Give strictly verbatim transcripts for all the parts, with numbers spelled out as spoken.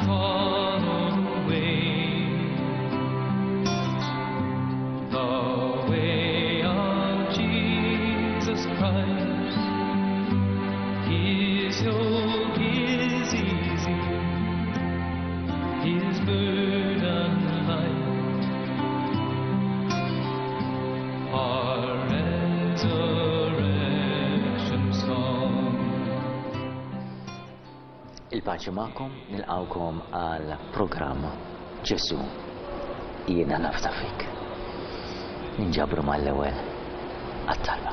Follow the way, the way of Jesus Christ. His yoke is easy, His burden light. Our resurrection song. Il-paċi magħkom, nilqgħukom għal programm Ġesù Jiena Nafda Fik. Ninġabru mal-ewwel għat-talba.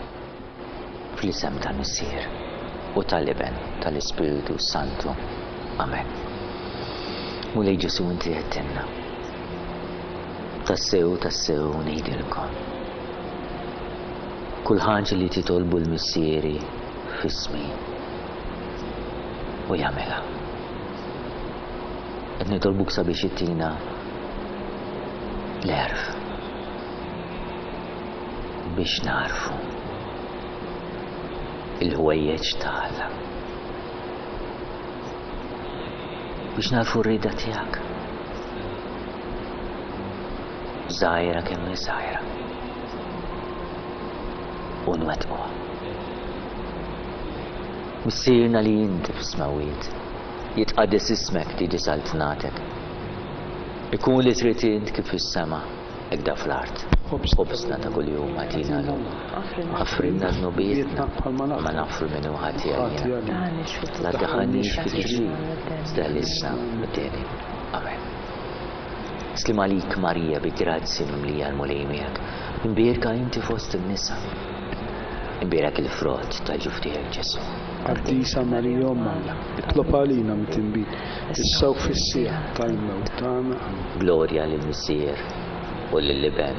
Fl-isem tal-Missier u tal-Iben tal-Ispiritu Santu. Amen. Mulej Ġesù, inti għedtilna: "Tassew, tassew ngħidilkom. Kull ħaġa li titolbu lil Missieri f'ismi u jagħmilha." Qed nitolbuk sabiex ittina l-għerf biex nagħrfu il-ħwejjeġ ta' Alla. Biex nagħrfu r-rieda tiegħek. Żgħira kemm hi żgħira. U nwettquha. Missierna li inti fis-smawiet, jitqaddes ismek, tiġi saltnatek. Ikun li trid int kif fis-sema, hekk fl-art. Ħobżna ta' kuljum agħtina llum. Aħfrilna dnubietna bħalma naħfru min hu ħati għalina. La tdaħħalniex fi tiġrib, iżda eħlisna mid-deni. Amen. Sliem għalik Marija, bi grazzja mimlija, l-Mulej miegħek. Imbierka inti fost in-nisa. Imbierek il-frott tal-ġuf tiegħek, Ġesù. Qaddisa Marija, Omm Alla, itlob għalina midinbin, issa u fis-siegħa tal-mewt tagħna. Amen. Glorja lill-Missier u lill-Iben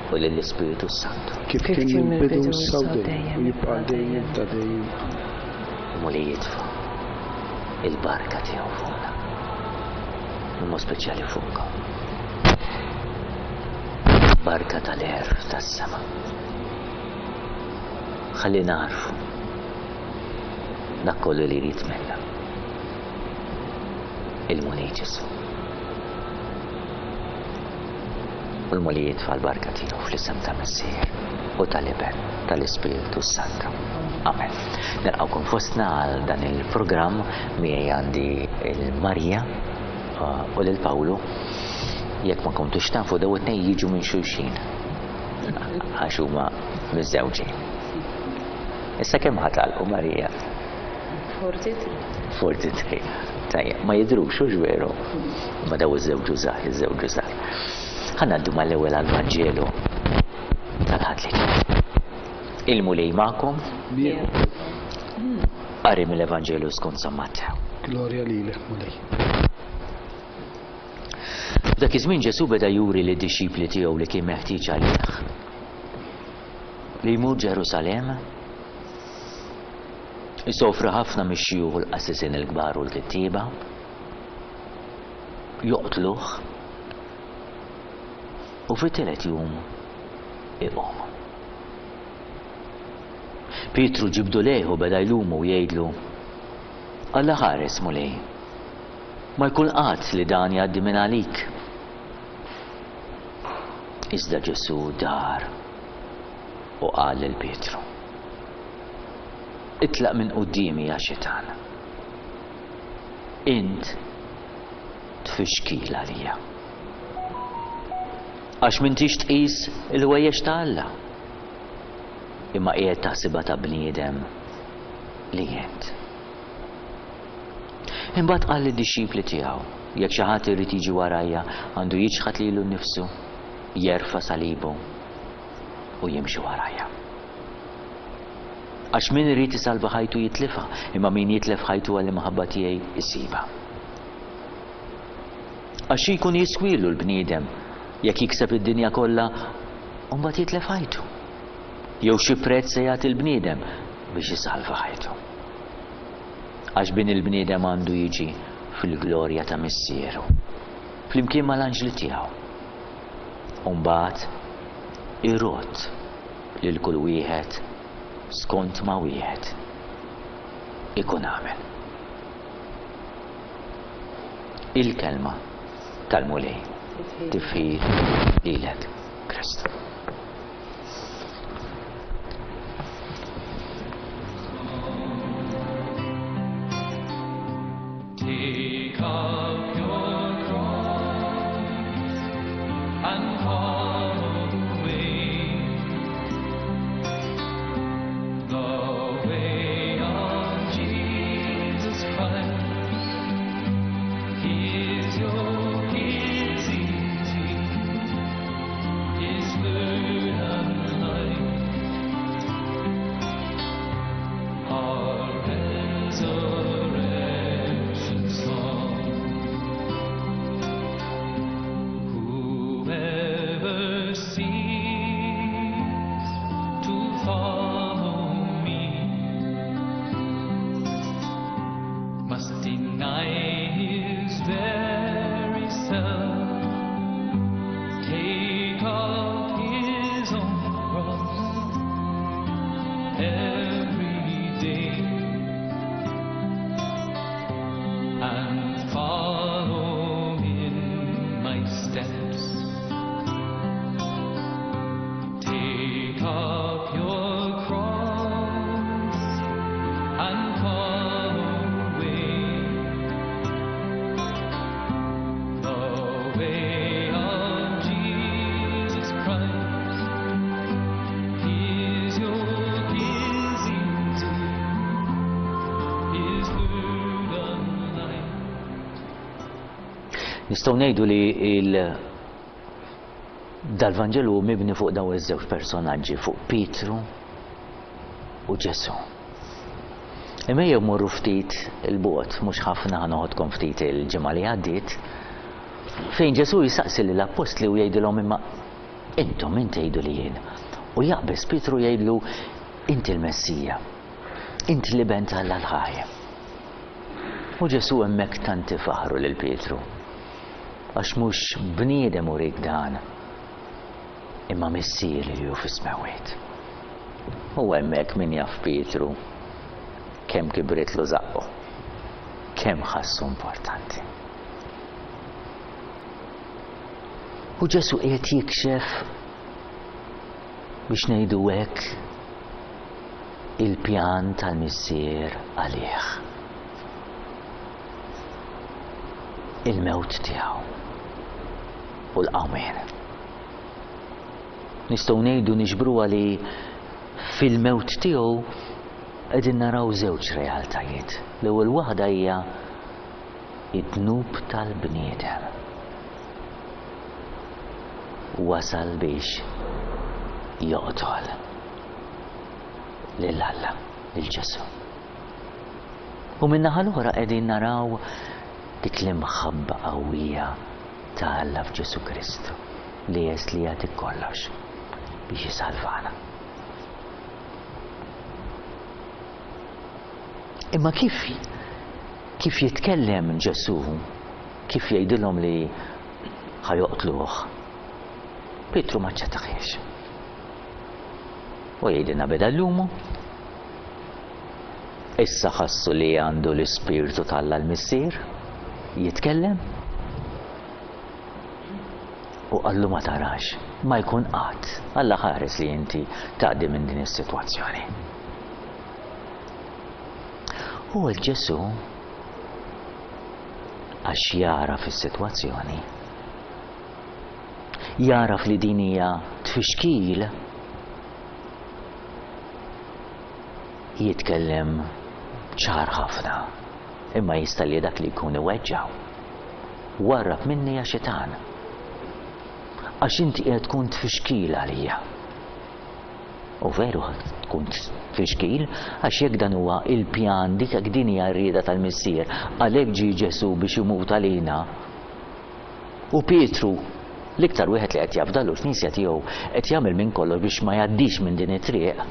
u lill-Ispiritu Santu. Kif kien mill-bidu, issa u dejjem, u jibqa' dejjem ta' dejjem. Amen. Mulej jitfa' il-barka tiegħu fuqna. B'mod speċjali fuqkom. Barka tal-għerf tas-sema. Ħalli nagħrfu dak kollu li jrid minna il-Mulej Ġesù. U l-Mulej jitfa' l-barka tiegħu fl-isem ta' Missier u tal-Iben tal-Ispiritu Santu. Amen. Nilqgħukom fostna għal dan il-programm. Miegħi għandi il-Marija uh, u lil Pawlu. Jekk ma kontux tafu, daw it-tnejn jiġu minn xulxin għax huma miżżewġin. Issa kemm ħa tagħlqu, Marija? forty-three. forty-three. Tajjeb, ma jidrux, hux veru? Ma daw iż-żewġu żgħar, iż-żewġu żgħar. Ħa ngħaddu mal-ewwel għall-Vanġelu tal-Ħadd li ġej. Il-Mulej magħkom. Qari mill-Evanġelu skont San Mattew. Glorja lilek, Mulej. F'dak iż-żmien Ġesù beda juri lid-dixxipli tiegħu li kien meħtieġ għalih li jmur Ġerusalemm, isofri ħafna mix-xjuħ u l-qassisin il-kbar u l-kittieba, joqtluh u fit-tielet jum iqum. Pietru ġibdu lejh u beda jlumu u jgħidlu: "Alla ħares, Mulej, ma jkun qatt li dan jgħaddi minn għalik." Iżda Ġesù dar u qal lil Pietru: "Itlaq minn quddiemi, ja xitan. Int tfixkil għalija. Għax m'intix tqis il-ħwejjeġ ta' Alla, imma qiegħed taħsibha ta' bniedem li int." Imbagħad qal lid-dixxipli tiegħu: "Jekk xi ħadd irid jiġi warajja, għandu jiċħad lilu nnifsu, jerfa' salibu u jimxi warajja. Għax min irid isalva ħajtu jitlifha, imma min jitlef ħajtu għall-imħabba tiegħi isibha. Għax xi jkun jiswilu l-bniedem jekk jikseb id-dinja kollha u mbagħad jitlef ħajtu? Jew xi prezz se jagħti l-bniedem biex isalva ħajtu? Għax Bin il-bniedem għandu jiġi fil-glorja ta' Missieru flimkien mal-anġli tiegħu. U mbagħad irodd lil kull wieħed skont ma wieħed ikun għamel." Il-kelma tal-Mulej. Tifħir lilek, Kristu. Take up your cross and follow the way, the way of Jesus Christ. His yoke is easy, His burden light. Our resurrection song. Whoever seeks to follow me must deny his very self, take up his own cross every day and follow in my steps. Take up your cross and follow away the way of Jesus Christ. His yoke is easy, His burden light. Nistgħu ngħidu li il dal-Vanġelu mibni fuq daw iż-żewġ personaġġi, fuq Pietru u Ġesù. Imma jew morru ftit il-bogħod, mhux ħafna, ħanoħodkom ftit il-ġimgħa li għaddiet, fejn Ġesù jisaqsi lill-appostli u jgħidilhom imma intom min tgħidu li jien. U jaqbeż Pietru jgħidlu inti l-Messija, inti l-Iben t'Alla l-ħaj. U Ġesù hemmhekk tant ifaħru lil Pietru, għax mhux bniedem urik dan, imma Missieri li hu fis-smewwiet. U hemmhekk min jaf Pietru kemm kibritlu żaqqu, kemm ħassu importanti. U Ġesù qiegħed jikxef, biex ngħidu hekk, il-pjan tal-Missier għalih. Il-mewt tiegħu u l-qawmien. Nistgħu ngħidu niġbruha li fil-mewt tiegħu qegħdin naraw żewġ realtajiet. L-ewwel waħda hija id-dnub tal-bniedem. Wasal biex joqtol lil Alla, lil Ġesù. U min-naħa l-oħra qegħdin naraw dik l-imħabba qawwija ta' Alla f'Ġesù Kristu li jes li jagħti kollox biex jisalvana. Imma kif, kif jitkellem Ġesù, kif jgħidilhom li ħajoqtluh, Pietru ma ċċettaħiex. U jgħidilna beda l-lumu. Issa ħassu li għandu l-Ispirtu t'Alla l-Missier jitkellem u qallu ma tarax, ma jkun qatt. Alla ħares li inti tgħaddi minn din is-sitwazzjoni. U Ġesù għax jara fis-sitwazzjoni, jaraf li din hija tfixkil, jitkellem ċar ħafna, imma jista' li dak li jkun iweġġaw. Warrab minni ja xitan, għax inti qiegħed tkun tfixkil għalija. U veru tkun tfixkil, għax jekk dan huwa il-pjan, dik jekk din hija r-rieda tal-Missier, għalhekk ġie Ġesù biex imut għalina. U Pietru, l-iktar wieħed li qed jafdalu l-Knisja tiegħu, qed jagħmel minn kollox biex ma jgħaddix minn din it-triq.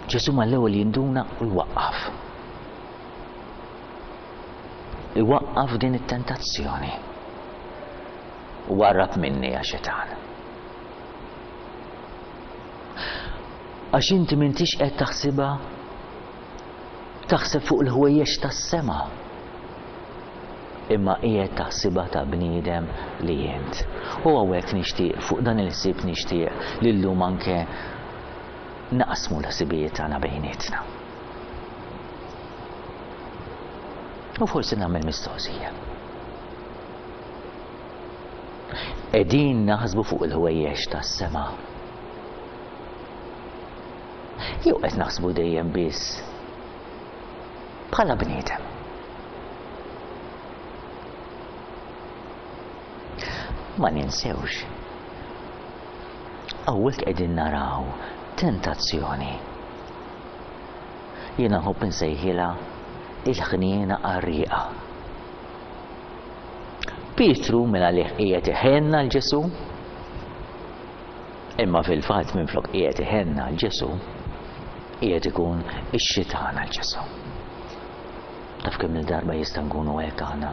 Ġesù mal-ewwel jinduna u jwaqqaf. Iwaqqaf din it-tentazzjoni. Warrab minni ja xitan. Għax inti m'intix qed taħsibha, taħseb fuq il-ħwejjeġ tas-sema, imma qiegħed taħsibha ta' bniedem li int. U hawnhekk nixtieq, fuq dan il-ħsieb nixtieq li llum anke naqsmu l-ħsibijiet tagħna bejnietna. U forsi nagħmel mistoqsija. Qegħdin naħsbu fuq il-ħwejjeġ tas-sema, jew qed naħsbu dejjem biss bħala bniedem? Ma ninsewx, hawnhekk qegħdin naraw tentazzjoni. Jiena nħobb insejħilha il-ħniena qarrieqa. Pietru minn għalih qiegħed iħenna l Ġesù, imma fil-fatt minflok qiegħed iħenna l Ġesù, qiegħed ikun ix-xitan għal Ġesù. Taf kemm il-darba jista' nkunu hekk aħna.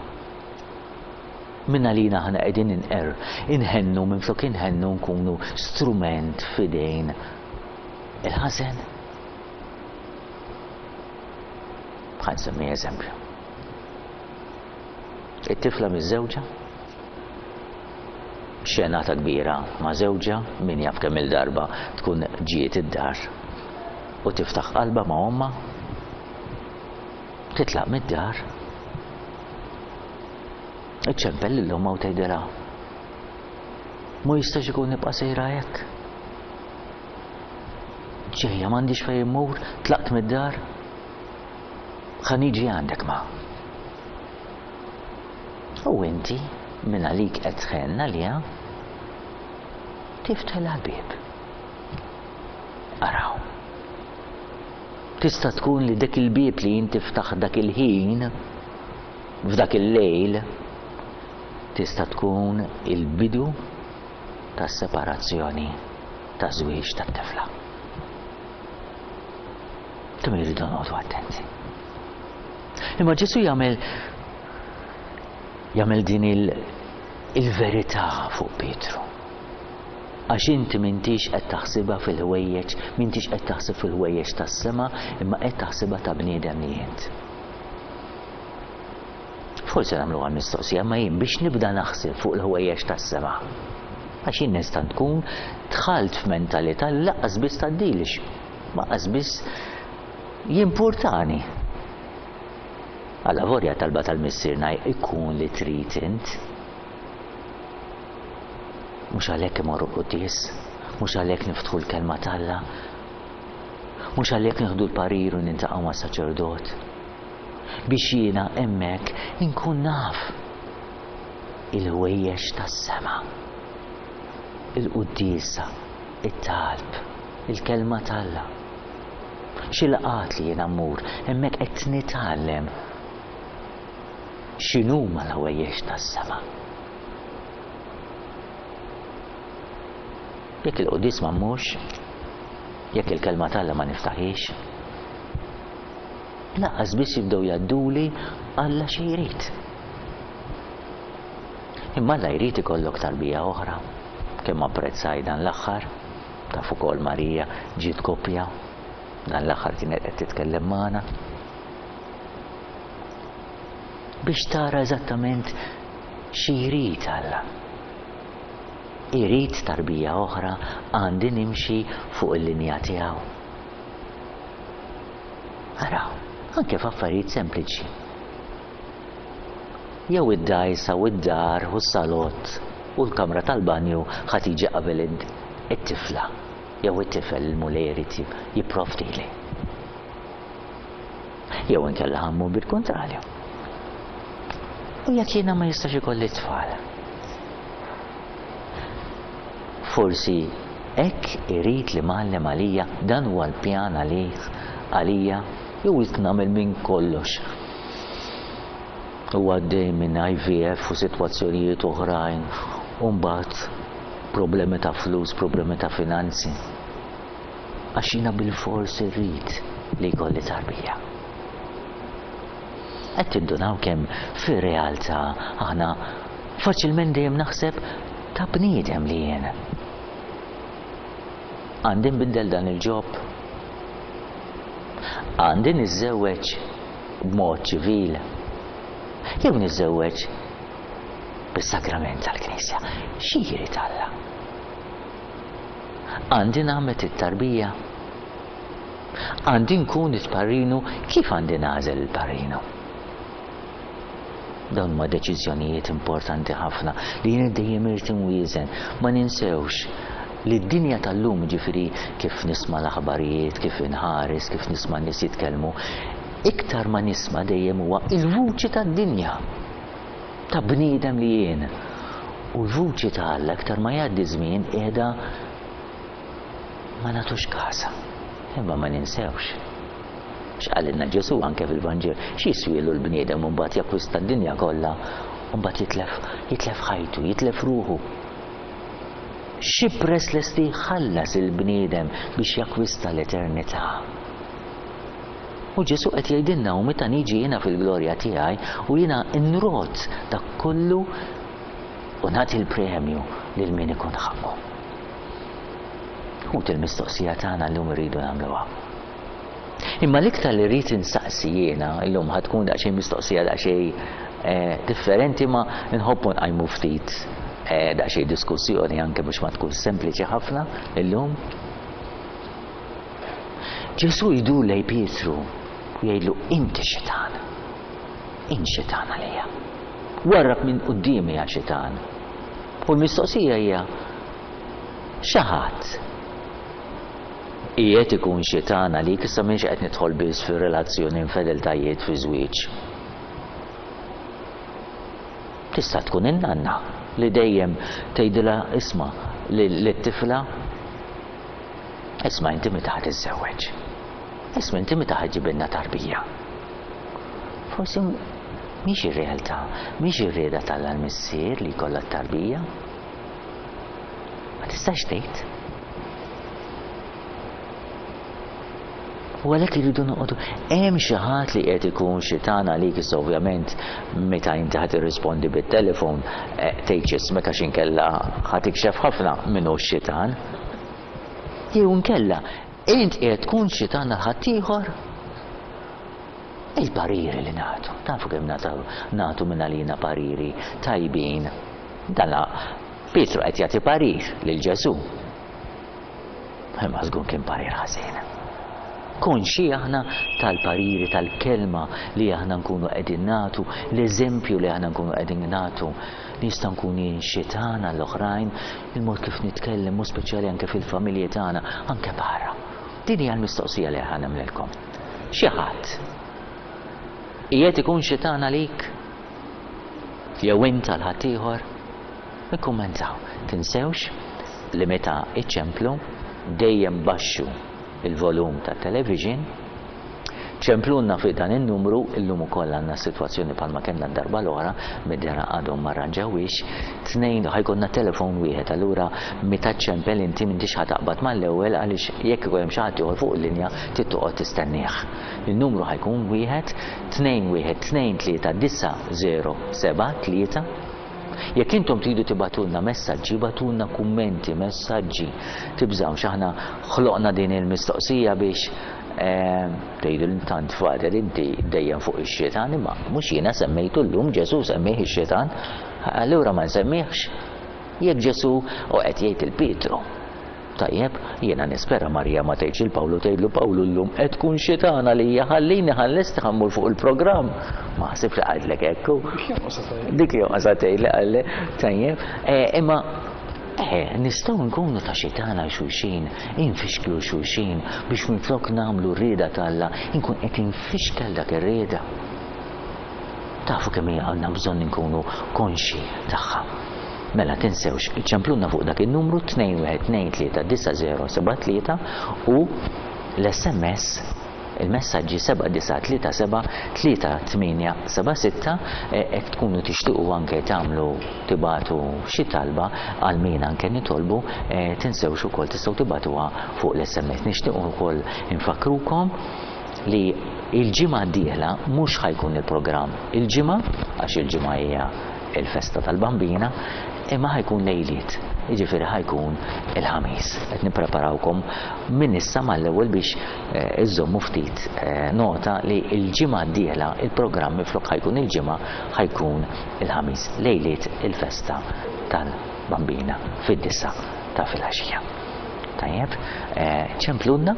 Minn għalina aħna qegħdin inqer, inħennu minflok inħennu nkunu strument f'idejn il-ħażen. Ħa nsemmi eżempju. It-tifla miż-żewġa, xenata kbira ma' żewġha, min jaf kemm il-darba tkun ġiet id-dar u tiftaħ qalba ma' ommha, titlaq mid-dar, iċċempel lil ommha u tgħidilha, ma jistax ikun nibqa' sejra hekk. Ġejja m'għandix fejn immur, tlaqt mid-dar, ħa niġi għandek ma. U inti minn għalik qed tħenna għaliha, tiftħilha l-bieb. Araw. Tista' tkun li dak il-bieb li inti ftaħ dak il-ħin, f'dak il-lejl, tista' tkun il-bidu tas-separazzjoni taż-żwieġ tat-tifla. Kemm irridu noqogħdu attenti. Imma Ġesù jagħmel jagħmel din il-verità fuq Pietru. Għax inti m'intix qed taħsibha fil-ħwejjeġ, m'intix qed taħseb fil-ħwejjeġ tas-sema, imma qed taħsibha ta' bniedem li int. Forsi nagħmluha mistoqsija, ma jien biex nibda naħseb fuq il-ħwejjeġ tas-sema. Għax jien nista' nkun dħalt f'mentalità li lanqas biss tgħaddilix, lanqas biss jimpurtani. Alla vorja talba tal-missierna ikun li trid int. Mhux għalhekk imorru quddies, mhux għalhekk niftħu l-kelma t'Alla, mhux għalhekk nieħdu l-parir u nintaqgħu ma' saċerdot. Biex jiena hemmhekk inkun naf il-ħwejjeġ tas-sema, il-quddiesa, it-talb, il-kelma t'Alla. Xi laqgħat li jiena mmur, hemmhekk qed nitgħallem x'inhuma l-ħwejjeġ tas-sema. Jekk il-quddies ma mmurx, jekk il-kelma t'Alla ma niftaħiex, lanqas biss jibdew jgħadduli Alla xi jrid. Imma Alla jrid ikollok tarbija oħra. Kemm apprezzaj dan l-aħħar, taf ukoll Marija ġiet koppja, dan l-aħħar kienet qed titkellem magħna. Biex tara eżattament xi jrid Alla. Irid tarbija oħra, għandi nimxi fuq il-linja tiegħu. Araw, anke f'affarijiet sempliċi. Jew id-dajsa u d-dar u s-salott u l-kamra tal-banju ħa tiġi qabel it-tifla jew it-tifel il-Mulej irid jipprovdili. Jew inkella ħammu bil-kontrarju. U jekk jiena ma jistax ikolli tfal. Forsi hekk irid li mgħallem għalija, dan huwa l-pjan għalih, għalija, jew irid nagħmel minn kollox. U għaddej minn I V F u sitwazzjonijiet oħrajn, u mbagħad problemi ta' flus, problemi ta' finanzi. Għax jiena bilfors irrid li jkolli tarbija. Qed tindunaw kemm fir-realtà aħna faċilment dejjem naħseb ta' bniedem li jien. Għandi nbiddel dan il-ġob, għandi niżżewweġ b'mod ċivil, Jew niżżewweġ bis-sagrament tal-Knisja. Xi jrid Alla? Għandi nagħmel it-tarbija? Għandi nkun it-parrinu? Kif għandi nagħżel il-parrinu? Dawn huma deċiżjonijiet importanti ħafna li jien dejjem irid inwieżen. Ma ninsewx li d-dinja tal-lum, ġifieri kif nisma' l-aħbarijiet, kif inħares, kif nisma' nies jitkellmu, iktar ma nisma' dejjem huwa il-vuċi tad-dinja ta' bniedem li jien. U l-vuċi ta' Alla iktar ma jgħaddi żmien qiegħda ma nagħtux kasa. Imma ma ninsewx x'qalilna Ġesù anke fil-Vanġel, x'jiswielu l-bniedem u mbagħad jakkwista d-dinja kollha u mbagħad jitlef jitlef ħajtu, jitlef ruħu. Xi prezz lesti jħallas il-bniedem biex jakkwista l-eternità? U Ġesù qed jgħidilna u meta niġi jiena fil-glorja tiegħi u jiena nrot dak kollu u nagħti l-premju lil min ikun ħaqqu. Ħut, il-mistoqsija tagħna llum irridu nagħmluha. Imma l-iktar li rrid insaqsi jiena llum ħa tkun daqsxejn mistoqsija daqsxejn differenti, ma nħobbu nqajmu ftit daqsxejn diskussjoni anke biex ma tkun sempliċi ħafna illum. Ġesù jdur lejn Pietru u jgħidlu inti xitan. Int xitan għalija. Warrab minn quddiemi ja xitan. U l-mistoqsija hija xi ħadd qiegħed ikun xitan għalik? Issa m'iniex qed nidħol biss fir-relazzjoni infedeltajiet fi żwieġ. Tista' tkun in-nanna li dejjem tgħidilha isma' lit-tifla isma' inti meta ħa tiżżewweġ. Isma' inti meta ħa ġġibilna tarbija. Forsi mhix ir-realtà, mhix ir-rieda t'Alla l-Missier li jkollha t-tarbija. Ma tistax tgħid. U għalhekk irridu noqogħdu. Hemm xi ħadd li qed ikun xitan għalik? Issa ovvjament meta inti ħa tirrispondi bit-telefon tgħidx ismek għax inkella ħa tikxef ħafna min hu x-xitan. Jew inkella int qiegħed tkun xitan għal ħaddieħor? Il-pariri li nagħtu, tafu kemm nagħtu minn għalina pariri tajbin. Dan Pietru qed jagħti parir lil Ġesù. Imma żgur kien parir ħażin. Konxi aħna tal-pariri, tal-kelma li aħna nkunu qegħdin nagħtu, l-eżempju li aħna nkunu qegħdin nagħtu. Nista' nkun jien xitan għall-oħrajn, il-mod kif nitkellem, u speċjali anke fil-familji tagħna, anke barra. Din hija l-mistoqsija li aħna nagħmlilkom. Xi ħadd qiegħed ikun xitan għalik? Jew int għal ħaddieħor? Ikkummentaw. Tinsewx li meta iċċemplu dejjem baxxu il-volum ta' television, ċemplunna fi dan il-numru. Illum ukoll għandna sitwazzjoni bħalma kellna d-darba l-oħra, mid-dera għadhom ma rranġawix, tnejn ħa jkollna telefon wieħed, allura meta ċempel inti m'intix ħa taqbad mal-ewwel għaliex jekk ikun hemm xi ħadd ieħor fuq il-linja trid toqgħod tistennieh. Il-numru ħa jkun wieħed tnejn wieħed tnejn tlieta disa' żero seba' tlieta. Jekk intom tridu tibgħatulna messaġġi, ibgħatulna kummenti, messaġġi, tibżgħux, aħna ħloqna din il-mistoqsija biex tgħidu li tant Father inti dejjem fuq ix-xitan, imma mhux jiena semmejtu llum, Ġesù semmih ix-xitan, allura ma nsemmihx. Jekk Ġesù u qed jgħid il Pietru. Tajjeb, jiena nispera Marija ma tgħidx il Pawlu tgħidlu Pawlu llum qed tkun xitan għalija, ħallini ħallesti ħa mmur fuq il-programm. Ma ħsibx li qaltlek hekk. Dik jonqosha tgħid li qalli. Tajjeb, imma nistgħu nkunu ta' xitan għal xulxin, infixklu xulxin biex minflok nagħmlu r-rieda t'Alla, inkun qed infixkel dak ir-rieda. Tafu kemm hija għandna bżonn inkunu konxi tagħha. Mela tinsewx, iċċempluna fuq dak il-numru tnejn wieħed tnejn tlieta disa' żero seba' tlieta u l-S M S, il-messaġġi seba' disa' tlieta seba' tlieta tmienja seba' sitta, hekk tkunu tixtiequ anke tagħmlu tibatu xi talba għal min anke nitolbu, tinsewx ukoll tistgħu tibatuha fuq l-S M S. Nixtiequ ukoll infakkrukom li il-ġimgħa d-dieħla mhux ħajkun il-programm il-ġimgħa, għax il-ġimgħa hija il-festa tal-Bambina, Imma ħa jkun lejliet, jiġifieri ħa jkun il-Ħamis. Qed nippreparawkom minn issa mal-ewwel biex iżommu ftit nota li l-ġimgħa d-dieħla il-programm minflok ħa jkun il-ġimgħa ħa jkun il-Ħamis, lejliet il-festa tal-Bambina fid-disa ta' filgħaxija. Tajjeb, ċemplunna.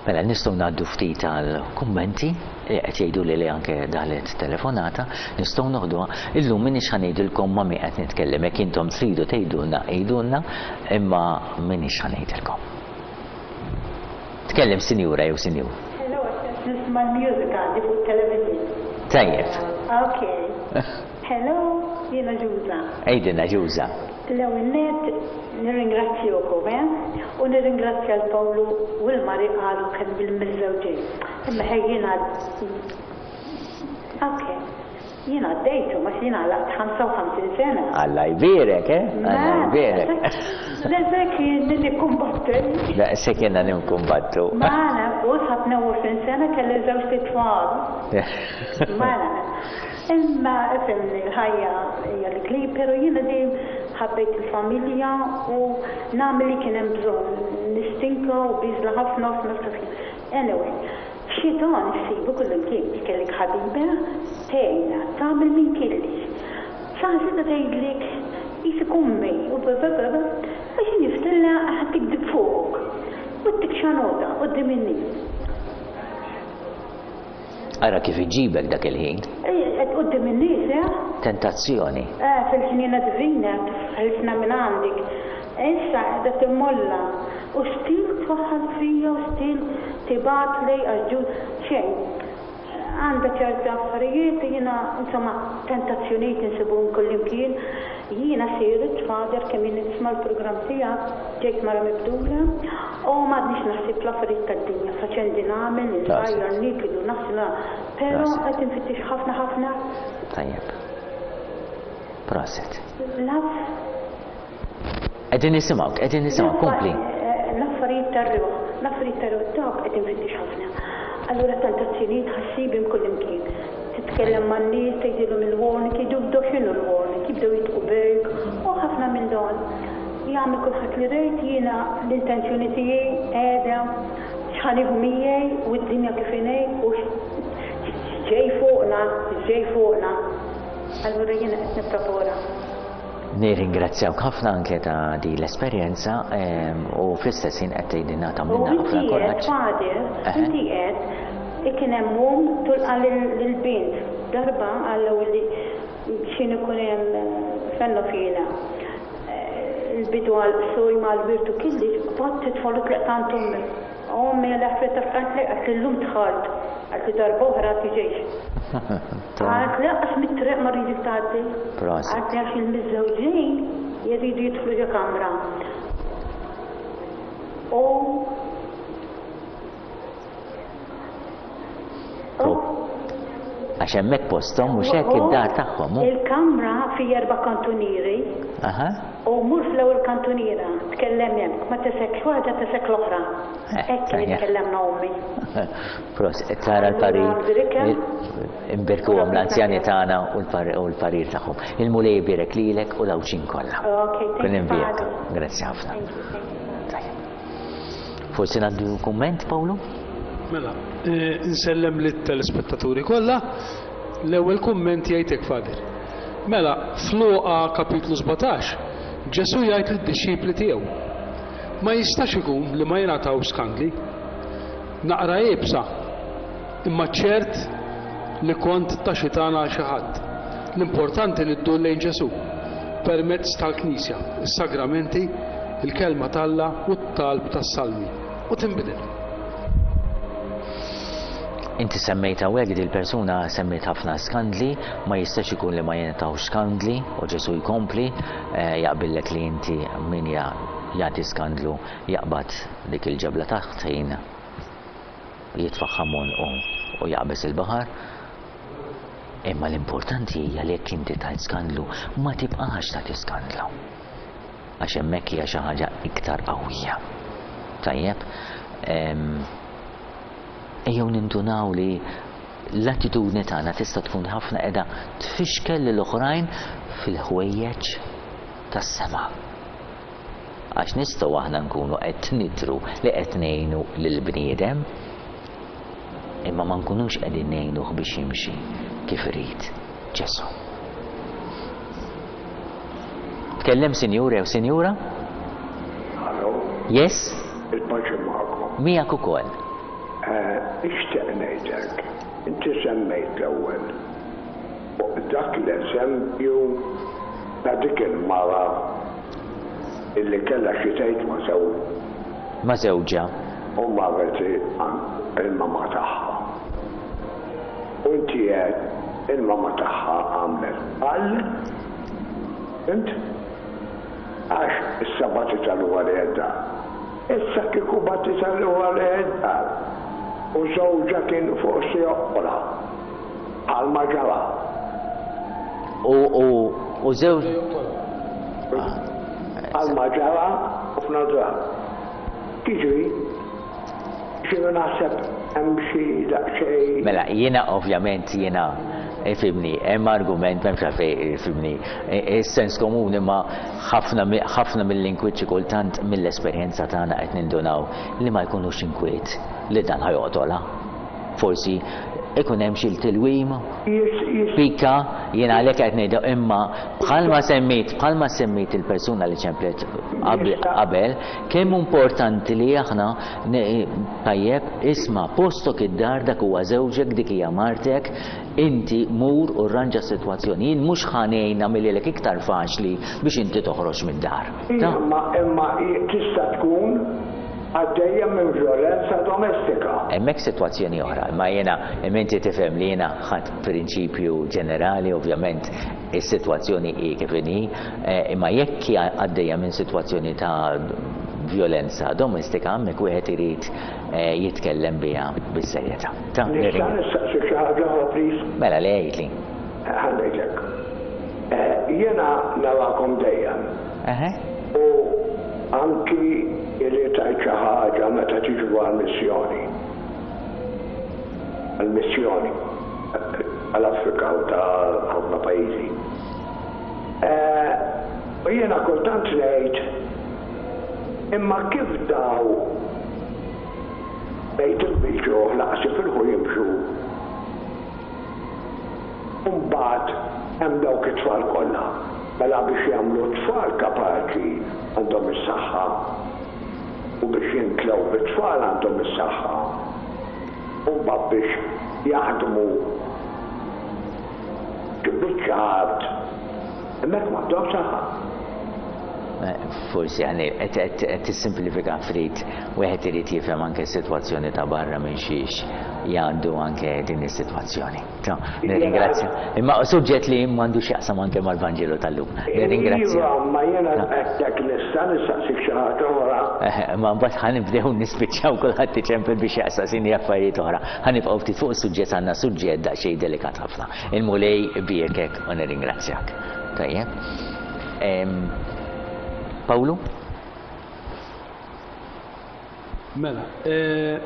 Mela nistgħu ngħaddu ftit għal kummenti li qed jgħidu li li anke daħlet telefonata, nistgħu noħduha. Illum m'iniex ħa ngħidilkom ma' min qed nitkellem, jekk intom tridu tgħidulna għidulna, imma m'iniex ħa ngħidilkom. Tkellem sinjura jew sinjur. Hello, nisma' l-music għandi fuq television. Tajjeb. Okay. Hello, jiena Ġuża. Għidilna Ġuża. L-ewwel nett nirringrazzjukom, eh? U nirringrazzja l-Pawlu u l-Mari qalu kemm bil-miżżewġin. Imma ħej jiena Okay. Jiena għaddejtu, ma jiena għalaqt ħamsa u ħamsin sena. Alla jbierek, eh? Alla jbierek. Le kien nikkumbattu. La se kienna nikkumbattu. Mela, u sa tnejn u għoxrin sena kelli żewġ titfal. Mela. Imma ifhimni l-ħajja hija l-kli, però jiena dejjem ħabbejt il-familja u nagħmel li kien hemm bżonn. Nistinka u biżla ħafna f'nafs Anyway, xitan issibu kullimkien, kellek ħabiba tgħinha, tagħmel minn kellix. Saħansitra tgħidlek qisek ummi u ba ba ba ba għax niftilla ħadd tikdib fuqok. U ttik xanota quddiem in-nies. Ara kif iġibek dak il-ħin. Qed quddiem in-nies, eh? Tentazzjoni. Eh, fil-ħniena divina ħilsna minn għandek. Issa qiegħda timmolla u stil twaħħal fija u stil tibgħatli għax ġu xejn. Għandha ċerti affarijiet jiena insomma tentazzjonijiet insibuhom kullimkien. Jiena sirt fader kemm jien nisma' l-programm tiegħek ġejt mara mibdula u m'għadniex naħseb l-affarijiet tad-dinja faċendi nagħmel, nħajjar, niklu, naħsla, però qed infittex ħafna ħafna. Tajjeb. Proset. Laf. Qegħdin nisimgħuk, qegħdin nisimgħuk, kompli. L-affarijiet tar-ruħ, l-affarijiet tar-ruħ dawk qed infittex ħafna. Allura tentazzjonijiet ħassibhom kullimkien. Titkellem man-nies, tgħidilhom il-warning, jgħidu bdew x'inhu l-warning, jibdew jitqu bejk u ħafna minn dan. Jagħmel kulħadd li rejt jiena l-intenzjoni tiegħi qiegħda x'ħanieħu miegħi u d-dinja kif inhi u x'ġej fuqna, x'ġej fuqna. Allura jiena qed nipprepara. Nirringrazzjawk ħafna anke ta' di l-esperjenza u fl-istess ħin qed tgħidilna tagħmilna ħafna kuraġġ. Inti qed kien hemm omm tulqa' lill-bint darba għallew li x'in ikun hemm fennu fina. Il-bidu għal suj mal-wirtu kelli bad titfal u tleqt għand ommi. Ommi l-affarijiet ta' fqant li qed illum dħalt għalt li darba oħra tiġix. Għalt li lanqas mit-triq ma rridek tgħaddi. Għalt li għax il-miżżewġin jridu jidħlu ġo kamra. U Għax hemmhekk posthom mhux hekk id-dar tagħhom. Il-kamra fi erba' kantunieri. U mur fl-ewwel kantuniera, tkellem hemm, ma tisekx waħda tisek l-oħra. Eh, Hekk kien tajjeb. itkellemna ommi. Pros, tara l-parir, Allura, imbirkuhom l-anzjani tagħna u l-par- u l-parir tagħhom. Il-Mulej ibierek lilek u l-Għawdxin kollha. Okay, thank Kun you, imbierka. Father. Grazzi ħafna. Thank you, thank you. Tajjeb. Forsi ngħaddu kumment, Pawlu? Mela, eh, nsellem lit-telespettaturi kollha. L-ewwel kumment jgħidlek Father. Mela, f'Luqa kapitlu sbatax, Ġesu jgħid lid-dixxipli tiegħu. Ma jistax ikun li ma jingħataw skandli. Naqra iebsa, imma ċert li kont ta' xitana għal xi ħadd. L-importanti li ddur lejn Ġesu permezz tal-Knisja, is-sagramenti, il-kelma t'Alla u t-talb tas-salmi. U tinbidel. Inti semmejt hawnhekk di l-persuna semmejt ħafna skandli, ma jistax ikun li ma jingħataw skandli u Ġesu jkompli eh, jaqbillek li inti min ja- jagħti skandlu jaqbad dik il-ġebla taħt ħin jitfaħħa u u jaqbeż il-baħar. Imma l-importanti hija li jekk inti tajt skandlu ma tibqax tagħti skandlu. Għax hemmhekk hija xi ħaġa iktar qawwija. Tajjeb, em, ejjew nindunaw li l-attitudni tagħna tista' tkun ħafna qiegħda tfixkel lil oħrajn fil-ħwejjeġ tas-sema. Għax nistgħu aħna nkunu qed nidhru li qed ngħinu lill-bniedem, imma ma nkunux qegħdin ngħinuh biex jimxi kif irid Ġesu. Tkellem sinjur jew sinjura? Hello, Yes? il-paċi magħkom. Miegħek ukoll. Ixtieq ngħidlek, inti semmejt l-ewwel fuq dak l-eżempju ta' dik il-mara illi kellha xi tgħid ma' żewġ Ma' żewġha. u marret għand il-mama tagħha. U inti għedt il-mama tagħha għamlet għal int għax issa bagħtitha lura l-dar. Issa kieku bagħtitha lura l-dar u żewġha kien forsi joqra għal ma ġara. U u u żewġ Għal ma ġara ħafna drabi. Tiġri, xinu naħseb hemm xi daqsxejn. Mela, jiena ovvjament jiena ifhimni, hemm argument m'hemmx għalfejn ifhimni. Is-sens komuni ma ħafna mi- ħafna mill-inkwiet xi kultant mill-esperjenza tagħna qed nindunaw li ma jkunux inkwiet li dan ħa joqtolha. Forsi ikun hemm xi tilwim, Jis, jis, pika, jiena għalhekk qed ngħidu imma bħalma semmejt, bħalma semmejt il-persuna li ċemplet qabel, qabel, kemm importanti li aħna ne- tajjeb isma' postok id-dar dak huwa żewġek, dik hija martek, inti mur u rranġa s-sitwazzjoni. Jien mhux ħa ngħin nagħmilek iktar faċli biex inti toħroġ mid-dar. Ta' imma imma tista' tkun għaddejja minn violenza domestika. Hemmhekk sitwazzjoni oħra, imma jiena imma inti tifhem li jiena ħadd prinċipju ġenerali, ovvjament is-sitwazzjoni hi kif inhi, eh, imma jekk hija għaddejja minn sitwazzjoni ta' violenza domestika, hemmhekk wieħed irid eh, jitkellem biha bis-serjetà. Ta' Nista' nirringra- nistaqsi xi ħaġa oħra, please? Mela le għidli. Ħa ngħidlek. Eh, Jiena narakom dejjem Eħe. u anki li tajt xi ħaġa meta tiġu għal-missjoni. Għal-missjoni għal-Afrika u ta' ħafna pajjiżi. Eh, U jiena kultant ngħid imma kif daw bejt il-ġuħ laqas jifilħu jimxu Mbagħad hemm dawk it-tfal kollha. Mela biex jagħmlu tfal kapaċi għandhom is-saħħa u biex jintlew bit-tfal għandhom is-saħħa. U mbagħad biex jaħdmu biċċa art hemmhekk m'għandhom saħħa. Eh, Forsi għani, qed tissimplifika ftit, wieħed irid jifhem anke s-sitwazzjoni ta' barra minn xiex jgħaddu anke din is-sitwazzjoni. Ta' Nirringrazzja. Imma suġġett li m'għandux jaqsam anke mal-Vanġelu tal-lum. Nirringrazzja. Iva, ma jiena hekk nista' nistaqsik xi ħaġa oħra. Eh, Ma mbagħad ħa nibdew nispiċċaw kulħadd iċempel biex jaqsasini affarijiet oħra. Ħa nibqgħu ftit fuq is-suġġett għandna suġġett daqsxejn delikat ħafna. Il-Mulej ibierkek u nirringrazzjak. Tajjeb. Em, Pawlu? Mela, eh,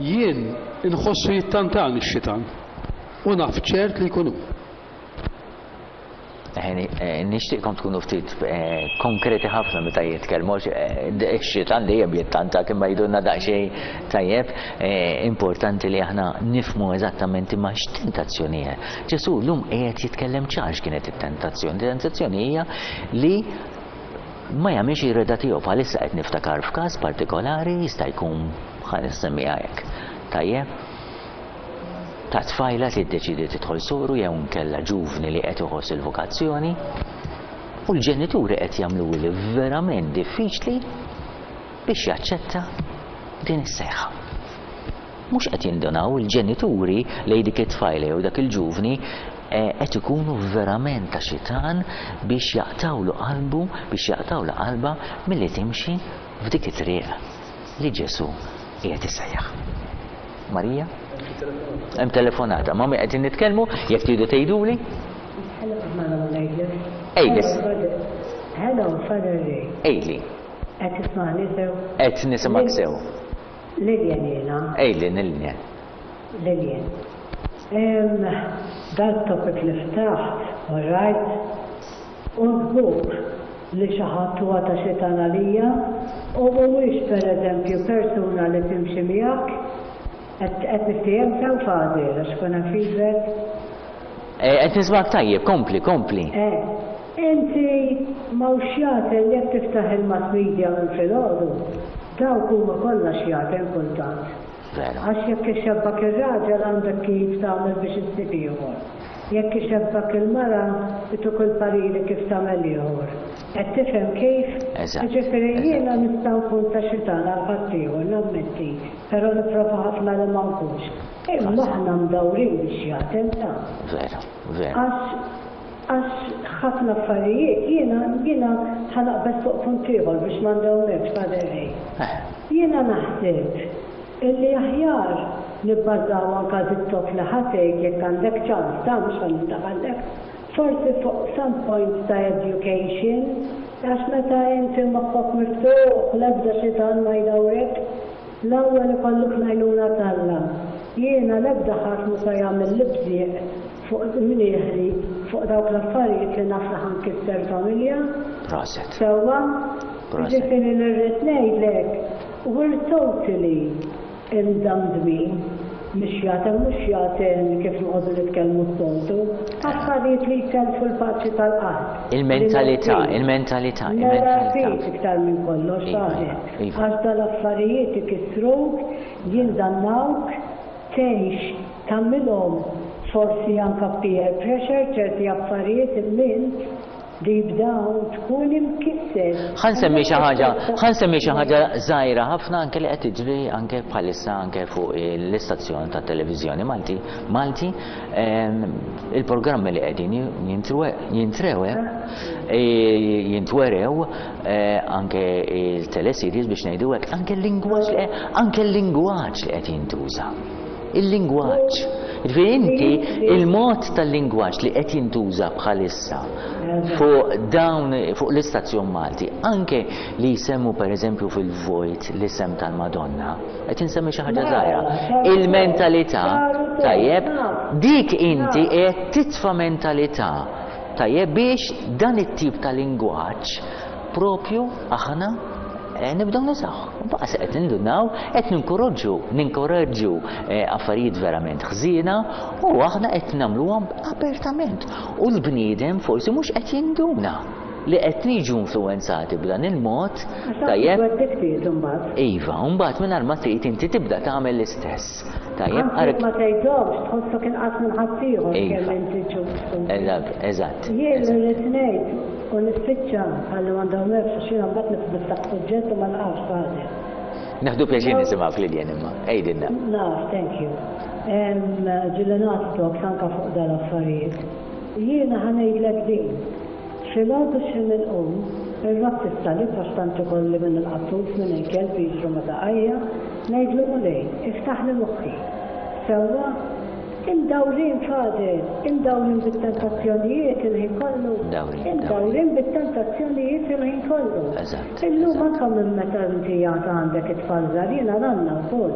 jien inħossu jittantani x-xitan u naf ċert li jkunu. Eh, nixtieqkom tkunu ftit eh, konkreti ħafna meta jitkellmu, ix-xitan dejjem jittanta imma jidulna daqsxejn tajjeb, importanti li aħna nifhmu eżattament imma x'tentazzjoni hija. Ġesù llum qiegħed jitkellem ċar x'kienet it-tentazzjoni. Tentazzjoni hija li ma jagħmilx ir-rieda tiegħu. Bħalissa qed niftakar f'każ partikolari, jista' jkun, ħa nsemmiha hekk. Tajjeb? Ta' tfajla li ddeċidi tidħol soru jew nkella ġuvni li qed iħoss il-vokazzjoni u l-ġenituri qed jagħmlu li verament diffiċli biex jaċċetta din is-sejħa. Mhux qed jindunaw il-ġenituri li dik it-tfajla jew dak il-ġuvni qed ikunu verament ta' xitan biex jaqtawlu qalbu, biex jaqtawlu qalba milli timxi f'dik it-triq li Ġesù qiegħed isejjaħ. Marija? Hemm telefonata. Ma qegħdin nitkellmu, jekk tridu tgħiduli? Ejli. Hello, Father Ray. Ejli. Qed tismagħni sew? Qed nisimgħek sew. Lillian jiena. Ejli, Lillian. Lillian. Dal-topic li ftaħt, all right, u żgur li xi ħadd huwa ta' xitan għalija u mhuwiex pereżempju persuna li timxi miegħek. Qed niftiehem sew, Father, għax kun hemm feedback? Qed nismgħek tajjeb, kompli, kompli. Eh, inti m'hawnx xjaten jekk tiftaħ il-mass media minn filgħodu, dawk huma kollha xjaten kultant. Għax jekk ixebbak ir-raġel għandek kif tagħmel biex issib ieħor. Jekk ixebbak il-mara ituk il-pariri kif tagħmel ieħor. Qed tifhem kif? Jiġifieri jiena nista' nkun ta' xitan għal ħaddieħor, nammetti, però nipprova ħafna li ma nkunx. Imma aħna mdawrin bix-xjaten ta'. Vera, vera. Għax għax ħafna affarijiet jiena jiena ħa naqbeż fuq punt ieħor biex ma ndewmekx, Father Ray. Jiena naħseb illi aħjar nibbażaw anka dit-top li ħa tgħid jekk għandek ċans ta' mhux ħa nindaħallek, forsi fuq some point ta' education, għax meta inti moħħok miftuħ l-ebda xitan ma jdawrek, l-ewwel ikollok l-għajnuna t'Alla. Jiena l-ebda ħadd mhu se jagħmel li bżieq fuq mnieħri fuq dawk l-affarijiet li naf li ħa nkisser familja. Proset. Sewwa? Proset. Jiġifieri li rrid ngħidlek, we're totally imdamdmin mix-xjaten, mhux xjaten kif noqogħdu nitkellmu s-soltu, affarijiet li jtellfu l-paċi tal-qalb. Il-mentalità, il-mentalità, il-mentalità. Iktar minn kollox, Father. Għax dal-affarijiet ikissruk, jindannawk, tgħix tagħmilhom forsi anka peer pressure, ċerti affarijiet imma deep down tkun imkisser. Ħa nsemmi xi ħaġa, ħa nsemmi xi ħaġa żgħira ħafna anke li qed tiġri anke bħalissa anke fuq l-istazzjon ta' televiżjoni Malti, Malti, il-programmi li qegħdin jintrewe, jintwerew anke il-teleseries biex ngħidu hekk, anke l-lingwaġġ, anke l-lingwaġġ li qed jintuża. Il-lingwaġġ. Ġifieri inti il-mod tal-lingwaġġ li qed jintuża bħalissa fuq dawn fuq l-istazzjon Malti, anke li jsemmu pereżempju fil-vojt l-isem tal-Madonna, qed insemmi xi ħaġa żgħira. Il-mentalità, tajjeb, dik inti qed titfa' mentalità, tajjeb, biex dan it-tip ta' lingwaġġ propju aħna nibdew nużaw. Baqa se qed nindunaw, qed ninkoraġġu, ninkoraġġu affarijiet verament ħżiena u aħna qed nagħmluhom apertament. U l-bniedem forsi mhux qed jinduna li qed niġu influwenzati b'dan il-mod, tajjeb. Iva, mbagħad mingħajr ma trid inti tibda tagħmel l-istess. Tajjeb, Anke ma tgħidhomx, tħossok inqas minn ħaddieħor kemm inti ġustu. Eżatt. Jien irrid ngħid u nispiċċa ħalli ma ndawmekx għax jiena mbagħad niftaħ suġġett u ma nqax Father. Naħdu pjaċir nisimgħek Lilian imma, għidilna. Naf, thank you. Ġieli nagħti talks anke fuq dal-affarijiet. Jiena ħa ngħidlek din. Filgħodu xi inqum, irrodd is-salib għax tant ikolli minn il-qattus minn il-kelb jiġru ma' saqajja, ngħidlu Mulej, iftaħli moħħi. Sewwa, Imdawrin, Father, imdawrin bit-tentazzjonijiet il-ħin kollu. Imdawrin, Imdawrin bit-tentazzjonijiet il-ħin kollu. Eżatt, Illum eżatt. anka minn meta inti għad għandek it-tfal żgħar, jiena nanna wkoll.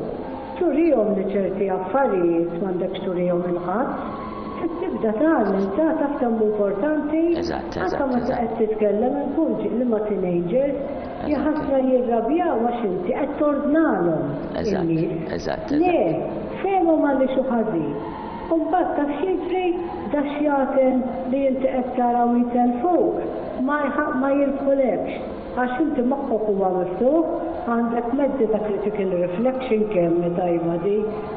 Turihom li ċerti affarijiet m'għandekx turihom lil ħadd. Trid tibda tgħallem ta' taf kemm hu importanti. Eżatt, Anka eżatt, meta eżatt. qed titkellem inkun li ma' teenagers, jaħasra jirrabjaw għax inti qed tordnalhom. Eżatt, in-nies. eżatt, Le, eżatt. fehmhom għaliex hu ħażin. U mbagħad taf x'jiġri dax-xjaten li inti qed taraw jitelfuk ma jħa- ma jirbħulekx. Għax inti moħħok huwa miftuħ, għandek mezzi ta' critical reflection kemm tajba di,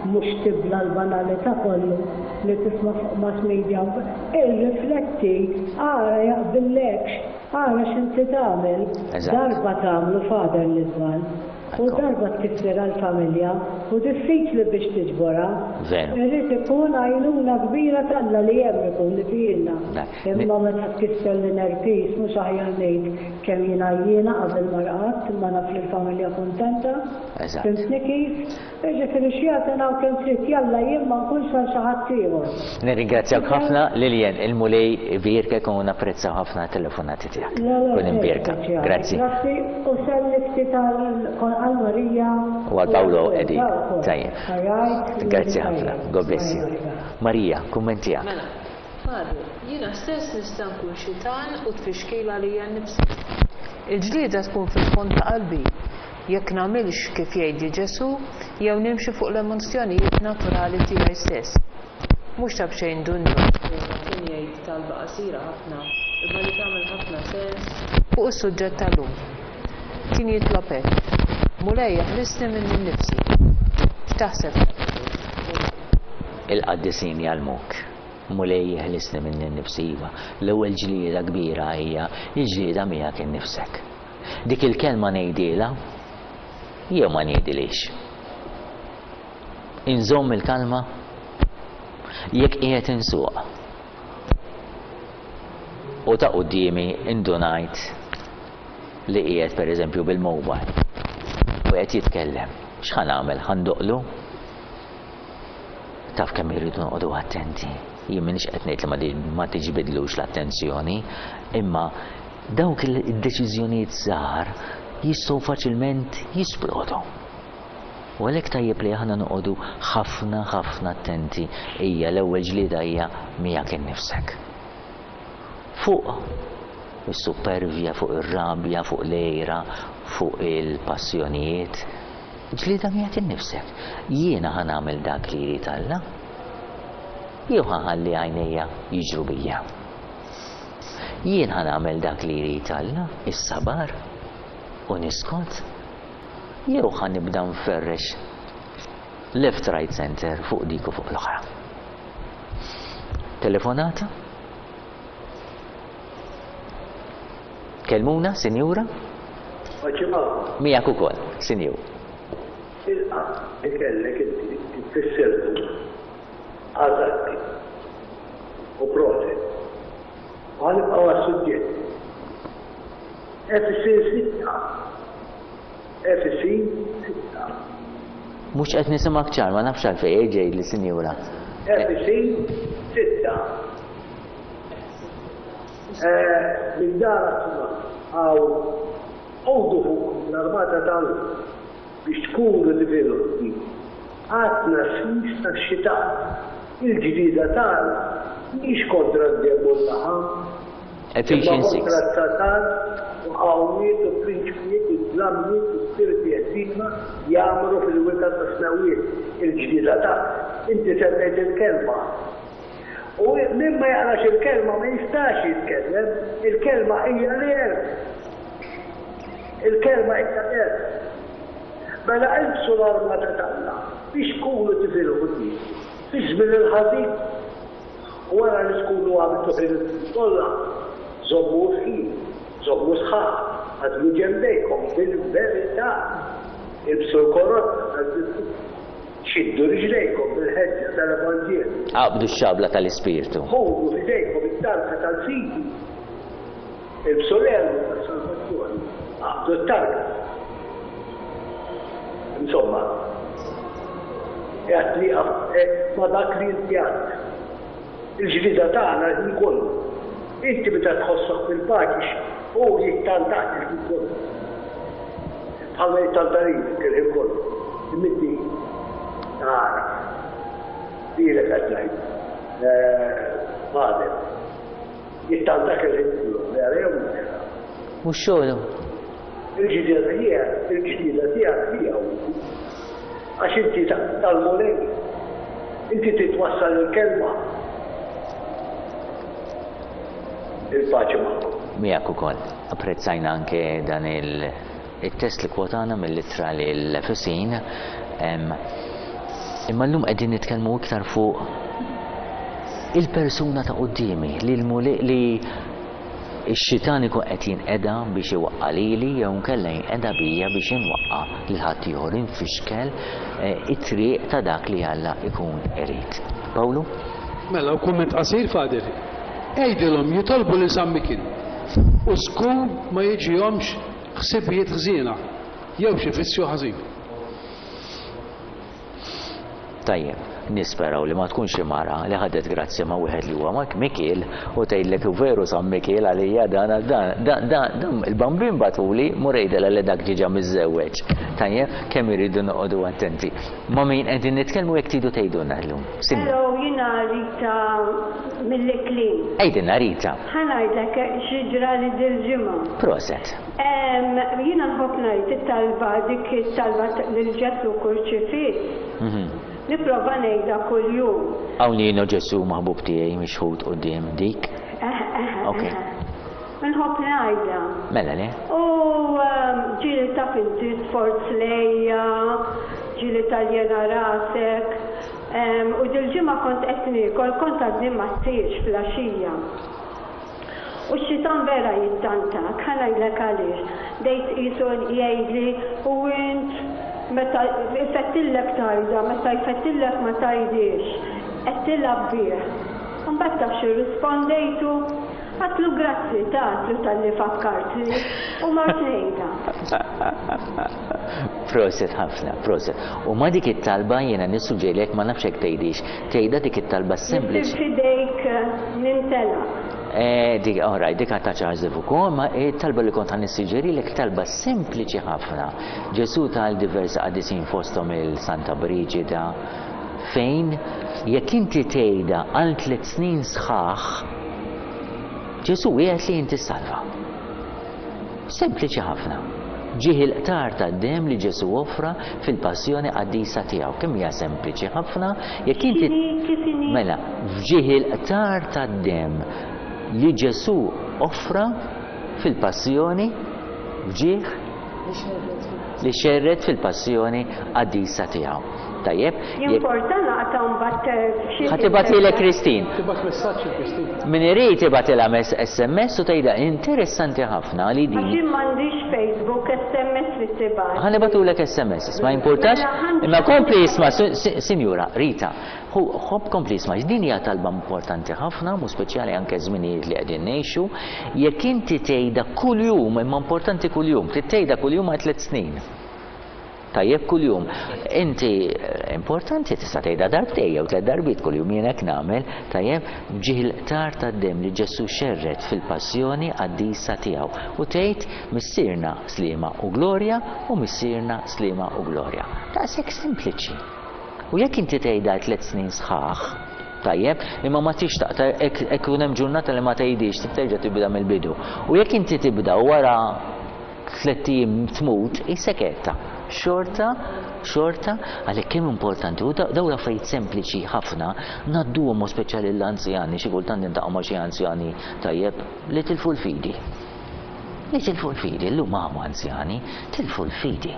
mhux tibla l-banalità kollu li tisma' fuq mass media. Irrifletti, ara jaqbillekx, ara x'inti tagħmel. Eżatt. Darba tagħmlu Father l-iżball. U Ekku. darba tkisser għal-familja u diffiċli biex tiġborha. Veru. Irrid ikun għajnuna kbira t'Alla li hemm ikun li tgħinna. Dak. Imma meta tkisser l-inner peace mhux aħjar ngħid kemm jiena jiena qabel ma rqadt imma naf li l-familja kuntenta. Eżatt. Fhimtni kif? Jiġifieri xjaten hawn kemm trid jalla jien ma nkunx għal xi ħadd ieħor. Nirringrazzjak ħafna Lilian, il-Mulej ibierkek u napprezzaw ħafna telefonati tiegħek. La, la, Kun imbierka. speċjali. Grazzi. Grazzi u selli ftit għal Marija. U għal Paolo Edi. Tajjeb. Tajjeb. All right. Grazzi ħafna. God bless you. Marija, kumment tiegħek. Mela, Father, jiena stess nista' nkun xitan u tfixkila lili nnifsi. Il-ġlieda tkun fil-fond ta' qalbi. Jekk nagħmilx kif jgħidli Ġesu, jew nimxi fuq l-emozzjonijiet naturali tiegħi stess. Mhux ta' b'xejn Dun Ġorġ kien jgħid talba qasira ħafna, imma li tagħmel ħafna sens fuq is-suġġett tal-lum. Kien jitlob hekk. Mulej eħlisni minni nnifsi. X'taħseb? Il-qaddisin jgħallmuk. Mulej eħlisni minni nnifsi iva. L-ewwel ġlieda kbira hija l-ġlieda miegħek innifsek. Dik il-kelma ngħidilha jew ma ngħidilix. Inżomm il-kalma jekk qiegħed insuq. U ta' quddiemi indunajt li qiegħed pereżempju bil-mobile u qed jitkellem. X'ħa nagħmel? Ħa ndoqqlu? Taf kemm irridu noqogħdu attenti. Jien m'iniex qed ngħid li ma di- ma tiġbidlux l-attenzjoni, imma dawk il-deċiżjonijiet żgħar jistgħu faċilment jisplodu. U għalhekk tajjeb li aħna noqogħdu ħafna ħafna attenti hija l-ewwel ġlieda hija miegħek innifsek. Fuq is-supervja, fuq ir-rabja, fuq l-għira, fuq il-passjonijiet. Ġlieda miegħek innifsek. Jiena ħa nagħmel dak li jrid Alla. Jew ħa nħalli għajnejja jiġru bija. Jien ħa nagħmel dak li jrid Alla, is-sabar u niskot. Jew ħa nibda nferrex left, right, center fuq dik u fuq l-oħra. Telefonata? Kelmuna, sinjura? Maċima, Miegħek ukoll, sinjur. il-qa li kellek inti tfissirtu għazatti u proset. U ħa nibqgħu għas-suġġett. Efesin sitta. Efesin sitta. Mhux qed nisimgħek ċar, ma nafx għalfejn ġej li sinjura. Efesin sitta. Eh, Minn dan għaw għodu fuq l-armata tal biex tkunu tifilħu għatna sis tax-xitan. Il-ġdida tal mhix kontra d-demm u l-laħam, imma Ephesians kontra six. s-satan u qawwiet u prinċpijiet u dlammiet u spiriti ħżiena jagħmlu fil-wita tas-smewiet. Il-ġdida tal. Inti semmejt il-kelma. U min ma jaqrax il-kelma ma jistax jitkellem, il-kelma hija l-għerf. Il-kelma hija l-għerf. Mela ilbsu l-armata t'Alla biex tkunu tifilħu fi żmien il-ħażin. U wara li tkunu għamiltu ħilitkom kollha, żommu fħin, żommu sħaħ, ħadmu ġembejkom bil-verità, ilbsu l-korotta tal-virtù, xiddu riġlejkom bil-ħeġġa tal-Evanġelju. Aqbdu x-xabla tal-Ispirtu. Ħudu f'idejkom it-tarka tal-fidi, ilbsu l-elmu tas-salvazzjoni, aqbdu t-tarka. Insomma, Qiegħed nieqaf ma' dak li inti għedt. Il-ġlieda tagħna l-ħin kollu. Inti meta tħossok fil-paċi hu jittantak il-ħin kollu. Bħalma jittanta lilek il-ħin kollu. Imma inti tagħraf. Lilek qed ngħid. Father. Jittantak il-ħin kollu. Vera jew mhux vera? Mhux xogħlu. Il-ġlieda tiegħek, il-ġlieda tiegħek tiegħu. Għax inti tal-Mulej. Inti titwassal il-kelma. Il-paċi magħkom. Miegħek ukoll. Apprezzajna anke dan il-test li kwotana mill-ittra lill-Efesin. Imma llum qegħdin nitkellmu iktar fuq il-persuna ta' quddiemi li l-Mulej li x-xitan ikun qed jinqeda biex iwaqqa' lili jew nkella jinqeda bija biex inwaqqa' lil ħaddieħor, infixkel it-triq ta' dak li Alla ikun irid. Pawlu? Mela, u kumment qasir, Father. Għidilhom jitolbu lil San Mikiel u żgur ma jiġihomx ħsibijiet ħżiena jew xi vizzju ħażin. Tajjeb, nisperaw li ma tkunx xi mara li ħadet grazzja ma' wieħed li huwa ma' Mikiel u tgħidlek veru San Mikiel għalija dan għal dan, dan, dan, dan il-bambin batuli mur għidilha li dak ġiġa miżżewweġ. Tajjeb, kemm iridu noqogħdu attenti. Ma' min qegħdin nitkellmu jekk tridu tgħidulna llum. Sinjur. Hello, jiena Rita mill-Iklin. Għidilna Rita. Ħa ngħidlek xi ġrali dil-ġimgħa. Proset. Em, jiena nħobb ngħid it-talba dik it-talba lil Ġesù kurċifiss. Mhm. Nipprova ngħidha kuljum. Hawn jien Ġesù maħbub tiegħi mixħut quddiem dik. Ok. Nħobb ngħidha. Mela le? U ġieli taf inti sforz lejja, ġieli taljena rasek. U dil-ġimgħa kont qed niekol, kont għadni ma ssirx flaxija. U x-xitan vera jittantak, ħa ngħidlek għaliex. Dejt qisu jgħidli u int meta jfettillek tajda, meta jfettillek ma tajdiex, qed tilgħab bih. Imbagħad taf xi rispondejtu, għatlu grazzi tatlu talli fakkartni u mort ngħidha. Proset ħafna, proset. U ma dik it-talba jiena nissuġġerilek ma nafx hekk tgħidix, tgħidha dik it-talba sempliċi. Fidejk nintela. Eh, dik, all right, dik għatta Charles de Foucauld, ma talba li kont nissuġġerilek talba sempliċi ħafna. Ġesù tal diversi qaddisin fosthom il-Santa Brigida, fejn jekk inti tgħidha għal tliet snin sħaħ, Ġesù qiegħed li inti salva. Sempliċi ħafna. Ġieħ il-qtar tad-demm li Ġesù offra fil-passjoni qaddisa tiegħu. Kemm hija sempliċi ħafna, jekk inti Kif inhi? Mela, f'ġieħ il-qtar tad-demm li Ġesù offra fil-passjoni, f'ġieħ li xerred fil-passjoni qaddisa tiegħu. Tajjeb? Jimporta naqta' mbagħad xi Ħa tibgħatilek Christine. Tibgħat messaġġ il Christine. Min irid ibgħatilha S M S u tgħidha interessanti ħafna li din. Għax jien m'għandix Facebook, S M S li tibgħat. Ħa nibgħatulek S M S, ma jimpurtax. Mela, ħa Imma kompli isma', Sinjura Rita, ħobb kompli isma', din hija talba importanti ħafna, mu speċjali anke żminijiet li qegħdin ngħixu, jekk inti tgħidha kuljum, imma importanti kuljum, trid tgħidha kuljum għal tliet snin. Tajjeb kuljum. Inti importanti tista' tgħidha darbtejn jew tliet darbiet kuljum jien hekk nagħmel, tajjeb, ġieħ il-qtar tad-demm li Ġesù xerred fil-passjoni qaddisa tiegħu. U tgħid Missierna Sliema u Glorja u Missierna Sliema u Glorja. Daqshekk sempliċi. U jekk inti tgħidha tliet snin sħaħ, tajjeb, imma ma tix taqta' hekk ikun hemm ġurnata li ma tgħidix, terġa' tibda mill-bidu. U jekk inti tibda u wara tliet ijiem tmut, hi seketta. Xorta, xorta, għalhekk kemm importanti, u daw l-affarijiet sempliċi ħafna, ngħadduhom u speċjali l-anzjani, xi kultant niltaqgħu ma' xi anzjani tajjeb li tilfu l-fidi. Li tilfu l-fidi, llum hawn anzjani, tilfu l-fidi.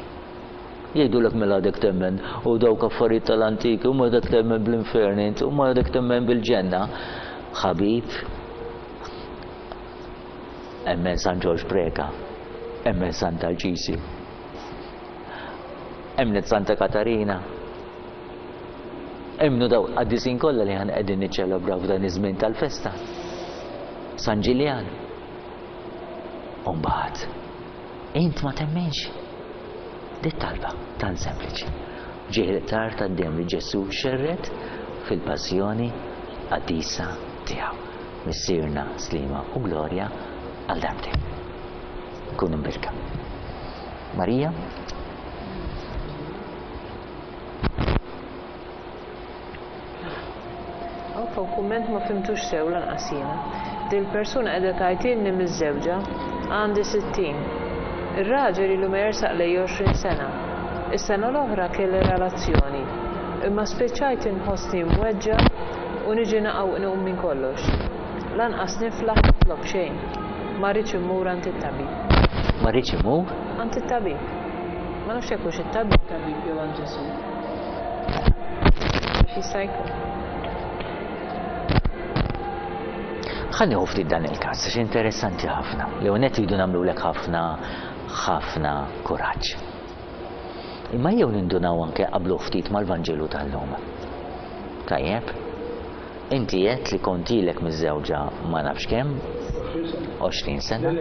Jgħidulek mela għadek temmen u dawk affarijiet tal-antiki, u ma għadek temmen bl-infern int, u ma għadek temmen bil-ġenna. Ħabib, emmen San Ġorġ Preca, emmen Santa Alċisju, emnet Santa Katarina, emmnu daw qaddisin kollha li ħan qegħdin niċċelebraw f'dan iż-żmien tal-festa. San Ġiljan. U mbagħad, int ma temminx. Dit talba tant sempliċi. Ġieħ il-qtar tad-demm li Ġesù xerred fil-passjoni qaddisa tiegħu. Missierna, slima u glorja għal darbtejn. Kunu mbierka. Marija? Hawn kumment ma fimtux sew lanqas jiena. Dil-persuna qiegħda tgħidilni miż-żewġa għandi sittin. Ir-raġel ilu ma jersaq lej għoxrin sena. Is-sena l-oħra kelli relazzjoni, imma spiċċajt inħossni mweġġa u niġi naqa' u nqum minn kollox. Lanqas niflaħ nitlob xejn. Ma rridx immur għand it-tabib. Ma rridx imur? Għand it-tabib. Ma nafx jekk hux it-tabib tabib jew għand Ġesù. Jista' jkun. Ħa nieħu ftit dan il-każ, għax interessanti ħafna. L-ewwel nett iridu nagħmlulek ħafna, ħafna kuraġġ. Imma jew nindunaw anke qablu ftit mal-Vanġelu tal-lum. Tajjeb, inti għedt li kont ilek miż-żewġa ma nafx kemm, għoxrin sena.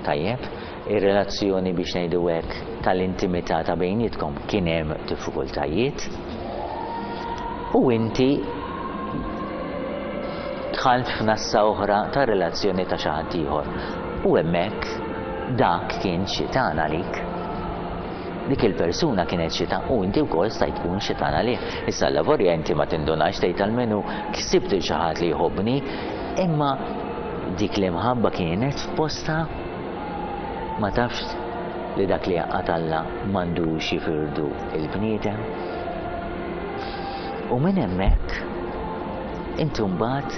Tajjeb, ir-relazzjoni biex ngħidu hekk tal-intimità ta' bejnietkom kien hemm diffikultajiet u inti dħalt f'nassa oħra ta' relazzjoni ta' xi ħadd ieħor. U hemmhekk dak kien xitan għalik. Dik il-persuna kienet xitan u inti wkoll stajt tkun xitan għalih. Issa l-lavorja inti ma tindunax tgħid almenu ksibt il xi ħadd li jħobbni, imma dik l-imħabba kienet f'posta ma tafx li dak li jaqgħad Alla m'għandux jifirdu il-bniedem. U minn hemmhekk inti mbagħad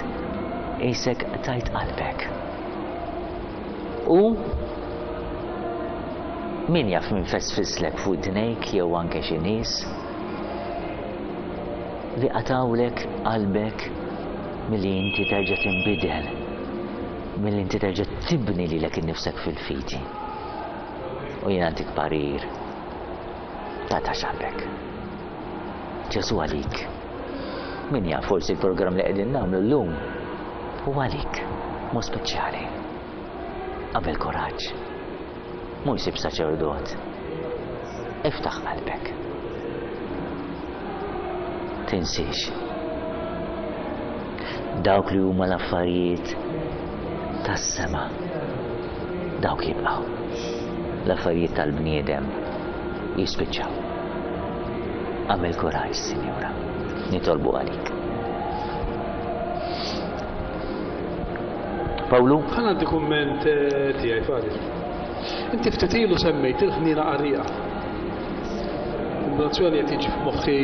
qisek tajt qalbek. U min jaf min fesfislek fuq dnejk jew anke xi nies li qatawlek qalbek milli inti terġa' tinbidel, milli inti terġa' tibni lilek innifsek fil-fidi. U jien għandik parir, tagħtax qalbek. Ġesù għalik. Min jaf forsi l-programm li qegħdin nagħmlu llum hu għalik, mod speċjali. Qabel kuraġġ. Mhux sib saċerdot. Iftaħ qalbek. Tinsiex. Dawk li huma l-affarijiet tas-sema, dawk jibqgħu. L-affarijiet tal-bniedem jispiċċaw. Għamel kuraġġ, Sinjura. Nitolbu għalik. Pawlu? Ħa ngħaddi kumment tiegħi, Fadil. Inti ftit ilu semmejt il-ħniena qarrieqa. Kombinazzjoni qed tiġi f'moħħi,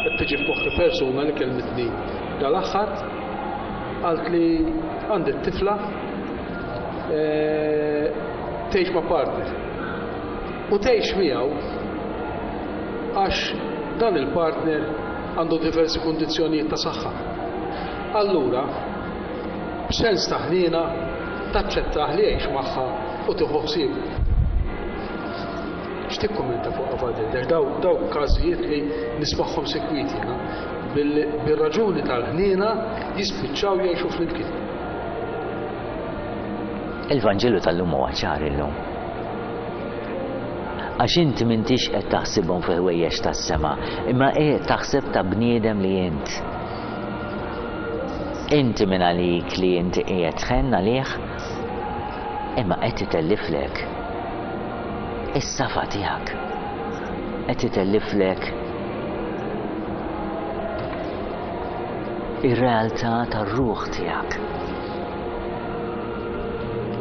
qed tiġi f'moħħi persuna li kellmitni dal-aħħar, qalt li għandi t-tifla tgħix ma' partner. U tgħix miegħu għax dan il-partner għandu diversi kundizzjonijiet ta' saħħa. Allura, b'sens ta' ħniena taċċettah li jgħix magħha u tieħu ħsiebu. X'tikkummenta fuq Fadil? Daw, daw każijiet li nismagħhom sekwiti jiena, bil-raġuni tal-ħniena jispiċċaw jgħixu flimkien. Il-Vanġelu tal-lum huwa ċar illum. Għax inti m'intix qed taħsibhom fi ħwejjeġ tas-sema, imma qiegħed taħseb ta' bniedem li int. Inti minn għalik li inti qiegħed tħenn għalih, imma qed itelliflek is-safa tiegħek. Qed itelliflek ir-realtà tar-ruħ tiegħek.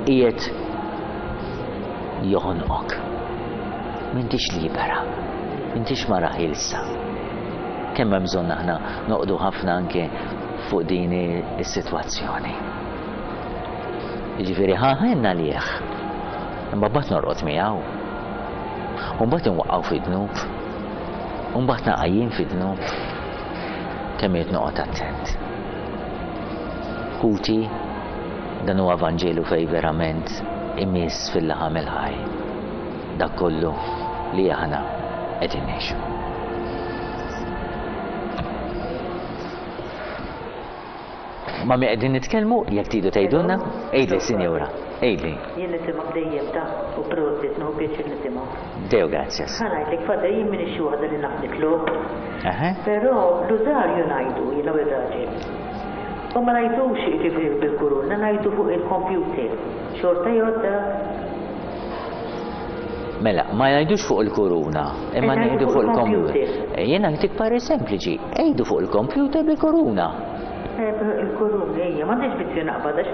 Qiegħed joħonqok. M'intix libera, m'intix mara ħielsa. Kemm hemm bżonn aħna noqogħdu ħafna anke fuq din is-sitwazzjoni. Jiġifieri ħa ħenna għalih, imma mbagħad norqod miegħu. U mbagħad inwaqqgħu fid-dnub, u mbagħad naqa' jien fid-dnub. Kemm irid noqgħod attent. Ħuti, dan huwa Vanġelu fej verament imiss fil-laħam il-ħaj. Dak kollu li aħna qegħdin ngħixu. Ma mi qegħdin nitkellmu, jekk tridu tgħidulna, għidli, Sinjura. Ejli. Jien nisimgħek dejjem ta' u prosit, nieħu pjaċir nisimgħek. Deo gratias. Ħa ngħidlek, Father, jien m'iniex xi waħda li naf nitlob. Però l-użarju ngħidu jiena u r-raġel. U ma ngħidux jiġifieri bil-kuruna, ngħidu fuq il-computer. Xorta jgħodda. Mela, ma ngħidux fuq il-kuruna, imma ngħidu fuq il-computer. Jiena ntik parir sempliċi, għidu fuq il-computer bil-kuruna. Il-kuruna, ejja, m'għandix bizzju naqbad, għax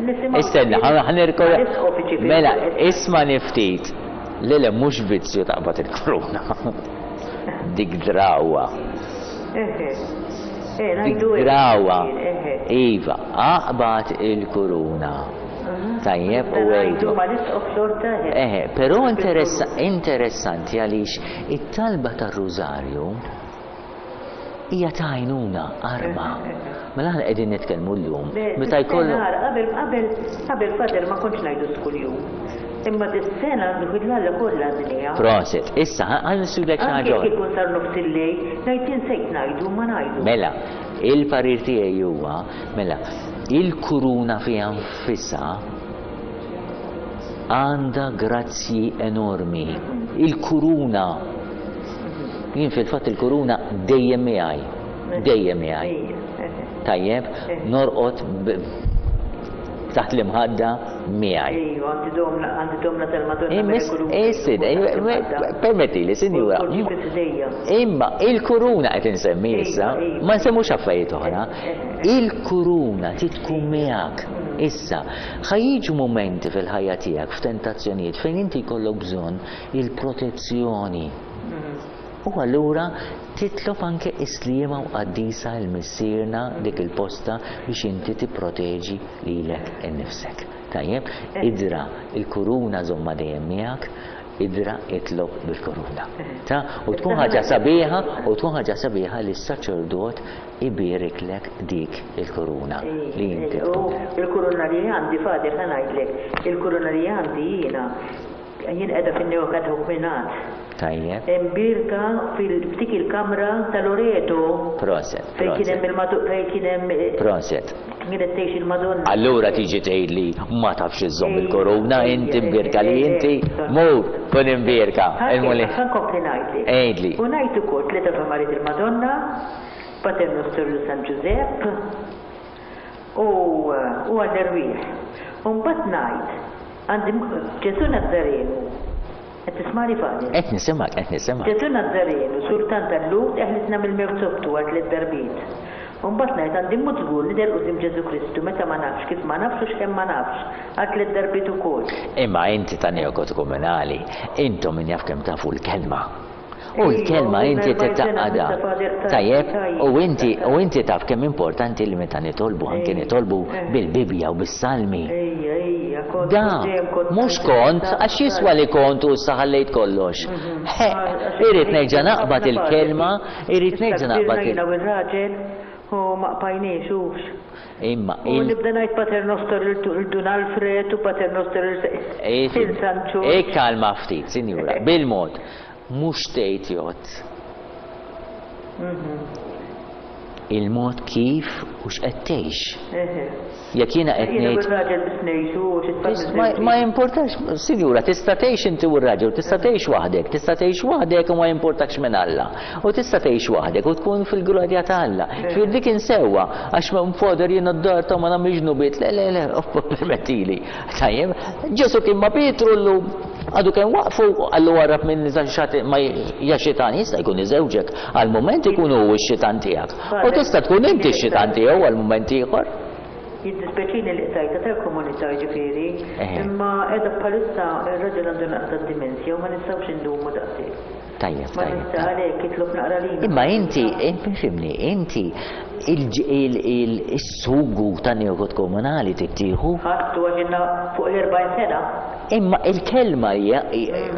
nisimgħu. Istenna, ħa nirkor. Mela, isma' niftit. Le, le, mhux vizzju taqbad il-kuruna. Dik drawa. Dik drawa. Iva, aqbad il-kuruna. Tajjeb u għidu. Eħe, però interessanti għaliex it-talba tar-Rużarju hija ta' għajnuna, arma. Mela aħna qegħdin nitkellmu llum. Meta jkollu. Qabel qabel qabel Father ma kontx ngħidu kuljum. Imma dis-sena għandu l-Alla kollha għandniha. Prosit, issa ħa nistudek xi ħaġa. Anke jkun sar nofs il-lejl, ngħid insejt ngħidu ma ngħidu. Mela, il-parir tiegħi huwa, mela, il-kuruna fiha nfisha għandha grazzji enormi. Il-kuruna. Jien fil-fatt il-kuruna dejjem miegħi. Dejjem miegħi. Tajjeb, norqod taħt l-imħadda miegħi. Ejju, għandi domna, għandi domna tal-Madonna. Issid, permettili, sinjura. Imma il-kuruna qed insemmi issa, ma nsemmux affarijiet oħra. Il-kuruna trid tkun miegħek. Issa, ħa jiġu mumenti fil-ħajja tiegħek f'tentazzjonijiet fejn inti jkollok bżonn il-protezzjoni. U allura titlob anke is-sliema u qaddisa l-Missierna dik il-posta biex inti tipproteġi lilek innifsek. Tajjeb, idra il-kuruna żomma dejjem miegħek, idra itlob bil-kuruna. Ta' u tkun ħaġa sabiħa, u tkun ħaġa sabiħa li s-saċerdot iberiklek dik il-kuruna li inti tkun. Il-kuruna li għandi, Father, ħa ngħidlek, il-kuruna li għandi jiena jien qiegħda fin-Neokatechumenat. Tajjeb. Imbierka fil-ftik il-kamra tal-Loreto. Proset. Fejn kien hemm il-Madonna, fejn kien hemm Proset. Kienet tgħix il-Madonna. Allura tiġi tgħidli ma tafx iżżomm il-koruna, inti mbierka li inti mur kun imbierka. Ħa nkompli ngħidlek. Għidli. U ngħid ukoll tliet Ave Maria il-Madonna, Pater Nostru San Ġużepp u u għall-erwieħ. U mbagħad ngħid għandi Ġesù Nazzarenu. Qed tismani, Father? Qed nisimgħek, qed nisimgħek. Ġesù Nazzarenu, sultan tal-Lhud, eħlisna mill-mewt sobtu għal tliet darbiet. U mbagħad ngħid għandi mmut żgur nidher quddiem Ġesù Kristu meta ma nafx kif ma nafx u x'kemm ma nafx għal tliet darbiet ukoll. Imma inti ta' neokatechumenali, intom min jaf kemm tafu l-kelma. U l-kelma inti titaqada. Tajjeb, u inti u inti taf kemm importanti li meta nitolbu anke nitolbu bil-Bibbja u bis-Salmi. Da, mhux kont, għax jiswa li kont u issa ħallejt kollox. Irrid nerġa' naqbad il-kelma, irrid nerġa' naqbad il Ir-raġel u ma qbajniex hux. Imma U nibda ngħid Pater Nostro lil Dun Alfred u Pater Nostro lil San Ġorġ. Ikkalma ftit, sinjura, bil-mod. Mhux tgħid jgħod. Il-mod kif u x'qed tgħix. Jekk jiena qed Jiena ngħid u r-raġel biss ngħixu u xi tfal Ma, ma importax, sinjura, tista' tgħix inti u r-raġel, tista' tgħix waħdek, tista' tgħix waħdek u ma jimportakx minn Alla. U tista' tgħix waħdek u tkun fil-glorja ta' Alla. Ġifieri dik insewwa għax ma nfoder jiena d-dar ta' ma nagħmilx dnubiet, le le le, permettili. Tajjeb, Ġesu kien ma' Pietru llum għadu kemm waqfu qallu warrab minn ma ja xitan jista' jkun iżewġek għal mument ikun hu x-xitan tiegħek. U tista' tkun inti x-xitan tiegħu għal mument ieħor. Jiddispjaċini li qtajta tal-komunità ġifieri, imma qiegħda bħalissa ir-raġel għandu naqra dimensja u ma nistgħux indumu daqshekk. Tajjeb, Ma tajjeb. nista' għalhekk jitlob naqra lina. Imma inti, fimni, inti il-sugu ta' neokatechumenali tittieħu. Ħadtu għax ilna fuq l-erbgħin sena. Imma il-kelma hija,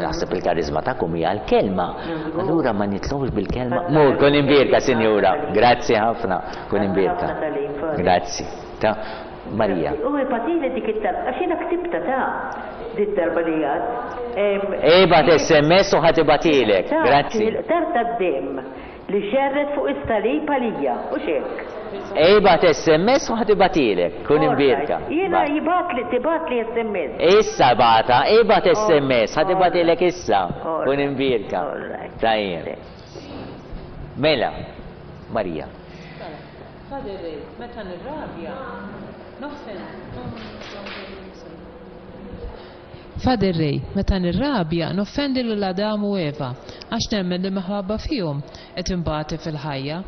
naħseb il-karizma tagħkom hija l-kelma. Allura ma nitlobx bil-kelma. Mur, kun imbierka, sinjura. Grazzi ħafna, kun imbierka. Grazzi. Ta' Marija. U ipatili dik it-talba, għax jiena ktibta ta' dit darba li għad. Ibgħat S M S u ħadd ibatilek. Grazzi. Il-qtar tad-demm li xerret fuq is-salib għalija, u xek. Ibgħat S M S u ħa tibgħathielek, kun imbierka. Jiena jibgħatli, tibgħatli S M S. Issa bata, ibgħat S M S, ħa tibgħathielek issa. Kun imbierka. Tajjeb. Mela, Marija. Father, meta nirrabja, noffen. Father Ray, meta nirrabja, noffendi lil Adam u Eva, għax nemmen li minħabba fihom qed inbati fil-ħajja,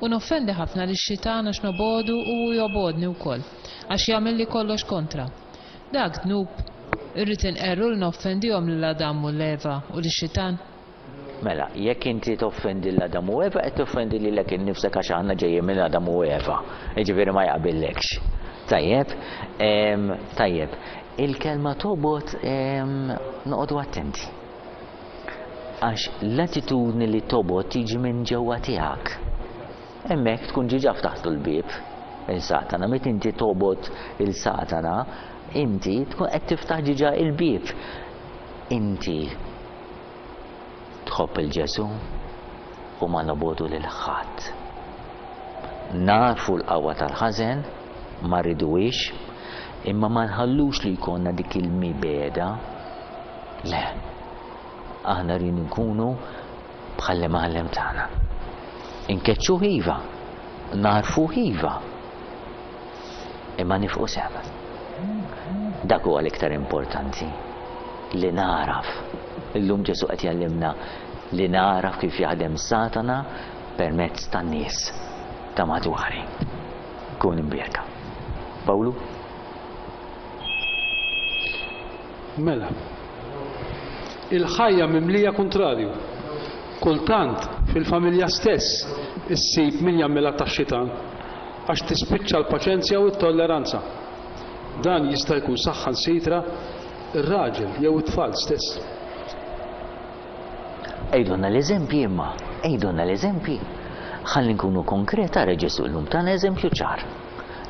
u noffendi ħafna lix-xitan għax nobogħdu u jobgħodni wkoll, għax jagħmel kollox kontra. Dak dnub, irrid inqerru li noffendihom lil Adam u l-Eva u lix-xitan. Mela, jekk inti toffendi l-Adam u Eva, qed toffendi lilek innifsek għax aħna ġejjin minn Adam u Eva. Jiġifieri ma jaqbillekx. Tajjeb, em, tajjeb. Il-kelma tobgħod, em, noqogħdu attenti. Għax l-attitudni li tobgħod tiġi minn ġewwa tiegħek. Hemmhekk tkun diġà ftaħtu l-bieb il-Satana. Meta inti tobgħod il-Satana, inti tkun qed tiftaħ diġà il-bieb. Inti tħobb il-Ġesu u ma nobogħdu lil ħadd. Nafu l-qawwa tal-ħażen, ma rriduhiex, imma ma nħallux li jkollna dik il-mibegħda. Le. Aħna rridu nkunu bħall-imgħallem tagħna. Inkeċċu iva, narfu iva, imma nifqu sem. Dak huwa l-iktar importanti li naraf. Illum Ġesu qed jgħallimna li naraf kif jaħdem Satana permezz tan-nies ta' madwari. Kun imbierka. Pawlu? Mela. Il-ħajja mimlija kontrarju. Kultant fil-familja stess issib min jagħmilha tax-xitan għax tispiċċa l-paċenzja u t-tolleranza. Dan jista' jkun saħansitra ir-raġel jew it-tfal stess. Għidulna l-eżempji imma, għidulna l-eżempji. Ħalli nkunu konkreta, ara Ġesu llum tana eżempju ċar.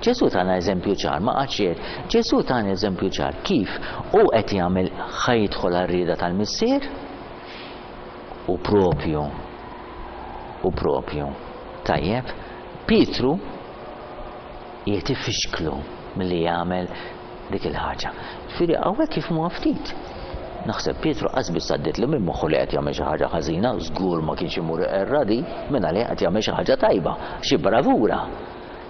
Ġesu tana eżempju ċar, ma qatx. Ġesu tana eżempju ċar kif u qed jagħmel, ħa jidħol għar-rieda tal-missier u propju u propju. Tajjeb, Pietru qiegħed ifixklu milli jagħmel dik il-ħaġa. Ġifieri hawnhekk kif mu ftit. Naħseb Pietru qas biss għaddietlu minn moħħu li qed jagħmel xi ħaġa ħażina, żgur ma kienx imur erradi, minn għalih qed jagħmel xi ħaġa tajba, xi bravura.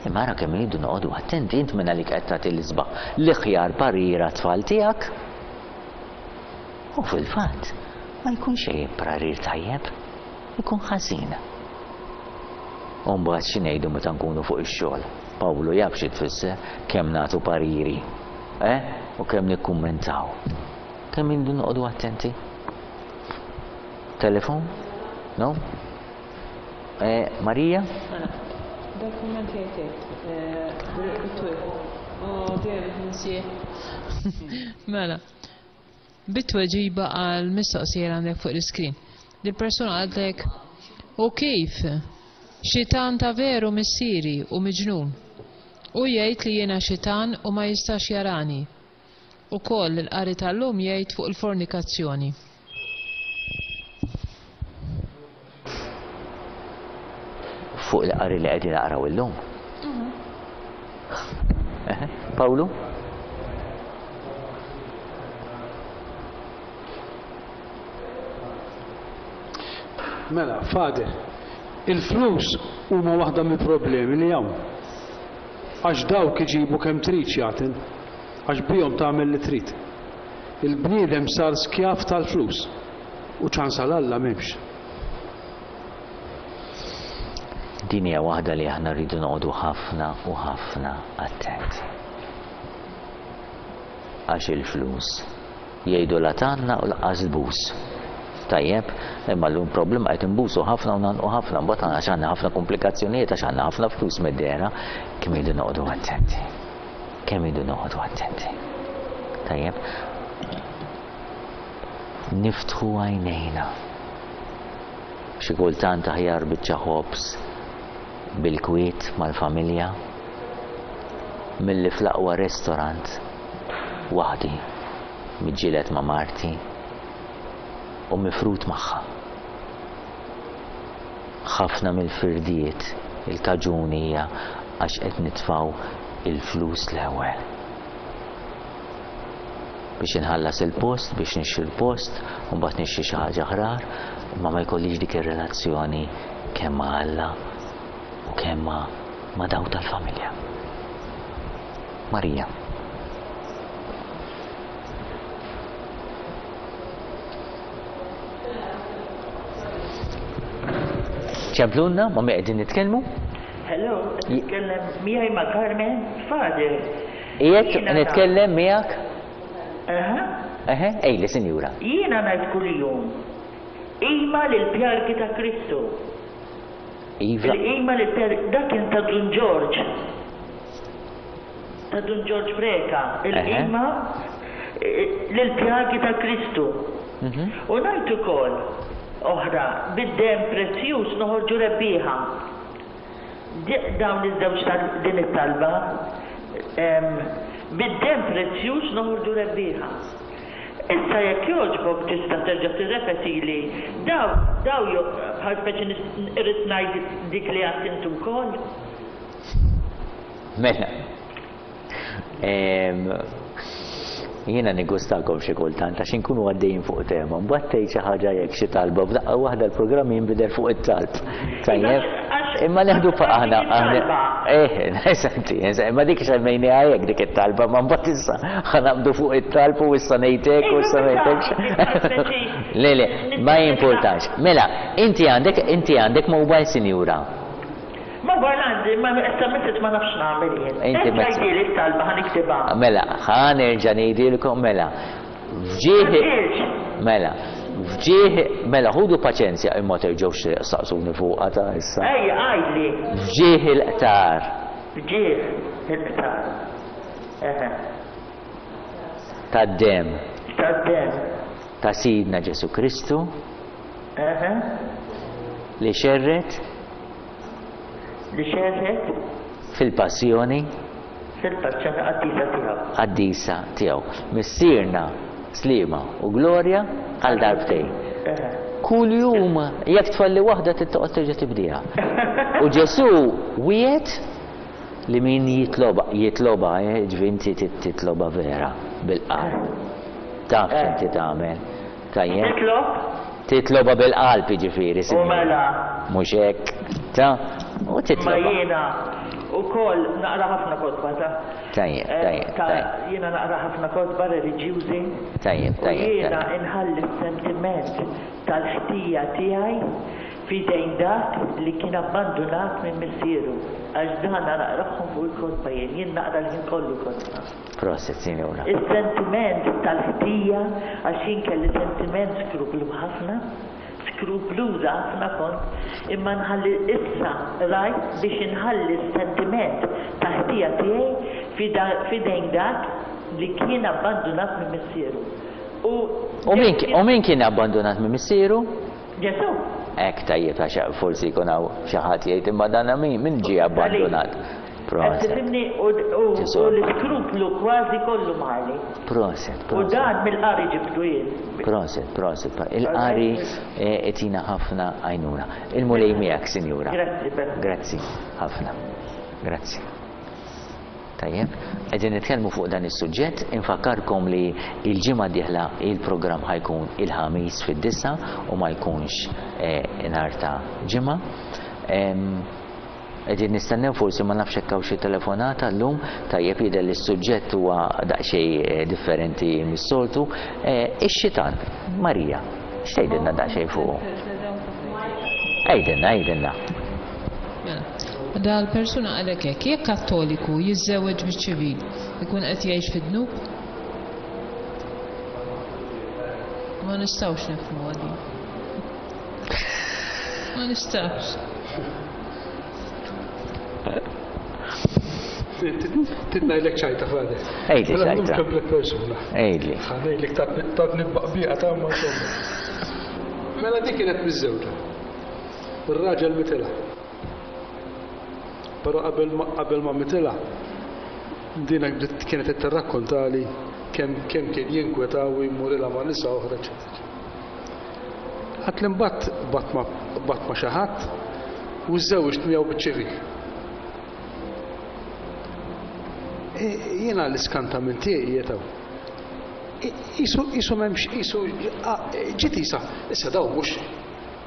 Imma ara kemm iridu noqogħdu attenti, int minn għalik qed tagħti l-isbaħ l-iħjar parir għat-tfal tiegħek. U fil-fatt ma jkunx xejn parir tajjeb, ikun ħażin. U mbagħad xi ngħidu meta nkunu fuq ix-xogħol? Pawlu jaf xi tfisser kemm nagħtu pariri, eh? U kemm nikkummentaw. Kemm irridu noqogħdu attenti? Telefon? No? Eh, Marija? Dal-kumment jgħid Oh, David, ninsieħ. Mela, bit-tweġiba għal mistoqsija li għandek fuq l-iskrin. Dil-persuna qaltlek, u kif? Xitan ta' veru missieri u miġnun. U jgħid li jiena xitan u ma jistax jarani. Ukoll il-qari tal-lum jgħid fuq il-fornikazzjoni. Fuq il-qari li qegħdin naqraw illum. Eh, Pawlu? Mela, Father, il-flus huma waħda mill-problemi li hawn. Għax dawk iġibu kemm trid xjaten, għax bihom tagħmel li trid. Il-bniedem sar skjav tal-flus u ċans għal Alla m'hemmx. Din hija waħda li aħna rridu noqogħdu ħafna u ħafna attenti. Għax il-flus jgħidu la tgħannaq u lanqas tbus. Tajjeb, imma llum problema qed inbusu ħafna u ngħannqu ħafna, mbagħad għax għandna ħafna komplikazzjonijiet għax għandna ħafna flus mid-dehra, kemm irridu noqogħdu attenti. Kemm irridu noqogħdu attenti. Tajjeb, niftħu għajnejna. Xi kultant aħjar biċċa ħobż bil-kwiet mal-familja milli fl-aqwa restaurant waħdi miġġieled ma' marti u mifrut magħha. Ħafna mill-firdiet il-kaġuni hija Għax qed nitfgħu il-flus l-ewwel. Biex inħallas il-post, biex nixtri l-post, u mbagħad nixtri xi ħaġa ħrar, imma ma jkollix dik ir-relazzjoni kemm ma' Alla u kemm ma' ma' dawk tal-familja. Marija. Ċemplunna, ma' min qegħdin nitkellmu? Hello, titkellem miegħi ma' Carmen Father. Qiegħed nitkellem miegħek? Aha. Eħe, ejli, sinjura. Jiena ngħid kuljum. Qima lill-pjargi ta' Kristu. Iva. Il-qima lill-pjargi dak kien ta' Dun Ġorġ. Ta' Dun Ġorġ Preca, il-qima lill-pjagi ta' Kristu. U ngħid ukoll oħra, bid-demm prezzjuż noħorġu rebbieħa. Dawn iż-żewġ din it-talba, bid-demm prezzjuż noħorġu rebbieħa. Issa jekk jogħġbok tista' terġa' tirrepetili daw daw bħal speċi irrid ngħid dik li għedt intu wkoll. Mela. Jiena niggustakom xi kultant għax inkunu għaddejjin fuq tema, mbagħad tgħid xi ħaġa jekk xi talba u f'daqqa waħda l-programm jinbidel fuq it-talb. Tajjeb? Imma neħdu fuq aħna aħna eh, senti, imma dik semmejniha hekk dik it-talba, ma mbagħad issa ħa naqbdu fuq it-talb u issa ngħid hekk u issa ngħid hekk. Le le, ma jimpurtax. Mela, inti għandek inti għandek mobile, sinjura? Mobile għandi, ma issa message ma nafx nagħmel jien. Inti message. Għidili t-talba ħa niktibha. Mela, ħa nerġa' ngħidilkom mela. Fġieħ Mela, fġieħ mela ħudu paċenzja imma terġgħux saqsuni fuqha ta' issa. Ejja, għidli. Fġieħ il-qtar. Fġieħ il-qtar. Eħe. Tad-demm. Tad-demm. Ta' Sidna Ġesu Kristu. Eħe. Li xerret. Li xerret. Fil-passjoni. Fil-passjoni qaddisa tiegħu. Qaddisa tiegħu. Missierna, Sliema u Glorja għal darbtejn. Kull jum jekk tfalli waħda trid terġa' tibdieha. U Ġesu wiegħed li min jitloba, jitloba, ġifieri inti titloba vera bil-qalb. Taf x'inti tagħmel. Tajjeb? Titlob? Titloba bil-qalb jiġifieri. U mela. Mhux hekk, ta' u titloba. Ma jiena ukoll naqra ħafna kotba ta' Tajjeb, tajjeb, tajjeb. Jiena naqra ħafna kotba reliġjużi. Tajjeb, tajjeb. U jiena inħalli s-sentiment tal-ħtija tiegħi f'idejn dak li kien abbandunat minn missieru. Għax dan naqrahom fuq il-kotba jien, jien naqra l-ħin kollu kotba. Proset, sinjura. Is-sentiment tal-ħtija, għax jien kelli sentiment skruplu ħafna, skrupluża ħafna kont, imma nħalli issa rajt biex inħalli s-sentiment ta' ħtija tiegħi f'idejn dak li kien abbandunat minn missieru. U min kien abbandunat minn missieru? Ġesu. Hekk tajjeb għax forsi jkun hawn xi ħadd jgħid imma dan min min ġie abbandunat. Proset. Tifhimni u l-iskruplu kważi kollu mali. Proset, U dan mill-qari ġibtu jien. Proset, proset. Il-qari itina ħafna għajnuna. Il-Mulej miegħek, sinjura. Grazzi. Grazzi ħafna. Grazzi. Tajjeb, qegħdin nitkellmu fuq dan is-suġġett, infakkarkom li l-ġimgħa d-dieħla il-programm ħajkun il-ħamis fid-disa u ma jkunx nhar ta' ġimgħa. Qegħdin nistennew forsi ma nafx hekk hawn xi telefonata llum, tajjeb jidher li s-suġġett huwa daqsxejn differenti mis-soltu. Ix-xitan, Marija, x'tgħidilna daqsxejn fuqu? Għidilna, għidilna. Dal-persuna għalek hekk, jekk kattoliku jiżżewweġ biċ-ċivil, ikun qed jgħix fid-dnub? Ma nistgħux nifhmu għadi. Ma nistgħux. Titnajlek ċajta, Father. Ejli ċajta. Mela persuna. Ejli. Ħanejlek tatni baqbiqa ta' ma insomma. Mela dik kienet miżżewġa. Ir-raġel mitilha. Però qabel ma mitilha, dina kienet qed tirrakkontali kemm kemm kien jinkweta u jmurilha ma' nisa oħra, eċetera. Għad li mbagħad bat ma' xi ħadd u żżewġt miegħu biċ-ċivil. Jiena l-iskantament tiegħi qiegħed hawn. Isu isu m'hemmx isu ġiet isa, issa dawn mhux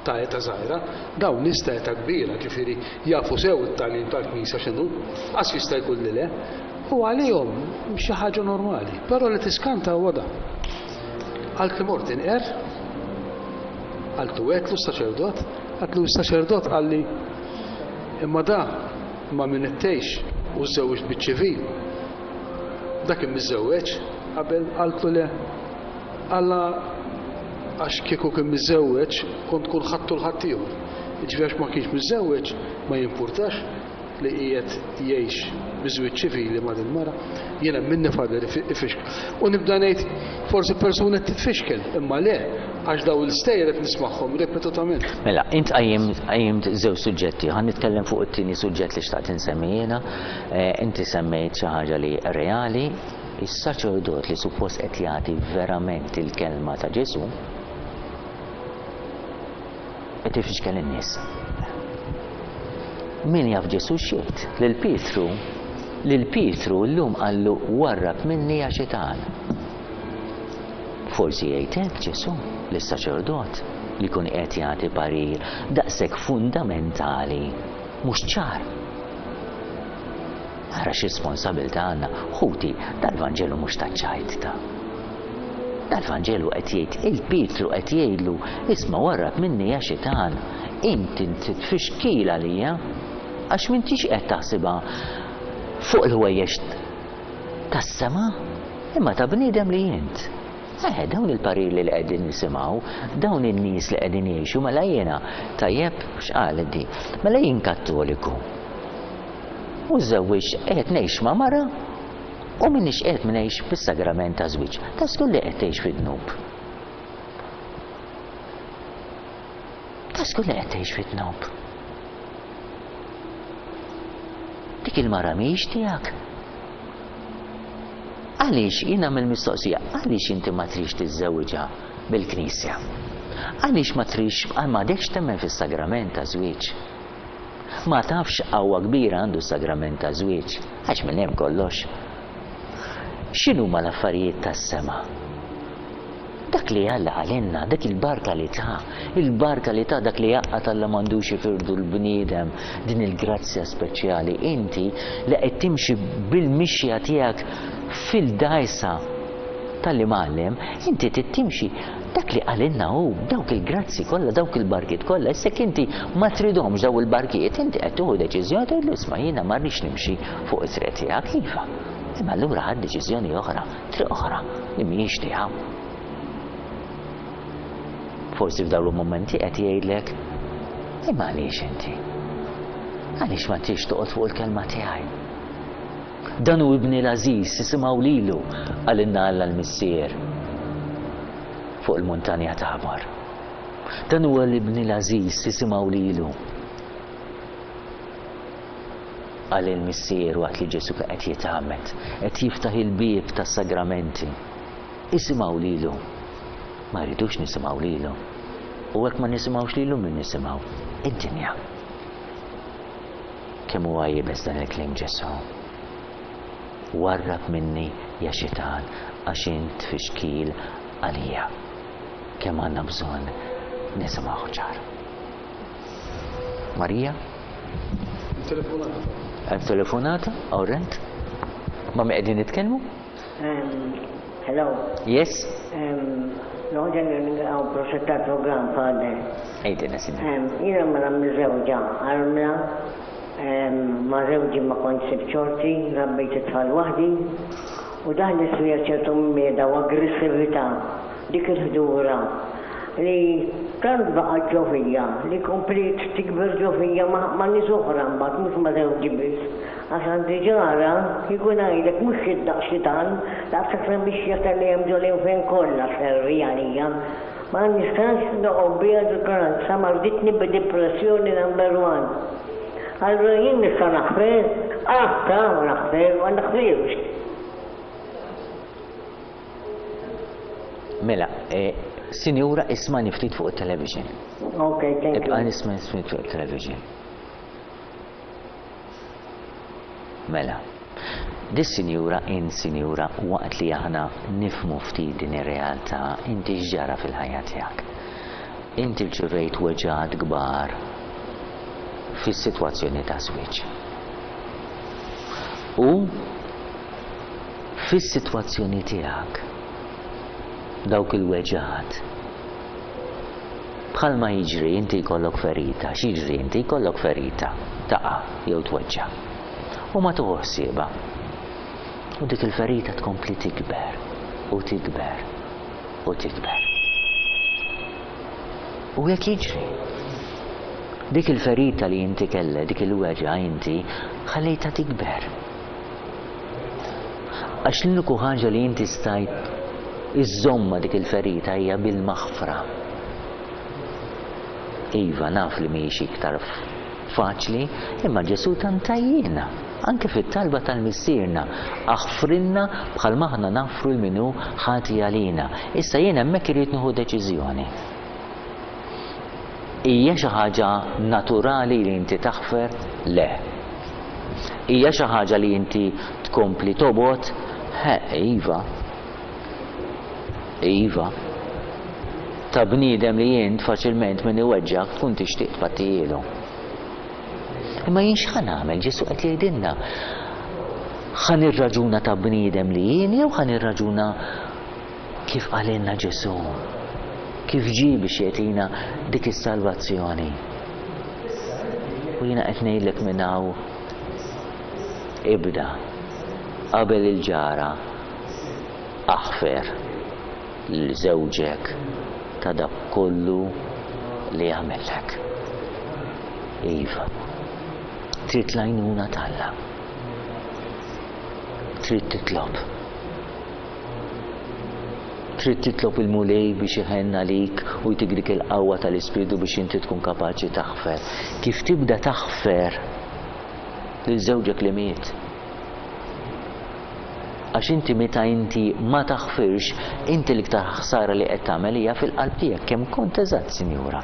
ta' età żgħira, dawn nies ta' età kbira, ġifieri jafu sew it-tagħlim tal-Knisja x'inhu, qas jista' jkun li le, u għalihom xi ħaġa normali, però li tiskanta huwa dan. Qaltli mort inqer, qaltlu għedtlu s-saċerdot, qaltlu s-saċerdot qalli imma da ma min qed tgħix u żżewwiġt biċ-ċivil. Dak kien miżżewweġ qabel, qaltlu le. Alla għax kieku kien miżżewweġ kont tkun ħadtu l-ħaddieħor. Jiġifieri għax ma kienx miżżewweġ ma jimpurtax li qiegħed jgħix biż-żwieġ ċivili ma' din mara. Jiena minni Father ifixkel. U nibda ngħid forsi persuna qed titfixkel, imma le, għax daw il-stejjer qed nismagħhom ripetutament. Mela, int qajjimt żewġ suġġetti, ħa nitkellem fuq it-tieni suġġett li xtaqt insemmi jiena. Inti semmejt xi ħaġa li reali, is-saċerdot li suppost qed jagħti verament il-kelma ta' Ġesù qed ifixkel in-nies. Min jaf Ġesù x'jgħid? Lil Pietru, lil Pietru llum qallu warrab minni ja xitan. Forsi jgħid hekk Ġesù lis-saċerdot li jkun qed jagħti parir daqshekk fundamentali mhux ċar. Ara x'responsabilità għandna, ħuti, dal-Vanġelu mhux taċ-ċajt ta'. Dal-Vanġelu qed jgħid, il-Pietru qed jgħidlu, isma' warrab minni ja xitan, inti titfixkil għalija, għax m'intix qed taħsibha fuq il-ħwejjeġ tas-sema, imma ta' bniedem li int. Eh, dawn il-pariri li qegħdin nisimgħu, dawn in-nies li qegħdin jgħixu, mela jiena, tajjeb, x'qalet di? Mela jien Kattoliku. U żewwiġ qed ngħix ma' mara u m'iniex qed ngħix bis-sagrament ta' żwieġ. Ta' żgur li qed tgħix fid-dnub. Ta' żgur li qed tgħix fid-dnub. Dik il-mara mhijiex tiegħek. Għaliex jien nagħmel mistoqsija, għaliex inti ma trix tiżżewġha bil-Knisja? Għaliex ma trix, m'għadekx temmen fis-sagrament ta' żwieġ? Ma tafx qawwa kbira għandu s-sagrament ta' żwieġ, għax minn hemm kollox. X'inhuma l-affarijiet tas-sema? Dak li Alla qalilna, dak il-barka li ta, il-barka li ta, dak li jaqgħad Alla m'għandux ifirdu l-bniedem, din il-grazzja speċjali. Inti li qed timxi bil-mixja tiegħek fil-dgħajsa tal-imgħallem, inti trid timxi dak li qalilna hu, dawk il-grazzi kollha, dawk il-barkiet kollha. Issa jekk inti ma tridhomx daw il-barkiet, inti qed tieħu deċiżjoni tgħidlu isma' jiena ma rridx nimxi fuq it-triq tiegħek, iva. Imma allura ħadd deċiżjoni oħra, triq oħra li mhijiex tiegħu. Forsi f'dawn il-mumenti qed jgħidlek, imma għaliex inti? Għaliex ma trix toqgħod fuq il-kelma tiegħi? Dan hu ibni l-għażiż, isimgħu lilu, qalilna Alla l-Missier fuq il-muntanja Tabor. Dan huwa l-ibni l-għażiż, isimgħu lilu. Qal il-Missier waqt li Ġesù qed jitgħammed, qed jiftaħ il-bieb tas-sagramenti. Isimgħu lilu. Ma rridux nisimgħu lilu. U hekk ma nisimgħux lilu min nisimgħu? Id-dinja. Kemm huwa iebes dan il-kliem Ġesù. Warrab minni ja xitan għax int fixkil għalija. Kemm għandna bżonn nisimgħu ċar. Marija? Telefonata. Hemm telefonata? All right. Ma mi qegħdin nitkellmu? Hello. Yes. Noħġa nilqgħu proset tal-programm, Father. Għidilna, sinjur. Jiena mara miżewġa, armla, ma' żewġi ma kontx sibt xorti, rabbejt it-tfal waħdi, u daħlet fija ċertu mmieda u aggressività, dik il-ħdura li tant baqgħet ġo fija, li kompliet tikber ġo fija ma' nies oħra mbagħad, mhux ma' żewġi biss. Għax għandi ġara, kieku ngħidlek mhux xi daqs xitan, daqshekk sa mixja tal-li hemm ġo l-infern kollha servi għalija. Ma nistax noqgħod biha ġo sa marditni b'depressjoni number one. Allura jien nista' naħfer, ah ta' ma naħfer, ma naħfirx. Mela, sinjura ismani ftit fuq it-television. Ok, thank you. Ibqa' nisma' ftit fuq it-television. Mela, Dis-sinjura, int sinjura, waqt li aħna nifhmu ftit din ir-realtà, inti x'ġara fil-ħajja tiegħek? Inti rċevejt weġgħat kbar fis-sitwazzjoni ta' żwieġ. U fis-sitwazzjoni tiegħek dawk il-weġgħat bħalma jiġri inti jkollok ferita, x'jiġri inti jkollok ferita, taqa' jew tweġġa'. U ma tieħu ħsiebha. U dik il-ferita tkompli tikber u tikber u tikber. U jekk jiġri, dik il-ferita li inti kellek, dik il-weġgħa inti ħallejtha tikber. Għax l-uniku ħaġa li inti stajt iżżomma dik il-ferita hija bil-maħfra. Iva, naf li mhijiex iktar faċli, imma Ġesù tantajjina. Anke fit-talba tal-Missierna, aħfrilna bħalma aħna naħfru 'l min hu ħati għalina. Issa jien hemmhekk irrid nieħu deċiżjoni. Hija xi ħaġa naturali li inti taħfer? Le. Hija xi ħaġa li inti tkompli tobgħod? He, iva. Iva. Ta' bniedem li int faċilment min iweġġak tkun tixtieq tpattijielu. Imma jien x'ħa nagħmel? Ġesù qed jgħidilna, ħa nirraġuna ta' bniedem li jien jew ħa nirraġuna kif qalilna Ġesù, kif ġie biex jagħtina dik is-salvazzjoni. U jiena qed ngħidlek minn hawn, ibda qabel il-ġara aħfer lil żewġek ta' dak kollu li għamellek. Iva, trid l-għajnuna t'Alla. Trid titlob. Trid titlob il-Mulej biex iħenn għalik u jtik dik il-qawwa tal-Ispirtu biex inti tkun kapaċi taħfer. Kif tibda taħfer lil żewġek li miet? Għax inti meta inti ma taħfirx, inti l-iktar ħsara li qed tagħmel hija fil-qalb tiegħek. Kemm kont eżatt, sinjura.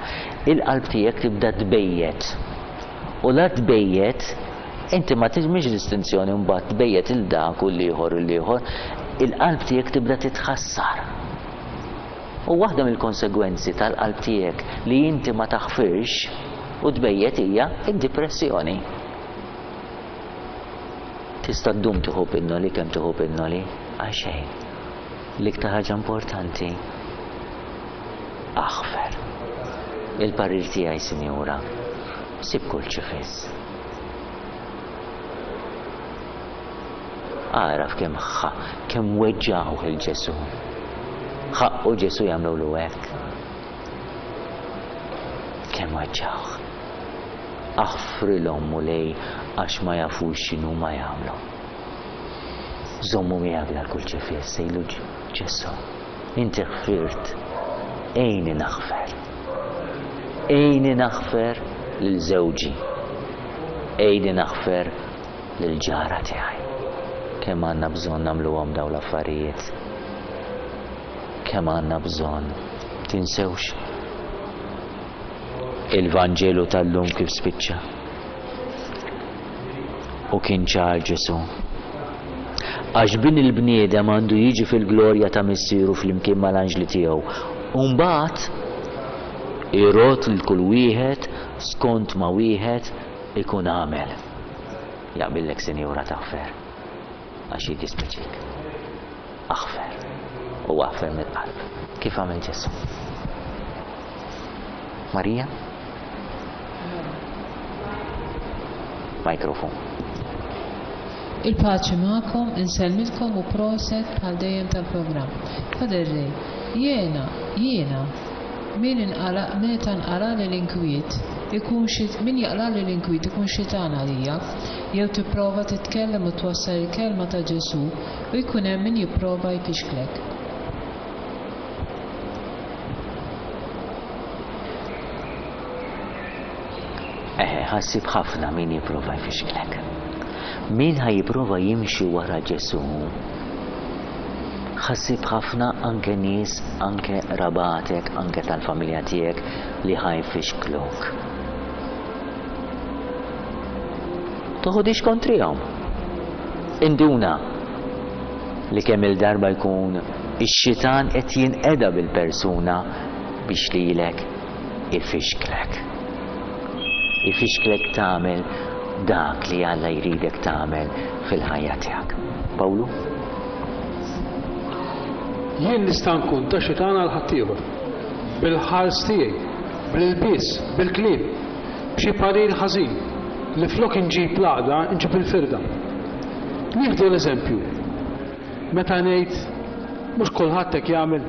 Il-qalb tiegħek tibda tbejjet. U la tbejjet, inti ma tagħmilx distinzjoni mbagħad tbejjet il dak u l-ieħor u l-ieħor, il-qalb tiegħek tibda titħassar. U waħda mill-konsegwenzi tal-qalb tiegħek li inti ma taħfirx u tbejjet hija id-depressjoni. Tista' ddum tieħu pinnoli kemm tieħu pinnoli, għal xejn. L-iktar ħaġa importanti, aħfer. Il-parir tiegħi, sinjura, sib kurċifiss. Araf kemm ħa, kemm weġġgħuh il Ġesù. Ħaqqu Ġesù jagħmlu hekk. Kemm weġġgħuh. Aħfrilhom Mulej għax ma jafux x'inhu ma jagħmlu. Żommu miegħek dal-kurċifiss, sejlu Ġesù. Inti ħfirt, għinni naħfer. Għinni naħfer lil żewġi. Għinni naħfer lil ġara tiegħi. Kemm għandna bżonn nagħmluhom dawn l-affarijiet. Kemm għandna bżonn. Tinsewx il-Vanġelu tal-lum kif spiċċa. U kien ċar Ġesù. Għax bin il-bniedem għandu jiġi fil-glorja ta' missieru flimkien mal-anġli tiegħu. U mbagħad irod lil kull wieħed skont ma wieħed ikun għamel. Jaqbillek, sinjura, taħfer għax jiddispjaċik. Aħfer u aħfer mill-qalb kif għamel Ġesù. Marija? Mikrofon. Il-paċi magħkom, insellmilkom u proset bħal dejjem tal-programm. Father Ray, jiena, jiena, min inqala, meta nqala l-inkwiet, ikun xi, min jaqla l-inkwiet ikun xitan għalija, jew tipprova titkellem u twassal il-kelma ta' Ġesù u jkun hemm min jipprova jfixklek. Eħe, ħassib ħafna min jipprova jfixklek. Min ħa jipprova jimxi wara Ġesù, ħassib ħafna anke nies, anke rabatek, anke tal-familja tiegħek li ħa jfixkluk. Toħodix kontrihom. Induna li kemm il-darba jkun ix-xitan qed jinqeda bil-persuna biex lilek ifixklek. Ifixklek tagħmel dak li Alla jridek tagħmel fil-ħajja tiegħek. Pawlu? Jien nista' nkun ta' xitan għal ħaddieħor. Bil-ħars tiegħi, bil-ilbies, bil-kliem, b'xi parir ħażin li flok inġib l-għaqda nġib il-firda. Nieħdu l-eżempju. Meta ngħid mhux kulħadd hekk jagħmel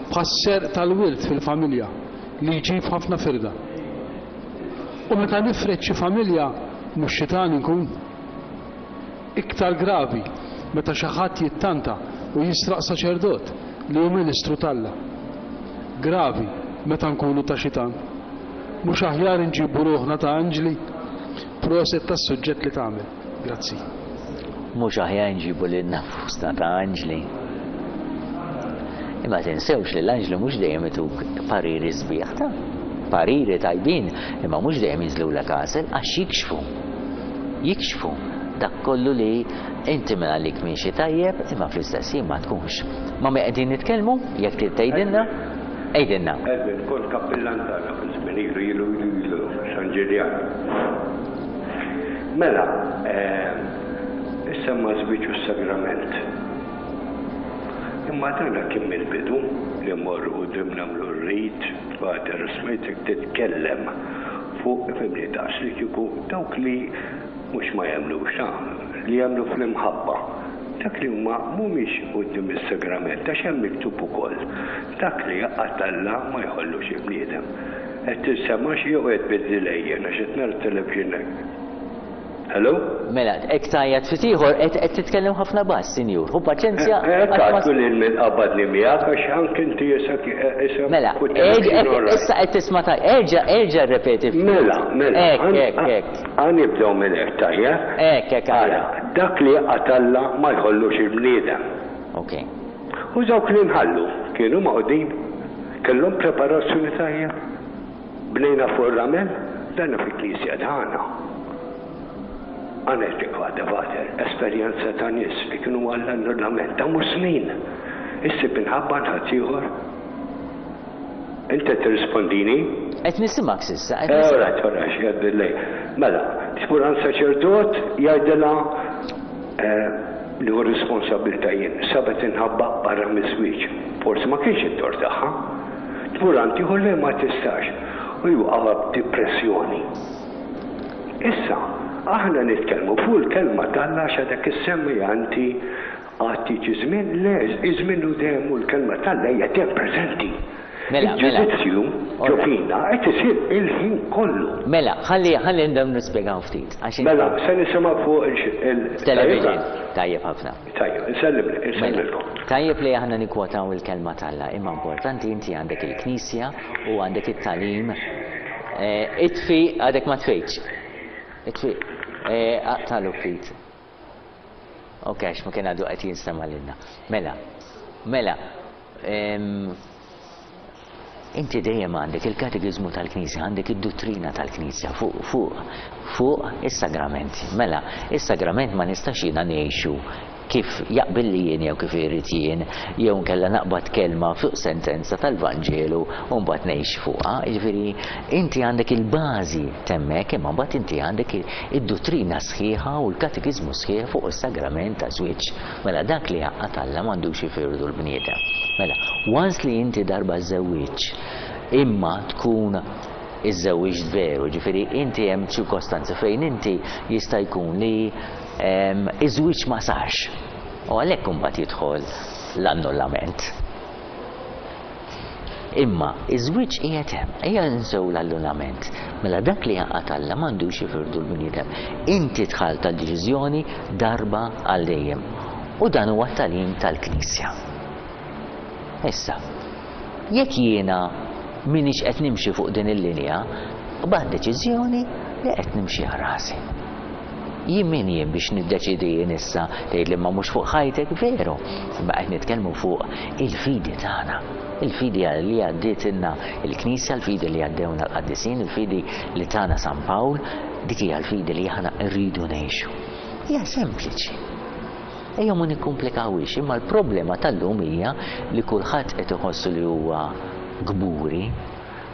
bħas-serq tal-wild fil-familja li jġib ħafna firda. U meta nifred xi familja mhux xitan inkun. Iktar gravi meta xi ħadd jittanta u jisraq saċerdot li hu ministru t'Alla. Gravi meta nkunu ta' xitan. Mhux aħjar inġibu ruħna ta' anġli? Proset tas-suġġett li tagħmel. Grazzi. Mhux aħjar nġibu lilna nfusna ta' anġli. Imma tinsewx li l-anġli mhux dejjem ituk pariri sbieħ ta' pariri tajbin, imma mhux dejjem jinżlulek għasel għax jikxfu. Jikxfu dak kollu li inti minn għalik miexi tajjeb, imma fl-istess ħin ma tkunx. Ma' min qegħdin nitkellmu, jekk trid tgħidilna, għidilna. Edwin, kont kappillan tagħna fi żmien ilu ilu ilu ilu San Ġiljan. Mela, issemma żwieġ u s-sagrament. Imma dana kien mill-bidu li mmorru quddiem nagħmlu r-rit, Father, smajtek titkellem fuq ifhimni daqs li kieku dawk li mhux ma jemmnux, ta, li jemmnu fl-imħabba. Dak li huma mhumiex quddiem is-sagrament, għax hemm miktub ukoll, dak li jgħaqqad Alla ma jħollux il-bniedem. Qed tinsemax jew qed bid-delay jien għax qed nara t-television hekk. Hello? Mela, hekk tgħajjat ftit ieħor, qed qed titkellem ħafna bass, sinjur. Ħu paċenzja. Hekk għadtu lil min qabadni miegħek għax anke inti issa issa Mela, issa qed tisma' tajjeb. Erġa' erġa' rrepeti ftit. Mela, mela. Hekk, hekk, hekk. Ħa nibdew minn hekk tajjeb? Hekk, hekk Ara, dak li jgħaqqad Alla ma jħollux il-bniedem. Ok. U dawk li nħallu kienu magħqudin? Kellhom preparazzjoni tajjeb? Bnejna fuq ir-ramel? Dana fil-knisja tagħna. Għanet waħda Father, esperjenza ta' nies li kienu għall-annullament ta' mhux snin. Issib inħabba ħadd ieħor. Inti tirrispondini? Qed nisimgħek s'issa. Eh, Alright, alright, x'jgħaddilej. Mela, tmur għand saċerdot jgħidilha li hu responsabilità jien. Sabet inħabba barra miż-żwieġ. Forsi ma kienx it-tort tagħha. Tmur għand ieħor li ma tistax. U jwaqgħha b'depressjoni. Issa, aħna nitkellmu fuq il-kelma t'Alla għax għadek issemmi anti għad jiġi żmien, le, iż-żmien hu dejjem u l-kelma t'Alla hija dejjem preżenti. Mela, mela. Il-ġudizzju ġo fina qed isir il-ħin kollu. Mela, ħalli ħalli ndem nispjegaw ftit. Għax Mela, se nisimgħu fuq il Television. Tajjeb ħafna. Tajjeb, insellim insellilkom. Tajjeb li aħna nikwotaw il-kelma t'Alla, imma importanti inti għandek il-Knisja u għandek it-tagħlim. Itfi għadek ma tfejtx. Itfi, aqtalu ftit. Ok, għax ma kien għadu qed jinstema' lilna. Mela, mela, inti dejjem għandek il-katekiżmu tal-Knisja, għandek id-dottrina tal-Knisja fuq fuq fuq is-sagramenti. Mela, is-sagrament ma nistax jiena ngħixu kif jaqbil li jien jew kif irid jien, jew nkella naqbad kelma fuq sentenza tal-Vanġelu u mbagħad ngħix fuqha. Jiġifieri inti għandek il-bażi temmek, imma mbagħad inti għandek id-dottrina sħiħa u l-katekiżmu sħiħ fuq is-sagrament ta' żwieġ. Mela dak li jgħaqqad Alla m'għandux ifirdu l-bniedem. Mela, once li inti darba żewwiġ, imma tkun iż-żewwiġ veru, ġifieri inti hemm ċirkostanzi fejn inti jista' jkun li iż-żwieġ ma sarx. U għalhekk imbagħad jidħol l-annullament. Imma iż-żwieġ qiegħed hemm, ejja nsew l-annullament. Mela dak li jgħaqqad Alla m'għandux jifirdu l-bniedem. Inti dħalt tal-deċiżjoni darba għal dejjem. U dan huwa t-tagħlim tal-Knisja. Issa, jekk jiena m'iniex qed nimxi fuq din il-linja, bad deċiżjoni li qed nimxi għal rasi. Jien min jien biex niddeċidi jien issa tgħid li ma mhux fuq ħajtek, veru, imma qed nitkellmu fuq il-fidi tagħna. Il-fidi li għaddietilna il-Knisja, il-fidi li għaddewna l-qaddisin, il-fidi li tagħna San Pawl, dik hija l-fidi li aħna rridu ngħixu. Hija sempliċi. Ejja ma nikkumplikawhiex, imma l-problema tal-lum hija li kulħadd qed iħossu li huwa kburi,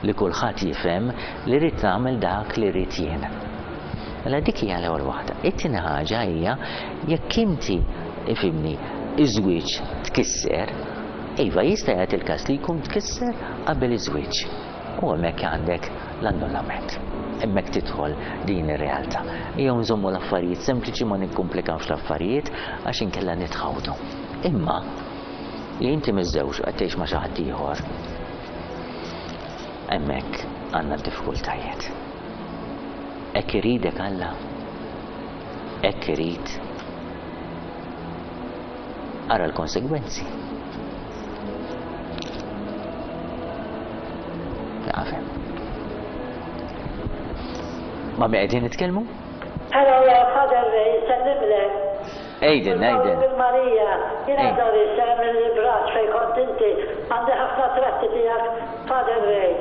li kulħadd jifhem li rrid nagħmel dak li rrid jien. Mela dik hija l-ewwel waħda. It-tieni ħaġa hija jekk inti ifhimni iż-żwieġ tkisser, iva jista' jagħti il-każ li jkun tkisser qabel iż-żwieġ. U hemmhekk għandek l-annullament. Hemmhekk tidħol din ir-realtà. Ejjew nżommu l-affarijiet sempliċi, ma nikkumplikawx l-affarijiet għax inkella nitħawdu. Imma li inti miżżewġ qed tgħix ma' xi ħadd ieħor, hemmhekk għandna d-diffikultajiet. Hekk iridek Alla? Hekk irid? Ara l-konsegwenzi. Nafhem. Ma' min qegħdin nitkellmu? Hello, Father Ray, sellimlek. Ejden, Ejden. Marija, jiena Doris, mill-Ibraġ fej kont inti, għandi ħafna tratti tiegħek, Father Ray.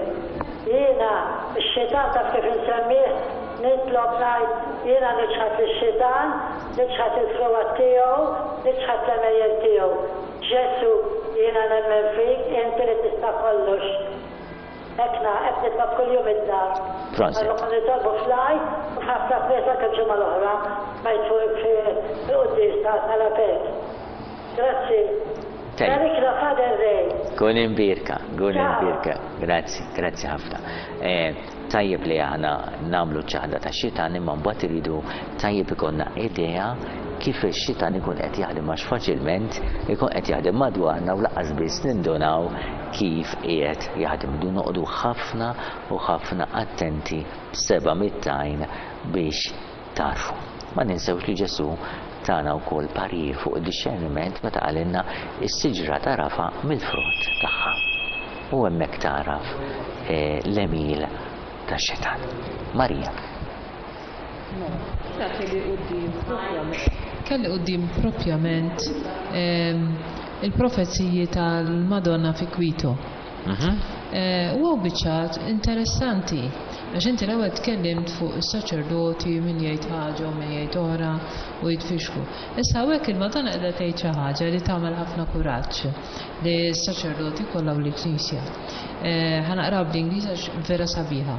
Jiena, ix-xitan taf kif insemmih, nitlob ngħid, jiena niċħad ix-xitan, niċħad il-frugħat tiegħu, niċħad l-għemejjel tiegħu. Ġesu, jiena nemmen fik, inti li tista' kollox. Ekna, qed nitlob kuljum id-dar. Prosit. Għallu kon nitolbu fl-Għid u f'ħafna knejjes anke l-ġimgħa l-oħra ma fuq fil-quddies tal-Apek. Grazzi. Tajjeb. Barikna Father Ray. Kun imbierka, kun imbierka. Grazzi, grazzi ħafna. Eh, tajjeb li aħna nagħmlu ċaħda ta' xitan imma mbagħad iridu tajjeb ikollna idea kif ix-xitan ikun qed jaħdem, għax faċilment ikun qed jaħdem madwarna u lanqas biss nindunaw kif qiegħed jaħdem. Irridu noqogħdu ħafna u ħafna attenti b'seba' mitt għajn biex tarfu. Ma ninsewx li Ġesu tana wkoll parir fuq id-dixxerniment meta qalilna is-siġra tagħrafha mill-frott tagħha. U hemmhekk taraf eh, l-għemil tax-xitan. Marija. Kelli quddiem propjament kelli quddiem propjament ehm, il-profeziji tal-Madonna fi Quito. Eh, U għaw biċċat interessanti, għax inti l-ewwel tkellimt fuq is-saċerdoti min jgħid ħaġa u min jgħid oħra u jitfixku. Issa hawnhekk il-Madonna qiegħda tgħid xi ħaġa li tagħmel ħafna kuraġġ li s-saċerdoti kollha u l-Knisja. Eh, Ħa naqra bl-Ingliż għax vera sabiħa.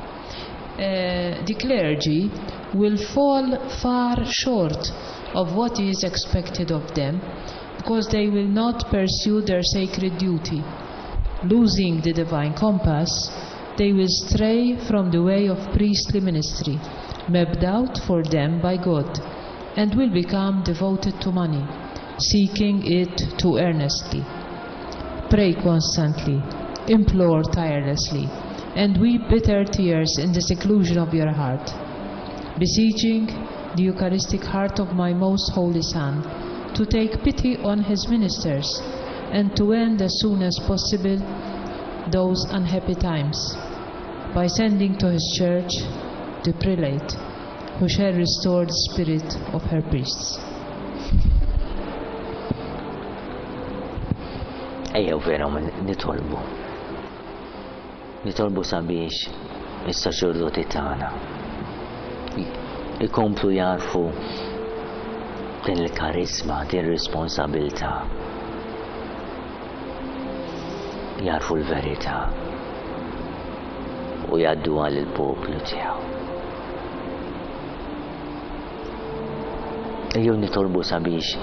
Eh, The clergy will fall far short of what is expected of them because they will not pursue their sacred duty. Losing the divine compass, they will stray from the way of priestly ministry, mapped out for them by God, and will become devoted to money, seeking it too earnestly. Pray constantly, implore tirelessly, and weep bitter tears in the seclusion of your heart, beseeching the Eucharistic heart of my most holy Son to take pity on his ministers and to end as soon as possible those unhappy times by sending to his church the prelate who shall restore the spirit of her priests. Ejjew vera nitolbu. Nitolbu sabiex is-saċerdoti tagħna ikomplu jarfu din il-karizma, din ir-responsabilità. Jarfu l-verità u jgħadduha lill-poplu tiegħu. Ejjew nitolbu sabiex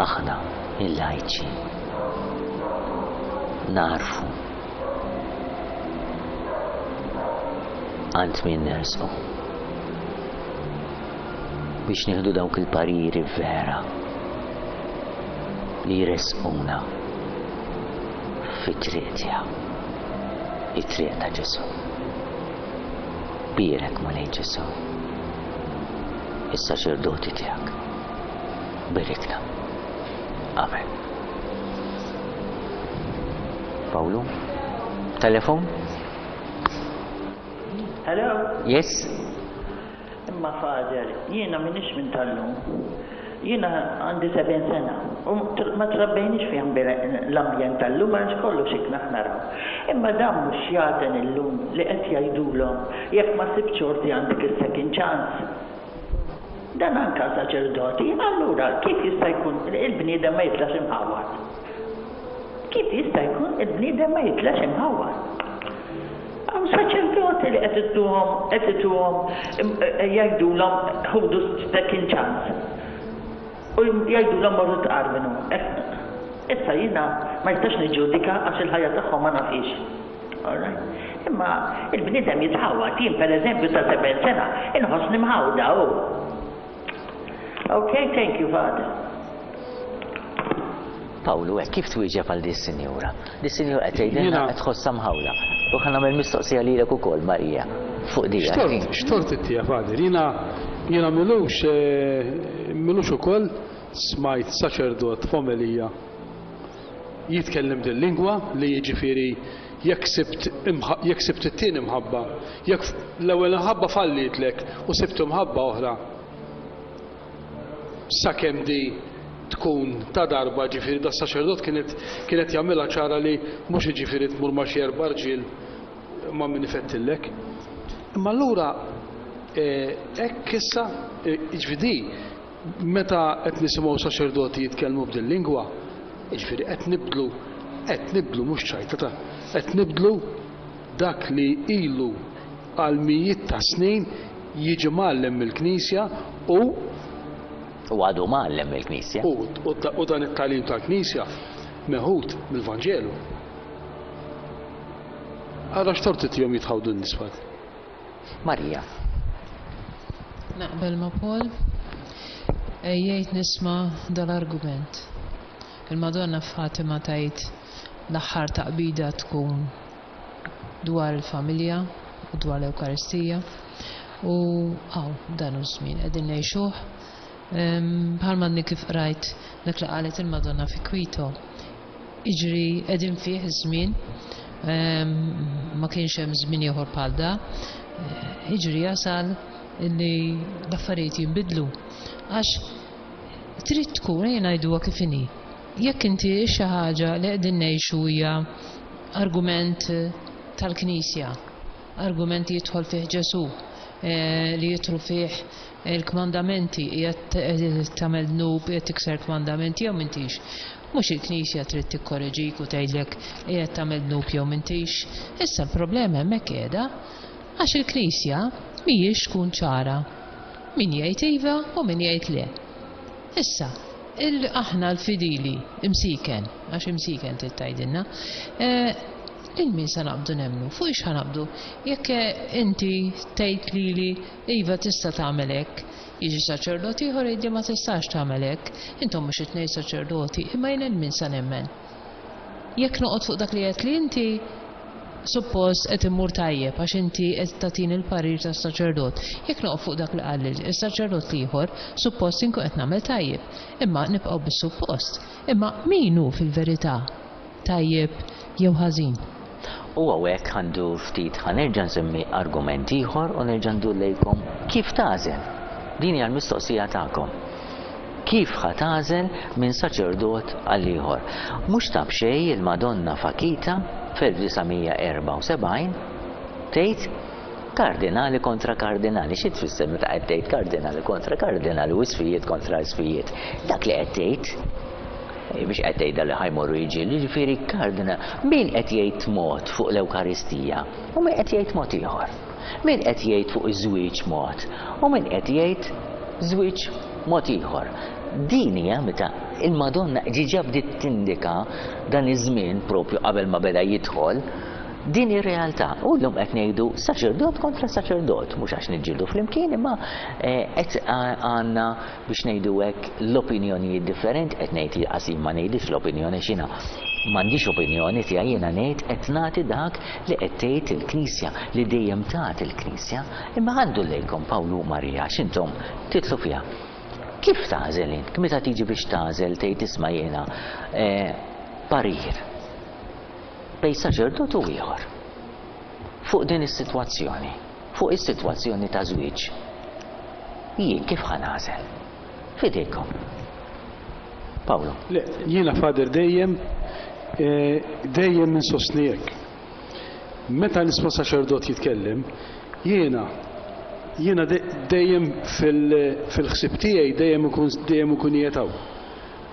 aħna il-lajċi narfu għand min nersqu biex nieħdu dawk il-pariri vera li jresquna fit-triq tiegħu, it-triq ta' Ġesu. Bierek, Mulej Ġesu, is-saċerdoti tiegħek. Berikna. Amen. Paolo? Telefon? Hello? Yes? Imma Father, jiena minix minn tal-lum. Jiena għandi sebgħin sena u ma trabbejniex fi l-ambjent tal-lum għax kollox ikna naraw. Imma dan mhux jaten illum li qed jgħidulhom jekk ma sibx xorti għandek is-second chance. Dan anka saċerdoti, allura kif jista' jkun il-bniedem ma jitlax imħawwad? Kif jista' jkun il-bniedem ma jitlax imħawwad? Hawn saċerdoti li qed ittuhom qed ituhom jgħidulhom ħudu second chance. U jgħidulhom morru tqarbnu. Issa jiena ma jistax niġġudika għax il-ħajja tagħhom ma nafix. Alright? Imma il-bniedem jitħawwad, jien pereżempju ta' sebgħin sena inħossni mħawda hu. Okay, thank you, Father. Pawlu, hekk kif twieġeb għal di sinjura? Di sinjura qed tgħidilna qed tħossha mħawla. U ħa nagħmel mistoqsija lilek ukoll, Marija, fuq di. Xtort, xtort ittija, Father. Jiena jiena milux milux ukoll smajt saċerdot f'omelija jitkellem din lingwa li jiġifieri jekk sibt jekk sibt it-tieni mħabba, jekk l-ewwel imħabba fallitlek u sibt imħabba oħra sakemm di tkun ta' darba, ġifieri da saċerdot kienet kienet jagħmilha ċara li mhux jiġifieri tmur ma' xi erba' rġiel ma' min ifettillek. Imma allura hekk issa jiġifieri meta qed nisimgħu saċerdoti jitkellmu b'din lingwa, jiġifieri qed nibdlu qed nibdlu mhux ċajta ta' qed nibdlu dak li ilu għal mijiet ta' snin jiġi mgħallem mill-Knisja u U għadu mgħallem mill-Knisja. U dan it-tagħlim tal-Knisja meħud mill-Vanġelu. Ara x'tort tihom jitħawdu n-nies. Marija. Naqbel ma' Paul, jgħid nisma' dal-argument. Il-Madonna Fatima tgħid l-aħħar taqbida tkun dwar il-familja u dwar l-Ewkaristija u għaw dan hu żmien qegħdin ngħixuh. Bħalma għadni kif qrajt dak li qalet il-Madonna fi Quito. Iġri qegħdin fih iż-żmien, ma kienx hemm żmien ieħor bħal da. Iġri jasal illi l-affarijiet jinbidlu. Għax trid tkun, ejja ngħiduha kif inhi. Jekk inti xi ħaġa li qegħdin ngħixu hija argument tal-Knisja, argument li jidħol fih Ġesù, li jidħlu fih il-kmandamenti, qiegħed tagħmel dnub, qiegħed tikser kmandamenti jew m'intix. Mhux il-Knisja trid tikkoreġik u tgħidlek qiegħed tagħmel dnub jew m'intix. Issa l-problema hemmhekk qiegħda għax il-Knisja mhijiex tkun ċara. Min jgħid iva u min jgħid le. Issa, aħna l-fidili, imsiken, għax imsiken trid tgħidilna, lil min sa naqbdu nemmnu, fuq ix ħanaqbdu, jekk inti tgħid lili iva tista' tagħmel hekk, jiġi saċerdot ieħor jgħidli ma tistax tagħmel hekk, intom mhux it-tnejn saċerdoti, imma jien lil min sa nemmen. Jekk noqgħod fuq dak li qed li inti suppost qed immur tajjeb għax inti qed tagħtini l-parir tas-saċerdot. Jekk noqgħod fuq dak li qal is-saċerdot ieħor, suppost inkun qed nagħmel tajjeb. Imma nibqgħu bis-suppost. Imma min hu fil-verità tajjeb jew ħażin? U hawnhekk għandu ftit ħa nerġa' nsemmi argument ieħor u nerġa' ndur lejkom kif tagħżel. Din hija l-mistoqsija tagħkom. Kif ħa tagħżel minn saċerdot għal ieħor? Mhux ta' b'xejn il-Madonna f'Akita f'elf disa' mija erbgħa u sebgħin tgħid kardinali kontra kardinali. Xi tfisser meta qed tgħid kardinali kontra kardinali u isfijiet kontra isfijiet? Dak li qed tgħid biex qed tgħidha li ħajmorru jiġi, jiġifieri kardinal, min qed jgħid mod fuq l-Ewkaristija u min qed jgħid mod ieħor? Min qed jgħid fuq iż-żwieġ mod u min qed jgħid żwieġ mod ieħor? Din hija meta il-Madonna ġiġa bdiet tindika dan iż-żmien propju qabel ma beda jidħol din ir-realtà. U llum qed ngħidu saċerdot kontra saċerdot, mhux għax niġġieldu flimkien, imma qed għandna biex ngħidu hekk l-opinjonijiet differenti, qed ngħid qasir ma ngħidix l-opinjoni x'jiena m'għandix opinjoni tiegħi, jiena ngħid qed nagħti dak li qed tgħid il-Knisja, li dejjem tagħti il-Knisja, imma għandu lejkom Pawlu u Marija x'intom titlu fiha. Kif tagħżel int? Meta tiġi biex tagħżel tgħid isma' jiena parir bej saċerdot u ieħor fuq din is-sitwazzjoni, fuq is-sitwazzjoni ta' żwieġ. Jien kif ħa nagħżel? Fidejkom. Pawlu. Le, jiena Father dejjem dejjem insostni hekk. Meta nisma' saċerdot jitkellem, jiena Jiena dejjem fil-ħsieb tiegħi dejjem ikun dejjem ikun qiegħed hawn.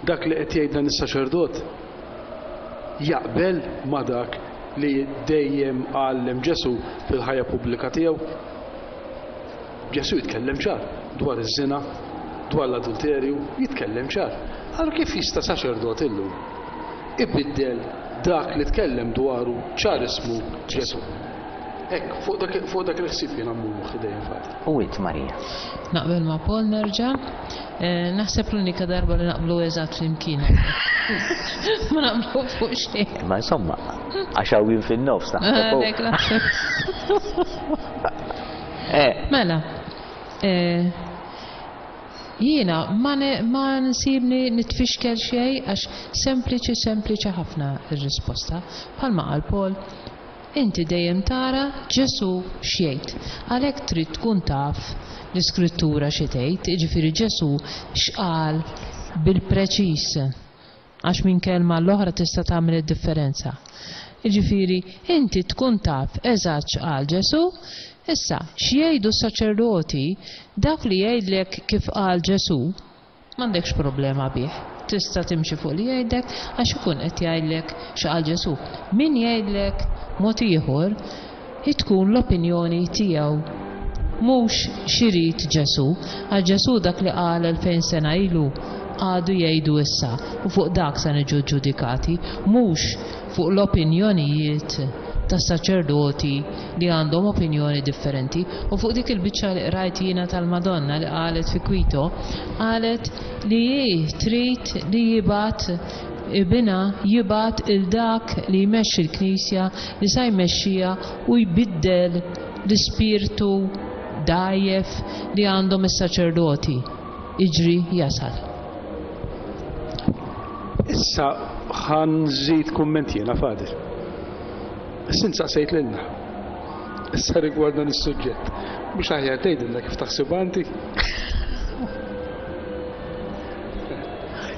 Dak li qed jgħid dan is-saċerdot jaqbel ma' dak li dejjem għallem Ġesù fil-ħajja pubblika tiegħu. Ġesù jitkellem ċar dwar iż-żina, dwar l-adulterju, jitkellem ċar. Allura kif jista' saċerdot illum ibiddel dak li tkellem dwaru ċar ismu Ġesù? Hekk, fuq dak fuq dak il-ħsieb jiena mmur moħħi dejjem Father. U int Marija? Naqbel ma' Paul nerġa'. Eh, naħseb l-unika darba li naqblu eżatt flimkien. Ma naqblu fuq xejn. Ma insomma, għax hawn fin-nofs naħseb. Għalhekk naħseb. Eh. Mela, eh, jiena ma ma nsibni nitfixkel xejn għax sempliċi sempliċi ħafna ir-risposta. Bħalma qal Paul, inti dejjem tara Ġesù x'jgħid. Għalhekk trid tkun taf l-Iskrittura xi tgħid, jiġifieri Ġesù x'qal bil-preċiż. Għax minn kelma l-oħra tista' tagħmel id-differenza. Jiġifieri inti tkun taf eżatt x'qal Ġesù, issa x'jgħidu s-saċerdoti dak li jgħidlek kif qal Ġesù, m'għandekx problema bih. Tista' timxi fuq li jgħidlek għax ikun qed jgħidlek x'qal Ġesù. Min jgħidlek mod ieħor, tkun l-opinjoni tiegħu mhux x'irid Ġesù, għax Ġesù dak li qal elfejn sena ilu għadu jgħidu issa u fuq dak se niġu ġudikati, mhux fuq l-opinjonijiet tas-saċerdoti li għandhom opinjoni differenti. U fuq dik il-biċċa li qrajt jiena tal-Madonna li qalet fi Quito, qalet li hi trid li jibgħat ibina jibgħat il dak li jmexxi l-Knisja li sa jmexxiha u jbiddel l-ispirtu dgħajjef li għandhom is-saċerdoti. Iġri jasal. Issa ħa nżid kumment jiena, Father. Issa saqsejt lilna. Issa rigward dan is-suġġett. Mhux aħjar tgħidilna kif taħsibha inti?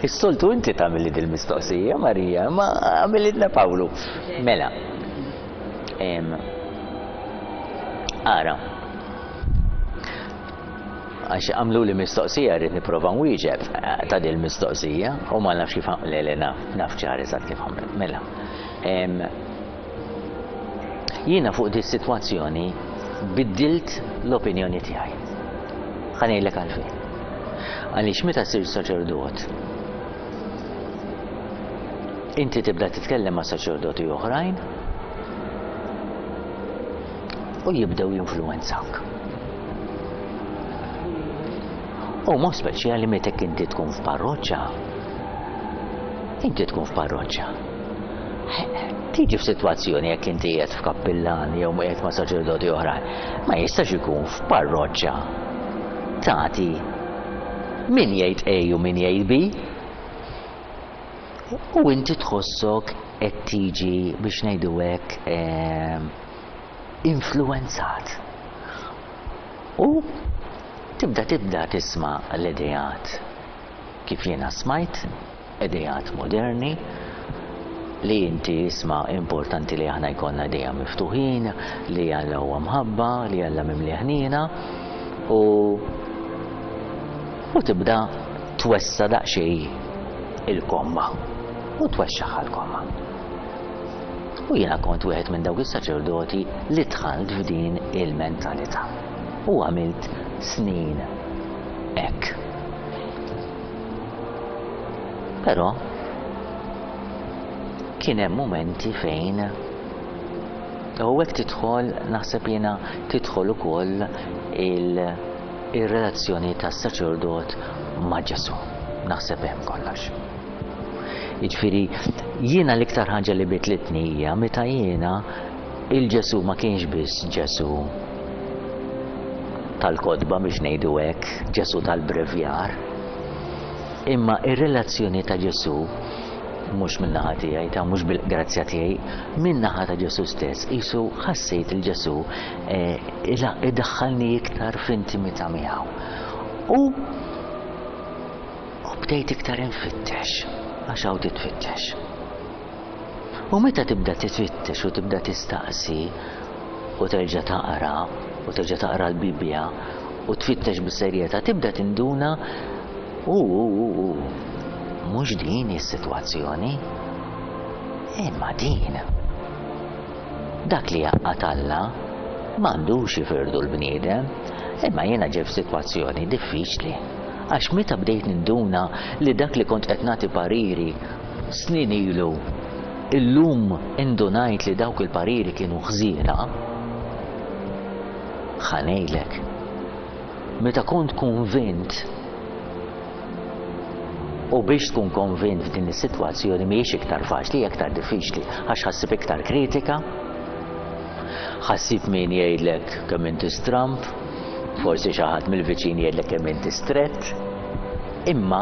Is-soltu inti tagħmilli dil-mistoqsija, Marija, ma għamililna Pawlu. Mela. Ara. Għax għamlu li mistoqsija rrid nipprova nwieġeb ta' dil mistoqsija u ma nafx kif le le naf, naf ċar eżatt kif għamel. Mela. Jiena fuq di sitwazzjoni biddilt l-opinjoni tiegħi. Ħa ngħidlek għalfejn. Għaliex meta ssir saċerdot, inti tibda titkellem ma' saċerdoti oħrajn u jibdew jinfluwenzawk. U mod speċjali meta inti tkun f'parroċċa. Inti tkun f'parroċċa. Tiġi f'sitwazzjoni jekk inti qiegħed f'kappillan jew qiegħed ma' saċerdoti oħrajn, ma jistax ikun f'parroċċa tagħti min jgħid A u min jgħid B. U inti tħossok qed tiġi biex ngħidu hekk influenzat. U tibda tibda tisma' l-ideat kif jiena smajt, ideat moderni, li inti isma' importanti li aħna jkollna idea miftuħin, li Alla huwa mħabba, li Alla mimli ħniena, u u tibda twessa daqsxejn il-komma u twexxaħ l-komma. U jiena kont wieħed minn dawk is-saċerdoti li dħalt f'din il-mentalità. U għamilt snin hekk. Però kien hemm momenti fejn u hekk tidħol, naħseb jiena tidħol ukoll il-relazzjoni tas-saċerdot ma' Ġesù. Naħseb hemm kollox. Jiġifieri jiena l-iktar ħaġa li bitlitni hija meta jiena il-Ġesù ma kienx biss Ġesù tal-kotba biex ngħidu hekk, Ġesù tal-brevjar, imma ir-relazzjoni ta' Ġesù mhux min-naħa tiegħi, ta' mhux bil-grazzja tiegħi, min-naħa ta' Ġesù stess, qisu ħassejt il-Ġesù idaħħalni iktar f'intimità miegħu. U bdejt iktar infittex, għax hawn titfittex. U meta tibda titfittex u tibda tistaqsi u terġa' taqra, u terġa' taqra l-Bibbja u tfittex bis-serjetà, tibda tinduna u u u u mhux din is-sitwazzjoni, imma din. Dak li jgħaqqad Alla m'għandux jifirdu l-bniedem, imma jiena ġej f'sitwazzjoni diffiċli. Għax meta bdejt ninduna li dak li kont qed nagħti pariri snin ilu, illum indunajt li dawk il-pariri kienu ħżiena, ħa ngħidlek. Meta kont konvint, u biex tkun konvint f'din is-sitwazzjoni mhijiex iktar faċli, hija iktar diffiċli, għax ħa ssib iktar kritika, ħa ssib min jgħidlek kemm inti stramp, forsi xi ħadd mill-viċin jgħidlek kemm inti strett, imma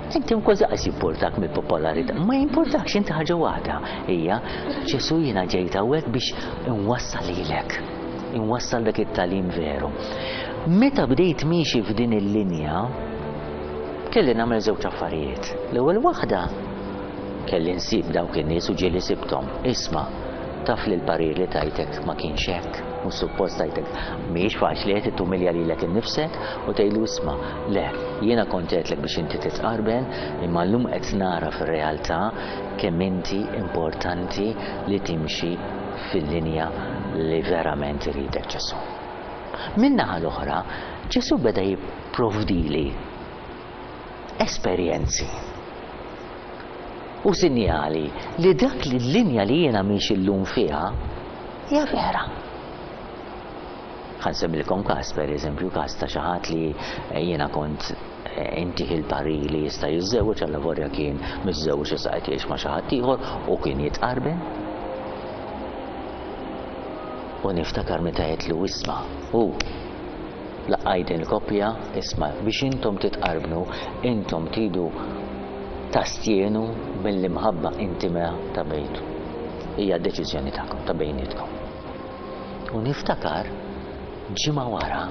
inti kważi qas jimportak mill-popolarità. Ma jimportakx, inti ħaġa waħda hija Ġesu jiena ġejt hawnhekk biex inwassal lilek, inwassal dak it-tagħlim veru. Meta bdejt miexi f'din il-linja, kelli nagħmel żewġ affarijiet. L-ewwel waħda kelli nsib dawk in-nies u ġieli sibthom. Isma', taf li l-parir li tajtek ma kienx hekk, mhux suppost tajtek. Mhijiex faċli qed tumilja lilek innifsek u tgħidlu isma', le, jiena kont għedtlek biex inti titqarben, imma llum qed nara fir-realtà kemm inti importanti li timxi fil-linja li verament iridek Ġesu. Min-naħa l-oħra, Ġesu beda jipprovdili esperjenzi u sinjali li dak li l-linja li jiena miexi llum fiha hija vera. Ħa nsemmilkom każ, per eżempju, każ ta' xi ħadd li jiena kont intih il-parir li jista' jiżżewweġ, allavolja kien miżżewweġ issa qed jgħix ma' xi ħadd ieħor u kien jitqarben. U niftakar meta għedtlu isma', u laqqajt din il-koppja, isma', biex intom titqarbnu, intom tridu tastjenu mill-imħabba intima ta' bejtu. Hija deċiżjoni tagħkom, ta' bejnietkom. U niftakar ġimgħa wara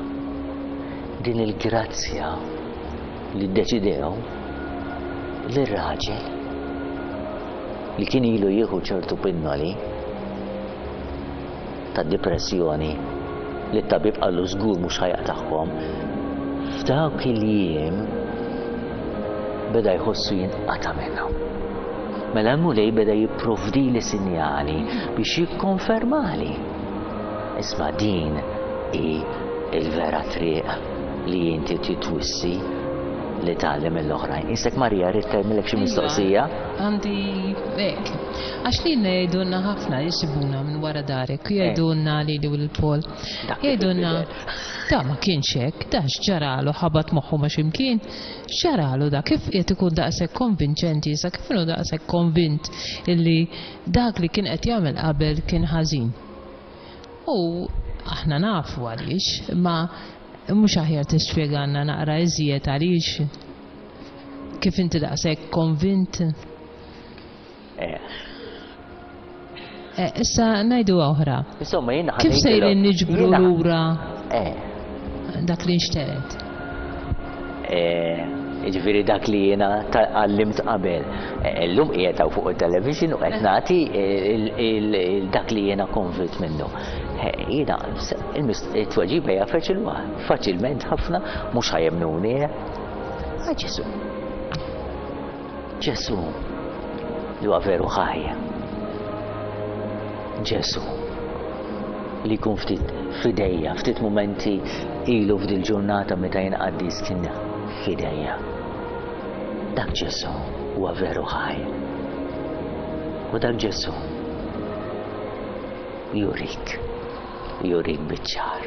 din il-grazzja li ddeċidew lir-raġel li kien ilu jieħu ċertu pinnoli ta' depressjoni li t-tabib qallu żgur mhux ħa jaqtagħhom, f'dawk il-jiem beda jħossu jinqata' minnhom. Mela l-Mulej beda jipprovdili sinjali biex jikkonfermali. Isma', din hi il-vera triq li inti titwissi li tgħallem l-oħrajn. Isek Marija, rrid tagħmilek xi mistoqsija? Għandi hekk. Għax li jgħidulna ħafna jisibuna minn wara darek, jgħidulna li li l-Pol. Jgħidulna, da ma kienx hekk, da x'ġaralu ħabat moħħu ma x'imkien, x'ġaralu da kif qed ikun daqshekk konvinċenti, sa kif inhu daqshekk konvint illi dak li kien qed jagħmel qabel kien ħażin. U aħna nafu għaliex, ma mhux aħjar tispjegana naqra iżjed għaliex kif inti daqshekk konvint. Eh. Eh, issa ngħidu oħra. Insomma, jiena Kif sejrin niġbru lura Eh. dak li nxteret? Eh, Ġifieri dak li jiena għallimt qabel. Illum qiegħed hawn fuq il-television u qed nagħti dak li jiena konvint minnu. Jiena it-tweġiba hija faċilment ħafna, mhux ħa jemmnuni. Ah, Ġesu. Ġesu li huwa veru ħaj. Ġesu li jkun ftit fidejja, ftit momenti ilu f'dil ġurnata meta jien qaddis kien fidejja. Dak Ġesu huwa veru ħaj. U dak Ġesu jurik, jurik biċ-ċar.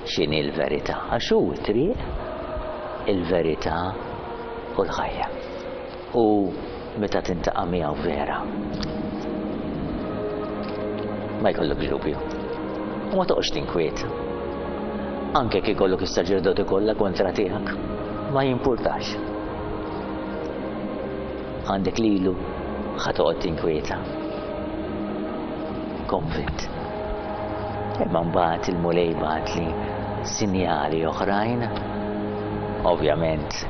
X'inhi l-verità? Għax hu t-triq, il-verità u l-ħajja. U meta tintaqa' miegħu vera, ma jkollok dubju. U ma toqgħodx tinkwiet. Anke kif ikollok is-saċerdoti kollha kontra tiegħek, ma jimpurtax. Għandek lilu ħa toqgħod tinkwieta. Konvint. Imma mbagħad il-Mulej bagħatli sinjali oħrajn. Ovvjament,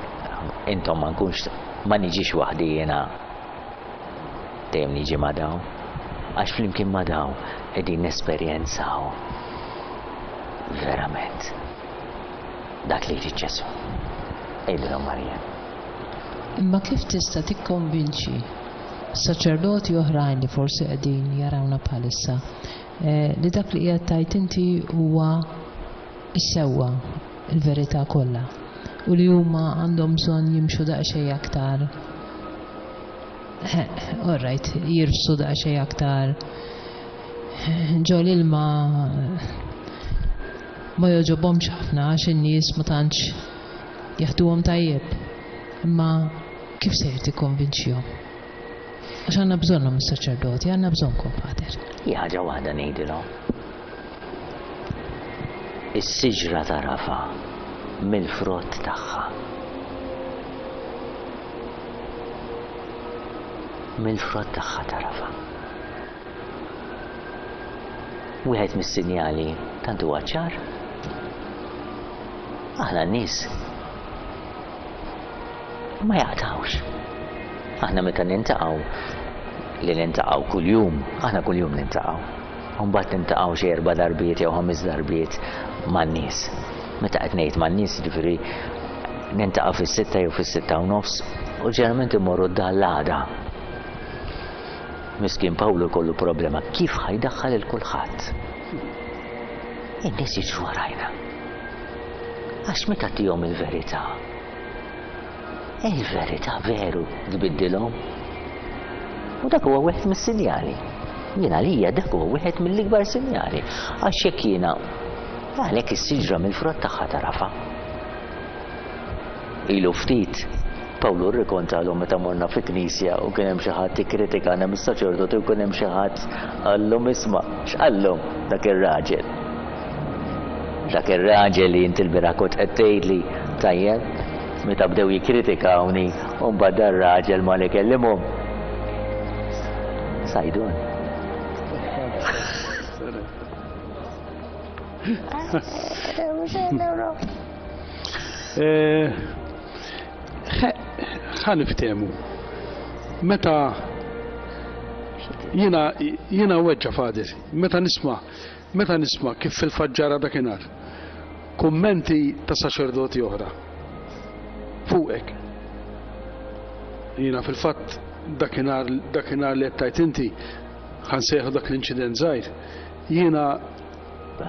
intom ma nkunx ma niġix waħdi jiena, dejjem niġi ma' dawn, għax flimkien ma' dawn qegħdin nesperjenzaw verament dak li jrid Ġesù. Għidilhom Marija. Imma kif tista' tikkonvinċi saċerdoti oħrajn li forsi qegħdin jarawna bħalissa eh, li dak li qiegħed tgħid inti huwa s-sewwa, il-verità kollha, u li huma għandhom bżonn jimxu daqsxejn aktar, all right, jirfsu daqsxejn aktar ġo l-ilma, ma jogħġobhomx ħafna għax in-nies ma tantx jaħduhom tajjeb. Imma kif se tikkonvinċihom? Għax għandna bżonnhom is-saċerdoti, għandna bżonnkom, Pater. Hi ħaġa waħda ngħidilhom. Is-siġra tarafa mill-frott tagħha. Mill-frott tagħha tarafa. Wieħed mis-sinjali tant huwa ċar. Aħna n-nies ma jaqtawx. Aħna meta nintaqgħu, li nintaqgħu kuljum, aħna kuljum nintaqgħu. U mbagħad nintaqgħu xi erba' darbiet jew ħames darbiet man-nies. Meta qed ngħid man-nies, jiġifieri nintaqgħu fis-sitta jew fis-sitta u nofs, u ġeneralment immorru d-dar. Miskin Pawlu kollu problema kif ħajdaħħal il kulħadd. In-nies jiġru warajna. Għax meta tihom il-verità, il-verità veru tbiddilhom. U dak huwa wieħed mis-sinjali. Jiena lija dak huwa wieħed mill-ikbar sinjali. Għax jekk jiena għalhekk is-siġra mill-frott tagħha tarafa. Ilu ftit Pawlu rrikontalhom meta morna fi knisja u kien hemm xi ħadd ikkritikana mis-saċerdoti u kien hemm xi ħadd qallhom isma' x'qallhom dak ir-raġel. Dak ir-raġel li inti l-bieraħ kont qed tgħidli tajjeb meta bdew jikkritikawni u mbagħad dar-raġel ma li kellimhom. Sajdun. Ħa niftehmu. Meta jiena jiena weġġa' Fader, meta nisma' meta nisma' kif fil-faġġara dakinhar kummenti ta' saċerdoti oħra fuqek. Jiena fil-fatt dakinhar dakinhar li qed tgħid inti ħa nsejħu dak l-inċident żgħir. Jiena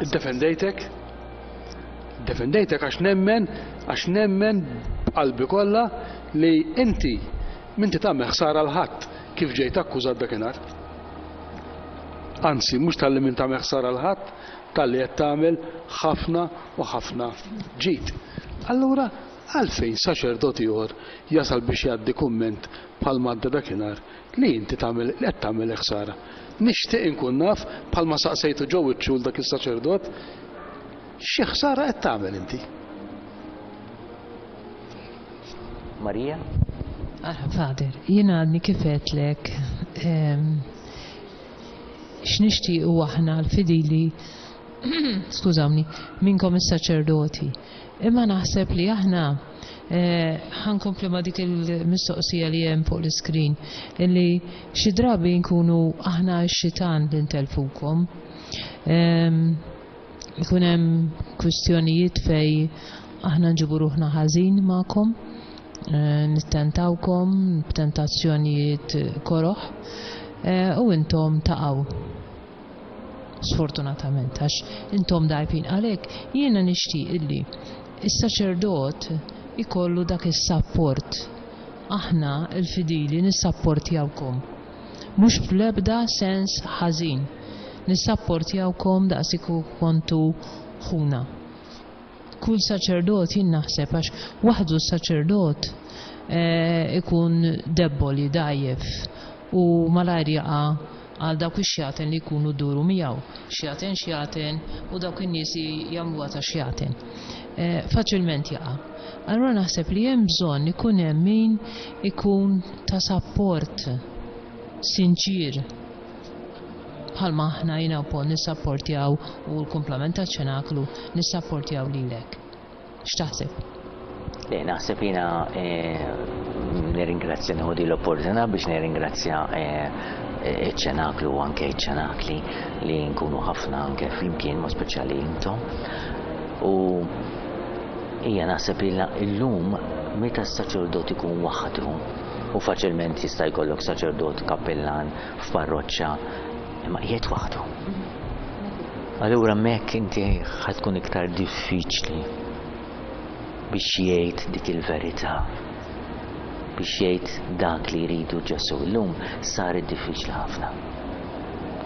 ddefendejtek, defendejtek għax nemmen, għax nemmen b'qalbi kollha li inti minti tagħmel ħsara l ħadd kif ġejt akkużat dakinhar. Anzi, mhux talli min tagħmel ħsara l ħadd, talli qed tagħmel ħafna u ħafna ġid. Allura għalfejn saċerdot ieħor jasal biex jgħaddi kumment bħal madda dakinhar li inti tagħmel li qed tagħmel ħsara. Nixtieq inkun naf bħalma saqsejtu ġew iċ-xul dak is-saċerdot xi ħsara qed tagħmel inti. Marija? Ara, Fader, jiena għadni kif għedtlek x'nixtiequ aħna l-fidili, skużawni, minnkom is-saċerdoti. Imma naħseb li aħna ħankompli ma' dik il-mistoqsija li hemm fuq l-iskrin, illi xi drabi nkunu aħna x-xitan li ntelfukom. Ikun hemm kwistjonijiet fej aħna nġibu ruħna ħażin magħkom, nittentawkom b'tentazzjonijiet koroħ, u intom taqgħu. Sfortunatament, għax intom dajfin. Għalhekk jiena nixtieq illi is-saċerdot ikollu dak is-sapport. Aħna l-fidili nissapportjawkom. Mhux fl-ebda sens ħażin. Nissapportjawkom daqs kontu ħuna. Kull saċerdot jien naħseb għax waħdu s-saċerdot ikun debboli, dajjef u malajr jaqa' għal dawk ix-xjaten li jkunu duru miegħu. Xjaten, xjaten u dawk in-nies jagħmluha ta' xjaten. Faċilment jaqa'. Allura naħseb li hemm bżonn ikun hemm min ikun ta' sapport sinċir. Bħalma aħna jiena wkoll nissapportjaw u l-kumplament taċ-ċenaklu nissapportjaw lilek. X'taħseb? Le, naħseb jiena nirringrazzja, nieħu din l-opportunità biex nirringrazzja iċ-ċenaklu u anke iċ-ċenakli li nkunu ħafna anke flimkien, ma speċjali intom. U hija naħseb illum meta s-saċerdot ikun waħdu, u faċilment jista' jkollok saċerdot kappellan f'parroċċa, imma qiegħed waħdu. Allura hemmhekk inti ħa tkun iktar diffiċli biex jgħid dik il-verità, biex jgħid dak li jridu Ġesù. Illum saret diffiċli ħafna.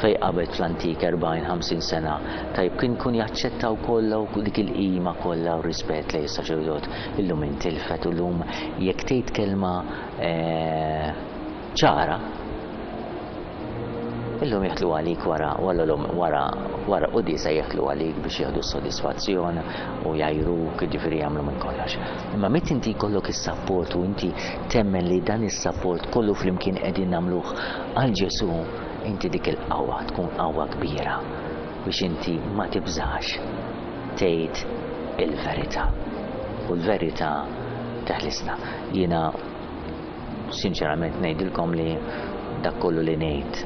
Fej qabel fl-antik erbgħin ħamsin sena, tajb kien kun jaċċettaw kollha u dik il-qima kollha u rispett lejn is-saċerdot. Illum intilfet, u llum jekk tgħid kelma ċara, illum jeħlu għalik wara, wara, wara, wara quddiesa jeħlu għalik biex jieħdu s-sodisfazzjon u jgħajruk, jiġifieri jagħmlu minn kollox. Imma meta inti jkollok is-sapport u inti temmen li dan is-sapport kollu flimkien qegħdin nagħmluh għal Ġesù, inti dik il-qawwa tkun qawwa kbira biex inti ma tibżax tgħid il-verità. U l-verità teħlisna. Jiena sinċerament ngħidilkom li dak kollu li ngħid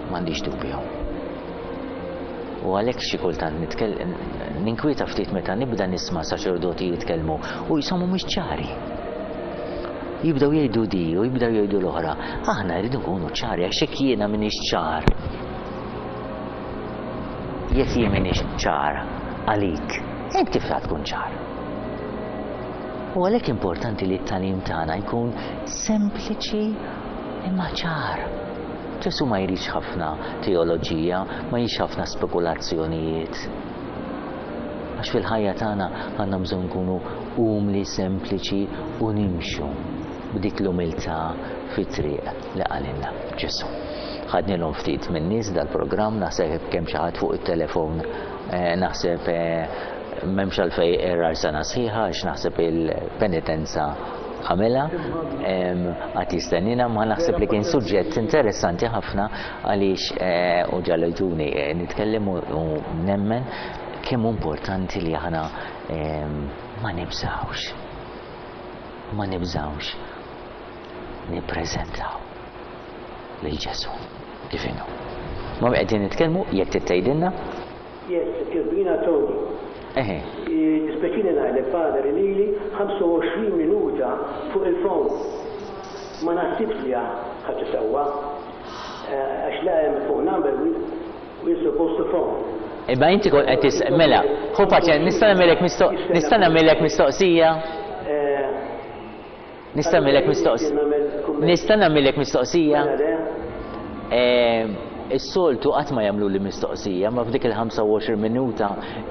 m'għandix dubju. U għalhekk xi kultant ninkwieta ftit meta nibda nisma' saċerdoti jitkellmu u jisomu mhux ċari. Jibdew jgħidu di u jibdew jgħidu l-oħra. Aħna rridu nkunu ċari, għax jekk jiena m'iniex ċar. Jekk jien m'iniex ċar għalik, inti kif tkun ċar? U għalhekk importanti li t-tagħlim tagħna jkun sempliċi imma ċar. Ġesù ma jridx ħafna teoloġija, ma jridx ħafna spekulazzjonijiet. Għax fil-ħajja tagħna għandna bżonn nkunu umli, sempliċi u nimxu b'dik l-umiltà fit-triq li qalilna Ġesù. Ħadnilhom ftit min-nies dal-programm, naħseb kemm xi ħadd fuq it-telefon, naħseb m'hemmx għalfejn errar sena sħiħa għax naħseb il-penitenza għamela, għad jistennina, ma naħseb li kien suġġett interessanti ħafna għaliex u ġalajtuni nitkellem u nemmen kemm importanti li aħna ma nibżawx, ma nibżawx nippreżentaw lil Ġesù kif inhu. Ma qegħdin nitkellmu jekk tgħidilna? Yes, Kirbina Tony. Eħe. Dispeċini ngħidlek, Father, lili ħamsa u għoxrin minuta fuq il-phone. Ma naħsibx li ħaġa sewwa. Għax la hemm phone number, we're supposed to phone. Imma inti kont qed tis-, mela, ħu paċen, nista' nagħmilek mistoq-, nista' nagħmilek mistoqsija? Nista' nagħmilek mistoqsija? Nista' nagħmilek mistoqsija? Is-soltu qatt ma jagħmlu li mistoqsija, ma f'dik il-ħamsa u għoxrin minuta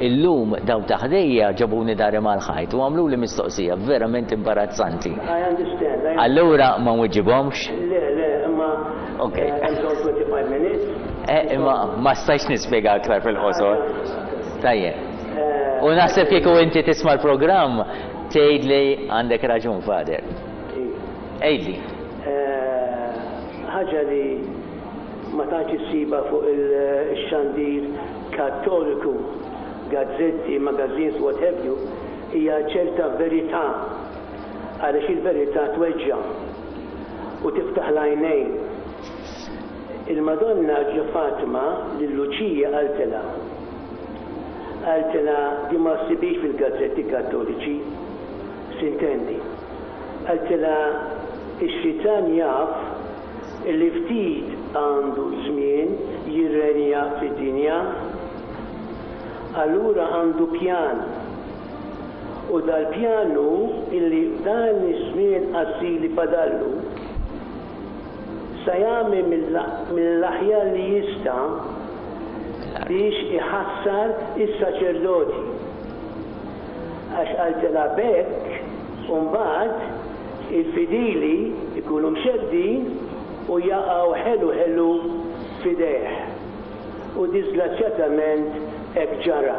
illum daw ta' ħdejja ġabuni dari mal-ħajt u għamlu li mistoqsija verament imbarazzanti. I understand. I Allura ma nwiġibhomx? Le, le, imma Ok. hemm bżonn twenty-five minutes. Eh, imma ma stajx nispjega aktar fil-qosor. Tajjeb. U naħseb kieku inti tisma' l-programm tgħid li għandek raġun, Father. Għidli. Ħaġa li ma tantx issiba fuq il-xandir kattoliku, gazzetti, magazines, what have you, hija ċerta verità, għaliex il-verità tweġġa' u tiftaħ l-għajnejn. Il-Madonna ġo Fatima lil Luċija qaltilha. Qaltilha di ma ssibix fil-gazzetti kattoliċi, sintendi. Qaltilha ix-xitan jaf li ftit għandu żmien jirrenja fid-dinja, allura għandu pjan. U dal-pjan hu illi dan iż-żmien qasir li fadallu sa jagħmel mill-aħjar li jista' biex iħassar is-saċerdoti. Għax qaltilha b'hekk u mbagħad il-fidili ikunu mxeddin u jaqgħu ħelu ħelu f'idejh. U disgrazzjatament hekk ġara.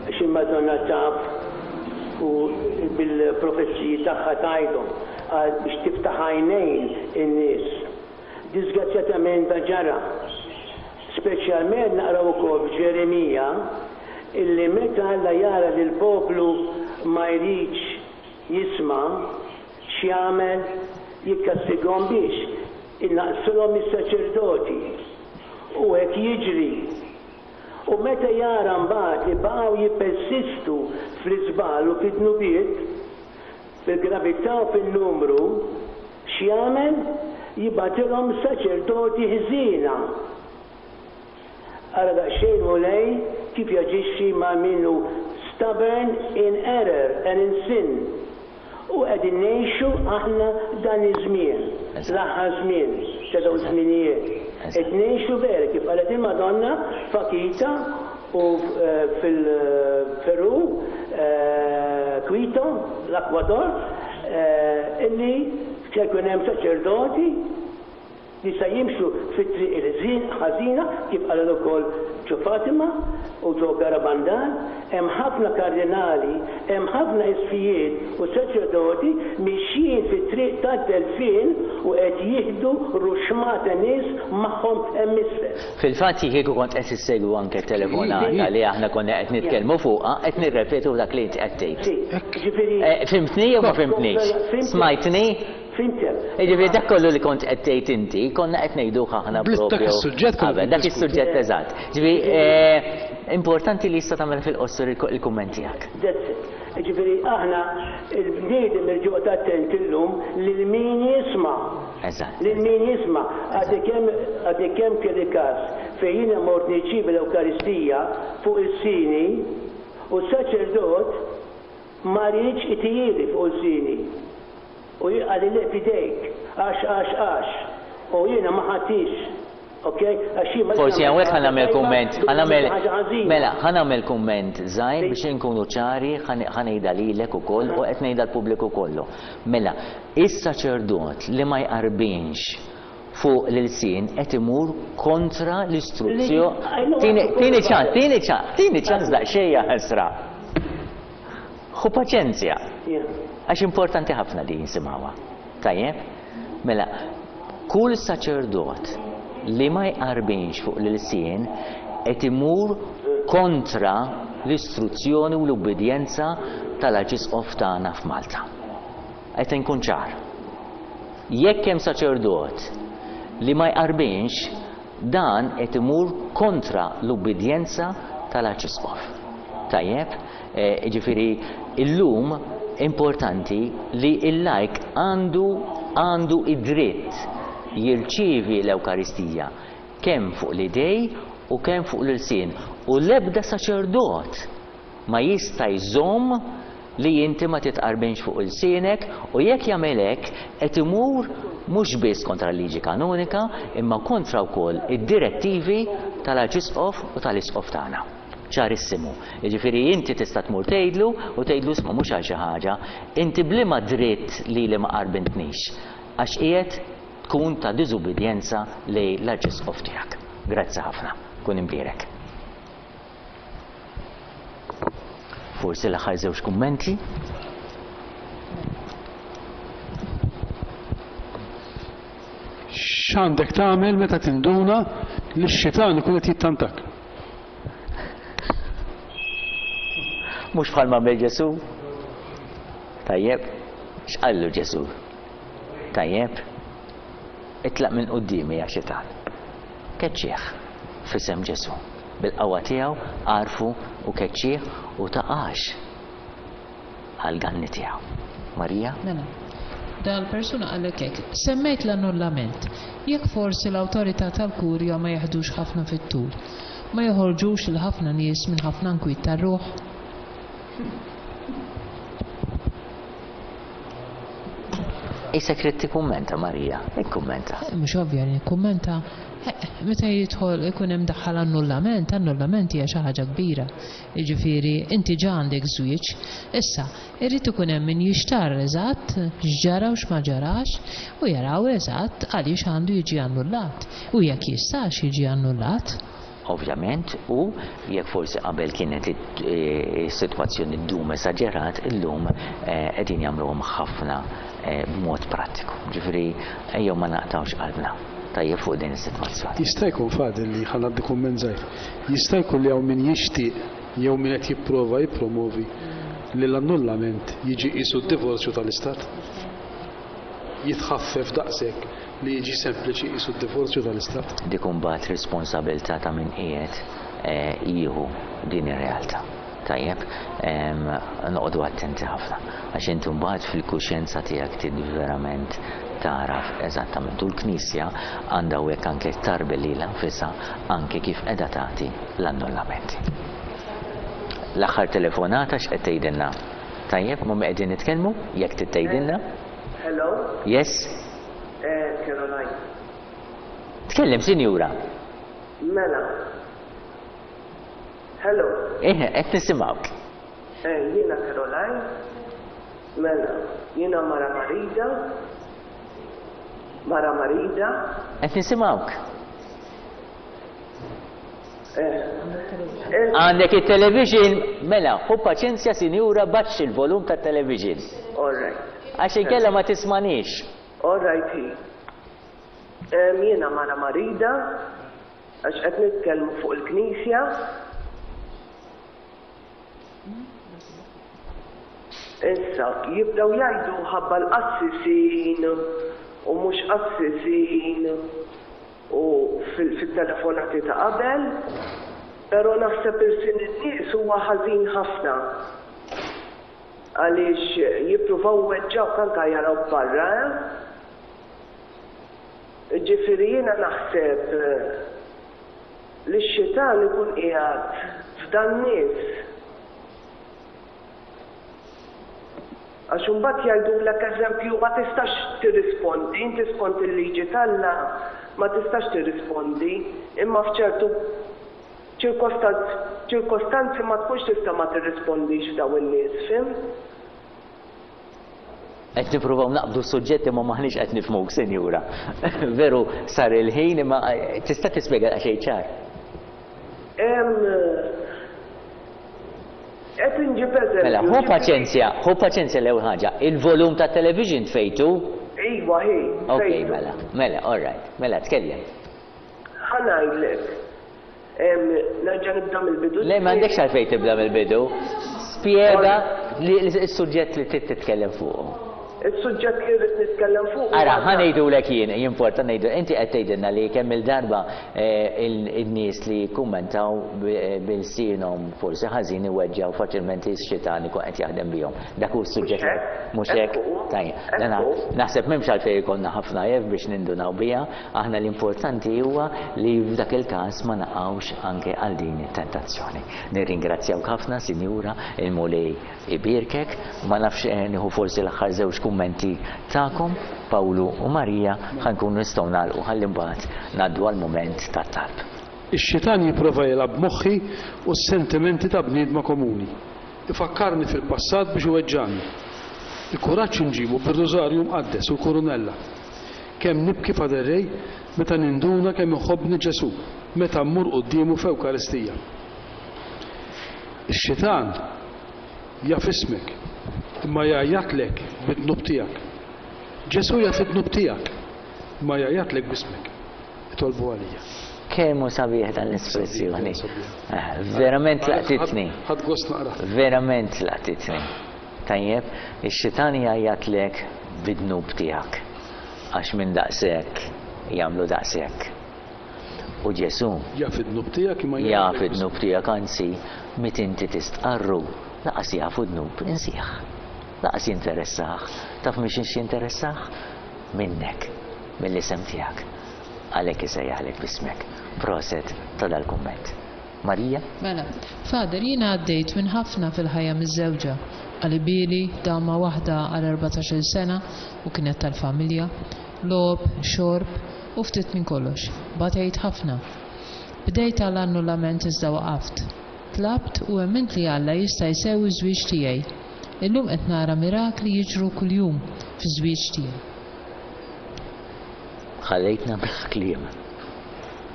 Għax il-Madonna taf u bil-profeziji tagħha tgħidhom għal biex tiftaħ għajnejn in-nies. Disgrazzjatament da ġara. Speċjalment naqraw ukoll f'Ġeremija illi meta Alla jara li l-poplu ma jridx jisma' x'jagħmel, jikkastigahom biex innaqsulhom is-saċerdoti. U hekk jiġri. U meta jara mbagħad li baqgħu jippersistu fl-iżball u fid-dnubiet, fil-gravità u fin-numru, x'jagħmel? Jibgħatilhom saċerdoti ħżiena. Ara daqsxejn Mulej kif jaġixxi ma' min hu stubborn in error and in sin. U qegħdin ngħixu aħna dan iż-żmien, l-aħħar żmien ta' dawn iż-żminijiet. Qed ngħixu vera kif qalet il-Madonna f'Akita u fil-Peru, Quito, l-Ekwador, illi se jkun hemm saċerdoti li se jimxu fit-triq il-ħażina kif qalet ukoll ġo Fatima u ġo Garabandal. Hemm ħafna kardinali, hemm ħafna isqfijiet u saċerdoti mixjin fit-triq tad-delfin u qed jieħdu ruxmata nies magħhom hemm isfel. Fil-fatt kieku kont qed issegwu anke telefonata li aħna konna qed nitkellmu fuqha, qed nirrepetu dak li inti qed tgħid. Ġifieri Fhimtni jew ma fhimtnix? Smajtni? Fhimtek. Jiġifieri dak kollu li kont qed tgħid inti, konna qed ngħiduh aħna Dak propju. is-suġġett konna Qabel, dak is-suġġett eżatt. Ġifieri importanti li jista' tagħmel fil-qosor il-kumment tiegħek. That's it. Ġifieri aħna il-bniedem irid joqgħod attent illum lil min jisma'. Eżatt. Lil min jisma'. Għadni kemm għadni kemm kelli każ fejn jiena mort nirċievi l-Ewkaristija fuq il-sini u s-saċerdot ma riedx itihieli fuq il-sini. U qalli le f'idejk, għax, għax, għax. U jiena ma ħadtix. Ok? Għax jien ma Forsi hawnhekk ħa nagħmel kumment, ħa nagħmel ħaġa ħażina. mela, ħa nagħmel kumment żgħir biex inkunu ċari, ħa ngħidha lilek ukoll u qed ngħidha l-pubbliku kollu. Mela, is-saċerdot li ma jqarbinx fuq l-ilsien qed imur kontra l-istruzzjoni. Tieni ċans, tieni ċans, tieni ċans daqsxejn ħasra. Ħu paċenzja. Għax importanti ħafna li jinsimgħuha. Tajjeb? Mela, kull saċerdot li ma jqarbinx fuq l-ilsien qed imur kontra l-istruzzjoni u l-ubbidjenza tal-Arċisqof tagħna f'Malta. Qed inkun ċar. Jekk hemm saċerdot li ma jqarbinx, dan qed imur kontra l-ubbidjenza tal-Arċisqof. Tajjeb? Ġifieri illum importanti li il-lajk għandu għandu id-dritt jirċievi l-Ewkaristija kemm fuq l-idej u kemm fuq l-ilsien. U l-ebda saċerdot ma jista' jżomm li inti ma titqarbinx fuq ilsienek, u jekk jagħmel hekk qed imur mhux biss kontra l-liġi kanonika imma kontra wkoll id-direttivi tal-Arċisqof u tal-Isqof tagħna. Ċarissimu. Jiġifieri inti tista' tmur tgħidlu u tgħidlu isma' mhux għal xi ħaġa, inti bliema dritt li li ma qarbintnix għax qiegħed tkun ta' diżubbidjenza lejn l-Arċisqof tiegħek. Grazzi ħafna. Kun imbierek. Forsi l-aħħar żewġ kummenti. X'għandek tagħmel meta tinduna li x-xitan ikun qed jittantak? Mhux bħalma għamel Ġesù. Tajjeb, x'qallu Ġesù? Tajjeb, itlaq minn quddiemi ja xitan. Keċċieħ f'isem Ġesù. Bil-qawwa tiegħu għarfu u keċċieħ u taqax għall-ganni tiegħu. Marija? Mela, dal-persuna qallek hekk, semmejt l-annullament. Jekk forsi l-awtorità tal-kurja ma jeħdux ħafna fit-tul, ma joħorġux il ħafna nies minn ħafna nkwiet tar-ruħ. Issa trid tikkummenta, Marija, ikkummenta. Eh, mhux ovvja li nikkummenta. Eh, meta jidħol ikun hemm daħħal annullament, annullament hija xi ħaġa kbira. Jiġifieri inti ġa għandek żwieġ, issa irid ikun hemm min jixtar eżatt x'ġara u x'ma ġarax u jaraw eżatt għaliex għandu jiġi annullat u jekk jistax jiġi annullat. Ovvjament, u jekk forsi qabel kienet is-sitwazzjoni ddum esaġerat, illum qegħdin jagħmluhom ħafna b'mod prattiku. Ġifieri ejjew ma naqtgħux qalbna tajjeb fuq din is-sitwazzjoni. Jista' jkun Fadil li ħa ngħaddi kumment żgħir. Jista' jkun li hawn min jixtieq jew min qed jipprova jippromovi li l-annullament jiġi qisu d-divorzju tal-Istat. Jitħaffef daqshekk li jiġi sempliċi qisu d-divorzju tal-Istat. Dik imbagħad responsabilità ta' min qiegħed jieħu din ir-realtà. Tajjeb, noqogħdu attenti ħafna għax inti mbagħad fil-kuxjenza tiegħek trid verament taraf eżattament. U l-Knisja għandha hawnhekk anke tarbel lilha nfisha anke kif qiegħda tagħti l-annullamenti. L-aħħar telefonata x'qed tgħidilna? Tajjeb, ma qegħdin nitkellmu jekk trid tgħidilna? Hello? Yes? Eh, Caroline. Tkellem, sinjura. Mela. Hello. Eh, qed nisimgħuk. Eh, jiena Caroline. Mela, jiena mara marida. Mara marida. Qed nisimgħuk. Eh. Għandek it-television, mela, ħu paċenzja sinjura baxxi il-volum tat-television. All right. Għax inkella ma tismanix. All right, hi. Jiena mara marida, għax qed nitkellmu fuq il-Knisja. Issa, jibdew jgħidu ħabba l-qassisin u mhux qassisin u fil-telefonati ta' qabel, però naħseb irsin in-nies huwa ħażin ħafna. Għaliex jippruvaw weġġawk anke jaraw barra, eh? Ġifieri jiena naħseb li x-xitan ikun qiegħed f'dan nies. Għax imbagħad jgħidulek eżempju ma tistax tirrispondi, inti skont il-liġi t'Alla ma tistax tirrispondi, imma f'ċertu ċirkostanzi ma tkunx tista' ma tirrispondix f'dawn in-nies, fim? Qed nippruvaw naqbdu s-suġġetti ma maħniex qed nifhmuk, sinjura. Veru sar il-ħin imma tista' tispjega daqsxejn ċar. Qed inġib eżempju. Mela, ħu paċenzja, ħu paċenzja l-ewwel ħaġa. Il-volum tat-television tfejtu? Iva, hi. Ok, mela, mela, all right. Mela, tkellem. Ħa ngħidlek. Nerġa' nibda mill-bidu. Le, m'għandekx għalfejn tibda mill-bidu. Spjega s-suġġett li trid titkellem fuqu. Is-suġġett li rrid nitkellem fuq. Ara, ħa ngħidulek jien, jimporta ngħidu, inti qed tgħidilna li kemm il-darba in-nies li jikkummentaw bil-sienhom forsi ħażin iweġġgħu faċilment ix-xitan ikun qed jaħdem bihom. Dak hu s-suġġett. Mhux hekk? Tajjeb. Naħseb m'hemmx għalfejn ikollna ħafna jef biex nindunaw biha, aħna l-importanti huwa li f'dak il-każ ma naqgħux anke għal din it-tentazzjoni. Nirringrazzjawk ħafna, Sinjura, il-Mulej ibierkek, ma nafx nieħu forsi l-aħħar żewġ kummenti tagħkom, Pawlu u Marija, ħankunu nistgħu nagħlqu ħalli mbagħad ngħaddu għall-mument tat-talb. Ix-xitan jipprova jilgħab moħħi u s-sentimenti ta' bniedma komuni. Ifakkarni fil-passat biex iweġġani. Il-kuraġġ inġibu bir-Rużarju mqaddes u l-Kurunella. Kemm nibki Father Ray meta ninduna kemm iħobbni Ġesu, meta mmur quddiemu f'Ewkaristija. Ix-xitan jaf ismek, imma jgħajjatlek bid-dnub tiegħek. Ġesu jaf id-dnub tiegħek, imma jgħajjatlek b'ismek. Itolbu għalija. Kemm hu sabiħ dan l-espressjoni. Verament laqtitni. Ħadd gost naqra. Verament laqtitni. Tajjeb, ix-xitan jgħajjatlek bid-dnub tiegħek. Għax minn daqshekk jagħmlu daqshekk. U Ġesu jaf id-dnub tiegħek imma jaf id-dnub tiegħek, anzi meta inti tistqarru laqas jafu dnub insieħ. Laqas jinteressah. Taf mhix jinteressah? Minnek, mill-isem tiegħek. Għalhekk isejjaħlek b'ismek. Proset ta' dal-kumment. Marija? Mela, Father, jiena għaddejt minn ħafna fil-ħajja miż-żewġa. Qalibili, dama waħda għal erbatax-il sena u kienet tal-familja, logħob, xorb u ftit minn kollox. Batejt ħafna. Bdejt għal annullament iżda waqaft. Tlabt u emmint li Alla jista' jsewwi ż-żwieġ tiegħi. Illum qed nara mirakli jiġru kuljum fiż-żwieġ tiegħi. Ħallejtna bla kliem.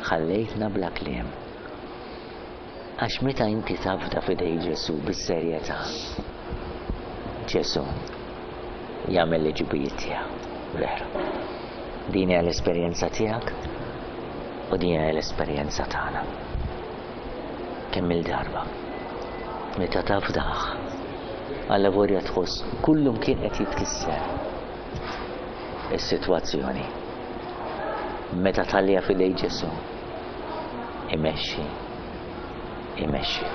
Ħallejtna bla kliem. Għax meta inti tafda f'idej Ġesu bis-serjetà, Ġesu jagħmel l-ġubijiet tiegħu. Veru. Din hija l-esperjenza tiegħek u din hija l-esperjenza tagħna. Kemm il-darba meta tafdaħ alla vorja tħoss kullum kien qed jitkisser is-sitwazzjoni. Meta tgħallija f'idej Ġesu imexxi imexxi.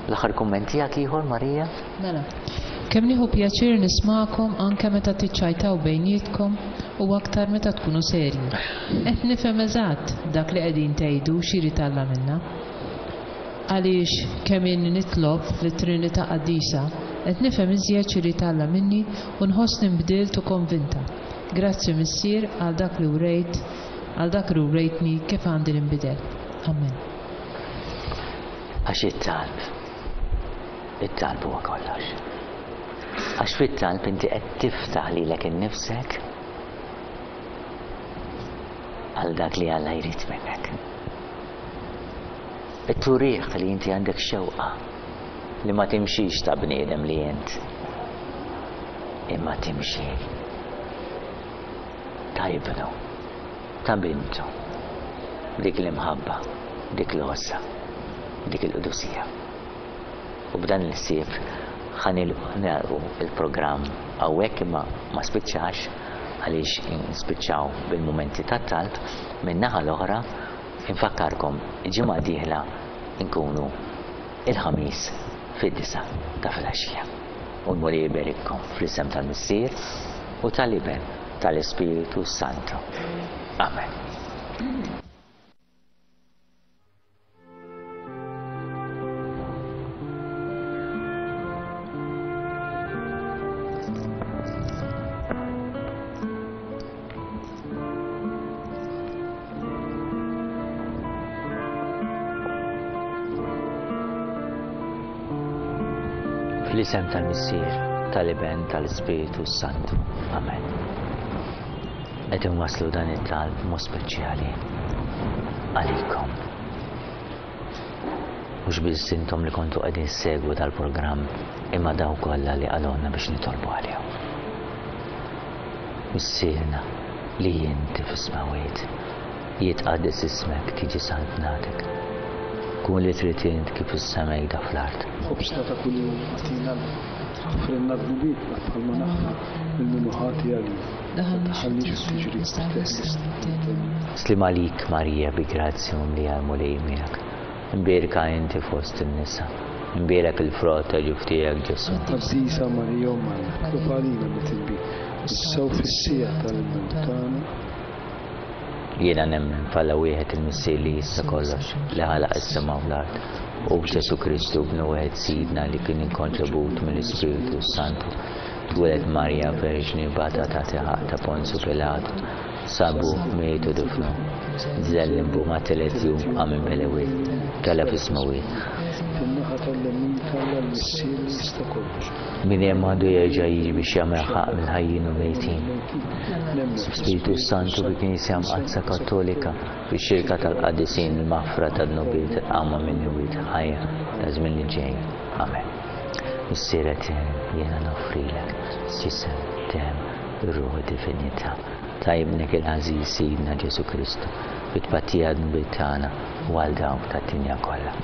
L-aħħar kumment tiegħek ieħor, Marija? Mela, kemm nieħu pjaċir nismakom anke meta tiċċajtaw bejnietkom u aktar meta tkunu serji. Qed nifhem eżatt dak li qegħdin tgħidu x'irid Alla minna. Għaliex kemm inni nitlob lit-Trinità Qaddisa, qed nifhem iżjed x'irid Alla minni u nħossni nbdilt u konvinta. Grazzi Missier għal dak li wrejt, għal dak li wrejtni kif għandi ninbidel. Amen. Għax it-talb, it-talb huwa kollox. Għax fit-talb inti qed tiftaħ lilek innifsek għal dak li Alla jrid minnek. Turih li inti għandek xewqa li ma timxix ta' bniedem li int, imma timxi ta' ibnu, ta' bintu, dik l-imħabba, dik l-għożża, dik il-qdusija. U b'dan il-ħsieb ħa nagħlqu il-programm hawnhekk, imma ma spiċċax għaliex nispiċċaw bil-mumenti tat-talb. Min-naħa l-oħra infakkarkom ġimgħa dieħla nkunu il-Ħamis fid-disgħa ta' filgħaxija. U l-Mulej iberikkom fl-isem tal-Missier u tal-Iben tal-Ispiritu Santu. Amen. Fl-isem tal-Missier, tal-Iben, tal-Ispiritu Santu. Amen. Qed inwasslu dan it-talb mod speċjali għalikom. Mhux biss intom li kontu qegħdin ssegwu dal-programm, imma dawk kollha li qalulna biex nitolbu għalihom. Missierna li inti fis-smewwiet, jitqaddes ismek, tiġi saltnatek. Kun li trid int kif is-sema jda fl-art. Ħobżna ta' kuljum agħtina llum. Aħfrilna dnubietna bħalma naħfru lil min hu ħati għalina. Ma tdaħħalniex f'tiġrib, teħlisna mit-tellief. Slim għalik Marija, bi grazzja mimlija l-Mulej miegħek. Imbierka inti fost in-nisa. Imbierek il-frott ta' ġuf tiegħek Ġesù. Qaddisa Marija Omm Alla, itlob għalina mitibin, issa u fis-siegħa tal-mewt tagħna. Jiena nemmen f'Alla wieħed il-Missier li jista' kollox, li ħalaq is-sema u l-art, u f'Ġesù Kristu bnu wieħed Sidna li kien inkonċebut mill-Ispiritu Santu, twieled Marija Verġni bata ta' ħaqq ta' Ponzju Pilatu, sabu, miet u difnu, nżel limbu ma' tielet jum qam minn bel-imwiet, tela' fis-smewwiet. Fin-naħa tal-lemin t'Alla l-Missier li jista' kollox. Min hemm għandu jerġa' jiġi biex jagħmel ħaqq mill-ħajjin u mejtin. Spiritu Santu bi Knisja Mqaddsa Kattolika, bix-xirka tal-qaddisin, il-maħfra tad-dnubiet, il-qawma mill-imwiet, ħajja ta' żmien li ġej. Amen. Missier etern, jiena noffrilek ġisem, demm, ruħ u divinità ta' ibnek il-għażiż Sidna Ġesù Kristu, bi tpattija dnubiet tagħna u għal dawk tad-dinja kollha.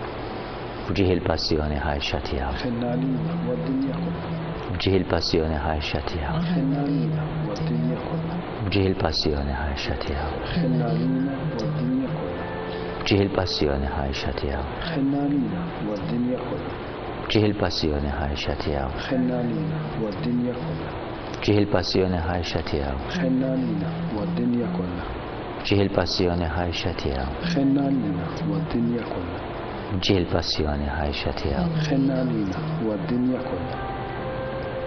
B'ġieħ il-passjoni ħarxa tiegħu. Ħenna għalina u għad-dinja kollha. B'ġieħ il-passjoni ħarxa tiegħu. Ħenna għalina u għad-dinja kollha. B'ġieħ il-passjoni ħarxa tiegħu. Ħenna għalina u għad-dinja kollha. B'ġieħ il-passjoni ħarxa tiegħu. Ħenna għalina u għad-dinja kollha. B'ġieħ il-passjoni ħarxa tiegħu. Ħenna għalina u għad-dinja kollha. B'ġieħ il-passjoni ħarxa tiegħu. Ħenna għalina u għad-dinja kollha. B'ġieħ il-passjoni ħarxa tiegħu. Ħenna għalina u għad-dinja kollha. B'ġieħ il-passjoni ħarxa tiegħu. Ħenna għalina u għad-dinja kollha.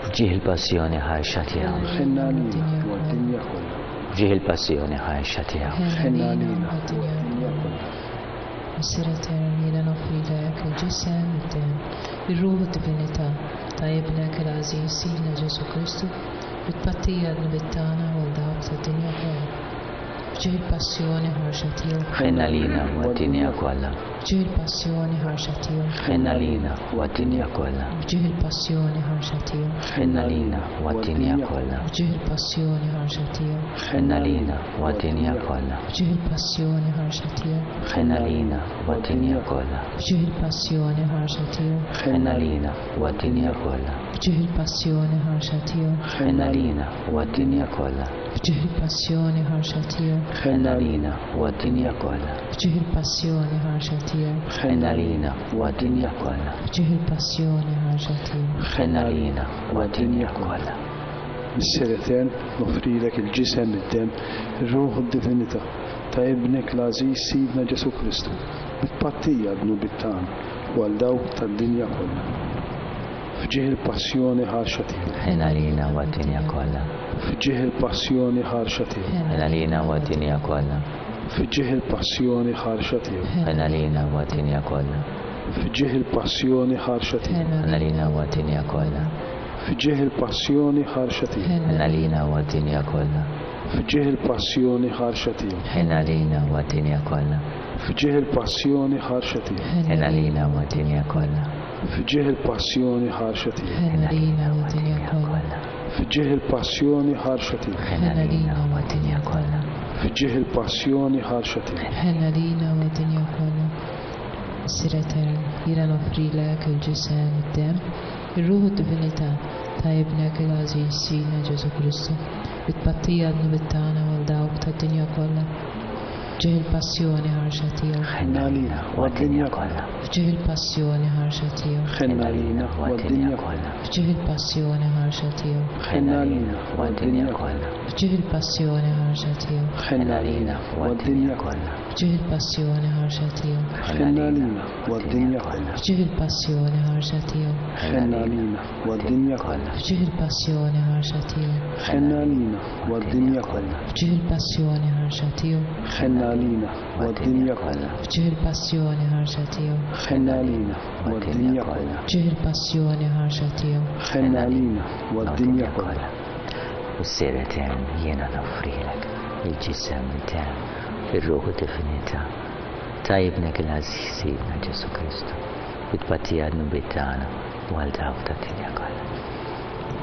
B'ġieħ il-passjoni ħarxa tiegħu. Ħenna għalina u għad-dinja kollha. B'ġieħ il-passjoni ħarxa tiegħu. Ħenna għalina u għad-dinja kollha. Missier etern, jiena noffrilek il-ġisem, id-demm, ir-ruħ u d-divinità ta' ibnek il-għażiż Sidna Ġesù Kristu, bi tpattija dnubiet tagħna u għal dawk tad-dinja kollha. B'ġieħ il-passjoni ħarxa tiegħu. Ħenna għalina u għad-dinja kollha. B'ġieħ il-passjoni ħarxa tiegħu. Ħenna għalina u għad-dinja kollha. B'ġieħ il-passjoni ħarxa tiegħu. Ħenna għalina u għad-dinja kollha. B'ġieħ il-passjoni ħarxa tiegħu. Ħenna għalina u għad-dinja kollha. B'ġieħ il-passjoni ħarxa tiegħu. Ħenna għalina u għad-dinja kollha. B'ġieħ il-passjoni ħarxa tiegħu. Ħenna għalina u għad-dinja kollha. B'ġieħ il-passjoni ħarxa tiegħu. Ħenna għalina u għad-dinja kollha. B'ġieħ F'ġieħ il-passjoni ħarxa tiegħu. Ħenn għalina u għad-dinja kollha. F'ġieħ il-passjoni ħarxa tiegħu. Ħenn għalina u għad-dinja kollha. F'ġieħ il-passjoni ħarxa tiegħu. Ħenn għalina u għad-dinja kollha. Missier Etern, noffrilek il-ġisem, id-demm, ir-ruħ u d-divinità ta' Ibnek l-għażiż Sidna Ġesù Kristu, bi tpattija għad-dnubiet tagħna u għal dawk tad-dinja kollha. F'ġieħ il-passjoni ħarxa tiegħu. Ħenn għalina u għad-dinja kollha. F'ġieħ il-passjoni ħarxa tiegħu. Ħenn għalina u għad-dinja kollha. F'ġieħ il-passjoni ħarxa tiegħu. Ħenn għalina u għad-dinja kollha. F'ġieħ il-passjoni ħarxa tiegħu. Ħenn għalina u għad-dinja kollha. F'ġieħ il-passjoni ħarxa tiegħu. Ħenn għalina u għad-dinja kollha. F'ġieħ il-passjoni ħarxa tiegħu. Ħenn għalina u għad-dinja kollha. F'ġieħ il-passjoni ħarxa tiegħu. Ħenn għalina u għad-dinja kollha. F'ġieħ il-passjoni ħarxa tiegħu. Ħenn għalina u għad-dinja kollha. F'ġieħ il-passjoni ħarxa tiegħu. Ħenn għalina u għad-dinja kollha. F'ġieħ il-passjoni ħarxa tiegħu. Ħenn għalina u għad-dinja kollha. Missier Etern, jiena noffrilek il-ġisem, id-demm, ir-ruħ u d-divinità ta' Ibnek il-għażiż Sidna Ġesù Kristu, bi tpattija għad-dnubiet tagħna u għal dawk tad-dinja kollha. F'ġieħ il-passjoni ħarxa tiegħu. Ħenn għalina u għad-dinja kollha. F'ġieħ il-passjoni ħarxa tiegħu. Ħenn għalina u għad-dinja kollha. F'ġieħ il-passjoni ħarxa tiegħu. Ħenn għalina u għad-dinja kollha. F'ġieħ il-passjoni ħarxa tiegħu. Ħenn għalina u għad-dinja kollha. F'ġieħ il-passjoni ħarxa tiegħu. Ħenn għalina u għad-dinja kollha. F'ġieħ il-passjoni ħarxa tiegħu. Ħenn għalina u għad-dinja kollha. F'ġieħ il-passjoni ħarxa tiegħu. Ħenn għalina u għad-dinja kollha. F'ġieħ il-passjoni ħarxa tiegħu. Ħenn għalina u għad-dinja kollha. F'ġieħ il-passjoni ħarxa tiegħu. Ħenn għalina u għad-dinja kollha. F'ġieħ il-passjoni ħarxa tiegħu. Ħenn għalina u għad-dinja kollha. Missier Etern, jiena noffrilek il-ġisem, id-demm, ir-ruħ u d-divinità ta' Ibnek il-għażiż Sidna Ġesù Kristu, bi tpattija għad-dnubiet tagħna u għal dawk tad-dinja kollha.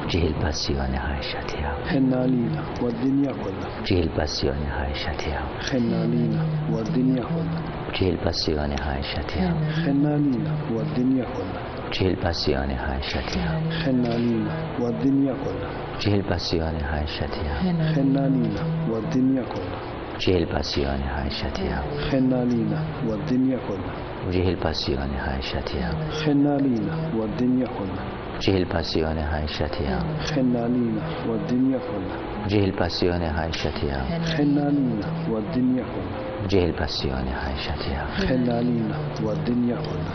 F'ġieħ il-passjoni ħarxa tiegħu. Ħenn għalina u għad-dinja kollha. F'ġieħ il-passjoni ħarxa tiegħu. Ħenn għalina u għad-dinja kollha. F'ġieħ il-passjoni ħarxa tiegħu. Ħenn għalina u għad-dinja kollha. F'ġieħ il-passjoni ħarxa tiegħu. Ħenn għalina u għad-dinja kollha. F'ġieħ il-passjoni ħarxa tiegħu. Ħenn għalina u għad-dinja kollha. F'ġieħ il-passjoni ħarxa tiegħu. Ħenn għalina u għad-dinja kollha. F'ġieħ il-passjoni ħarxa tiegħu. Ħenn għalina u għad-dinja kollha. F'ġieħ il-passjoni ħarxa tiegħu. Ħenn għalina u għad-dinja kollha. F'ġieħ il-passjoni ħarxa tiegħu. Ħenn għalina u għad-dinja kollha. F'ġieħ il-passjoni ħarxa tiegħu. Ħenn għalina u għad-dinja kollha.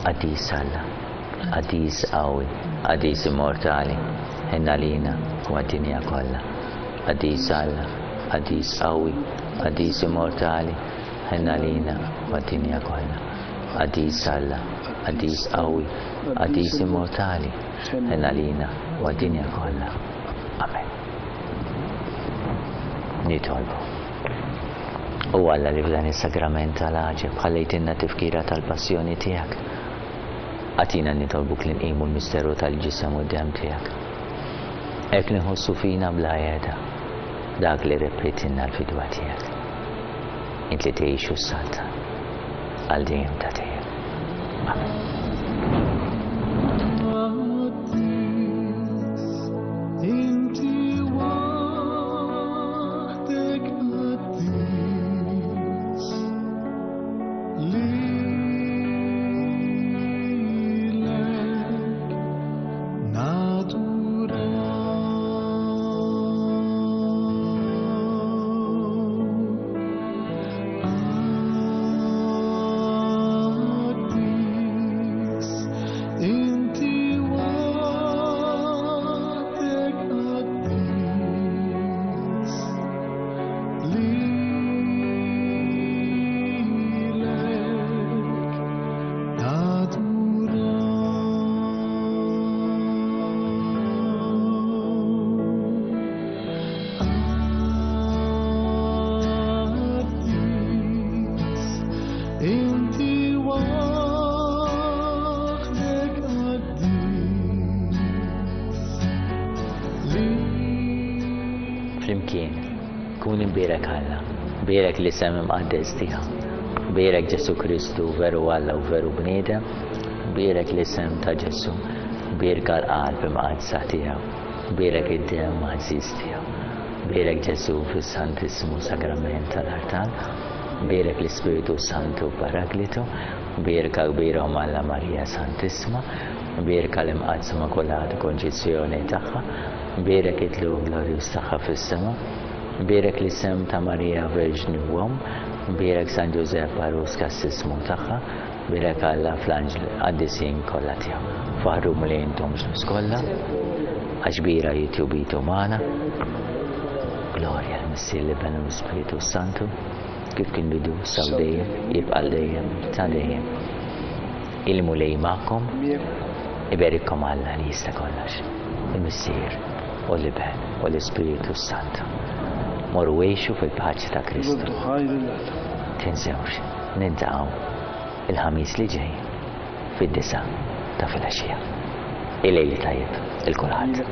Qaddis Alla, qaddis qawwi, qaddis immortali, ħenn għalina u għad-dinja kollha. Qaddis Alla, qaddis qawwi, qaddis immortali, ħenn għalina u għad-dinja kollha. Qaddis Alla, qaddis qawwi, qaddis immortali, ħenn għalina u għad-dinja kollha. Amen. Nitolbu. O Alla li f'dan is-sagrament tal-għaġeb ħallejtilna tifkira tal-passjoni tiegħek. Agħtina nitolbuk li nqimu l-misteru tal-ġisem u d-demm tiegħek. Hekk li nħossu fina bla qiegħda dak li rebħitilna l-fidwa tiegħek. Int li tgħix u ssaltan għal dejjem ta' dejjem. Amen. Inti waħdek qaddis, lilek naduraw. Qaddis, inti waħdek qaddis, lilek naduraw. Qaddis, inti waħdek qaddis, Flimkien, kun imbierek Alla, bierek l-isem imqaddes tiegħu, bierek Ġesù Kristu veru Alla u veru bniedem, bierek l-isem ta' Ġesù, bierka l-qalb imqaddsa tiegħu, bierek id-demm għażiż tiegħu. Bierek Ġesù fis-Santissimu Sagrament tal-Artal, bierek l-Ispiritu Santu Paraglitu, bierka kbira Omm Alla Marija Santissima, bierka l-Imqaddsa Immakulata Konċizzjoni tagħha, bierek it-tlugħ glorjuż tagħha fis-sema, bierek l-isem ta' Marija Verġni u Omm, bierek San Ġużepp għarus kastissmu tagħha, bierek Alla fl-anġli qaddisin kollha tiegħu. Faħħru Mulej intom ġnus kollha, għax kbira hi tjubitu magħna. Glorja l-Missier, l-Iben u l-Ispiritu Santu, kif kien bidu sa dejjem, jibqa' dejjem ta' dejjem. Il-Mulej magħkom, iberikkom Alla li jista' kollox, il-Missier u l-Iben u l-Ispiritu Santu. Morru għixu fil-paċi ta' Kristu. Nroddu ħajr lil Alla. Tinsewx, niltaqgħu il-Ħamis li ġej fid-disgħa ta' filgħaxija. Il-lejl tajjeb lil kulħadd.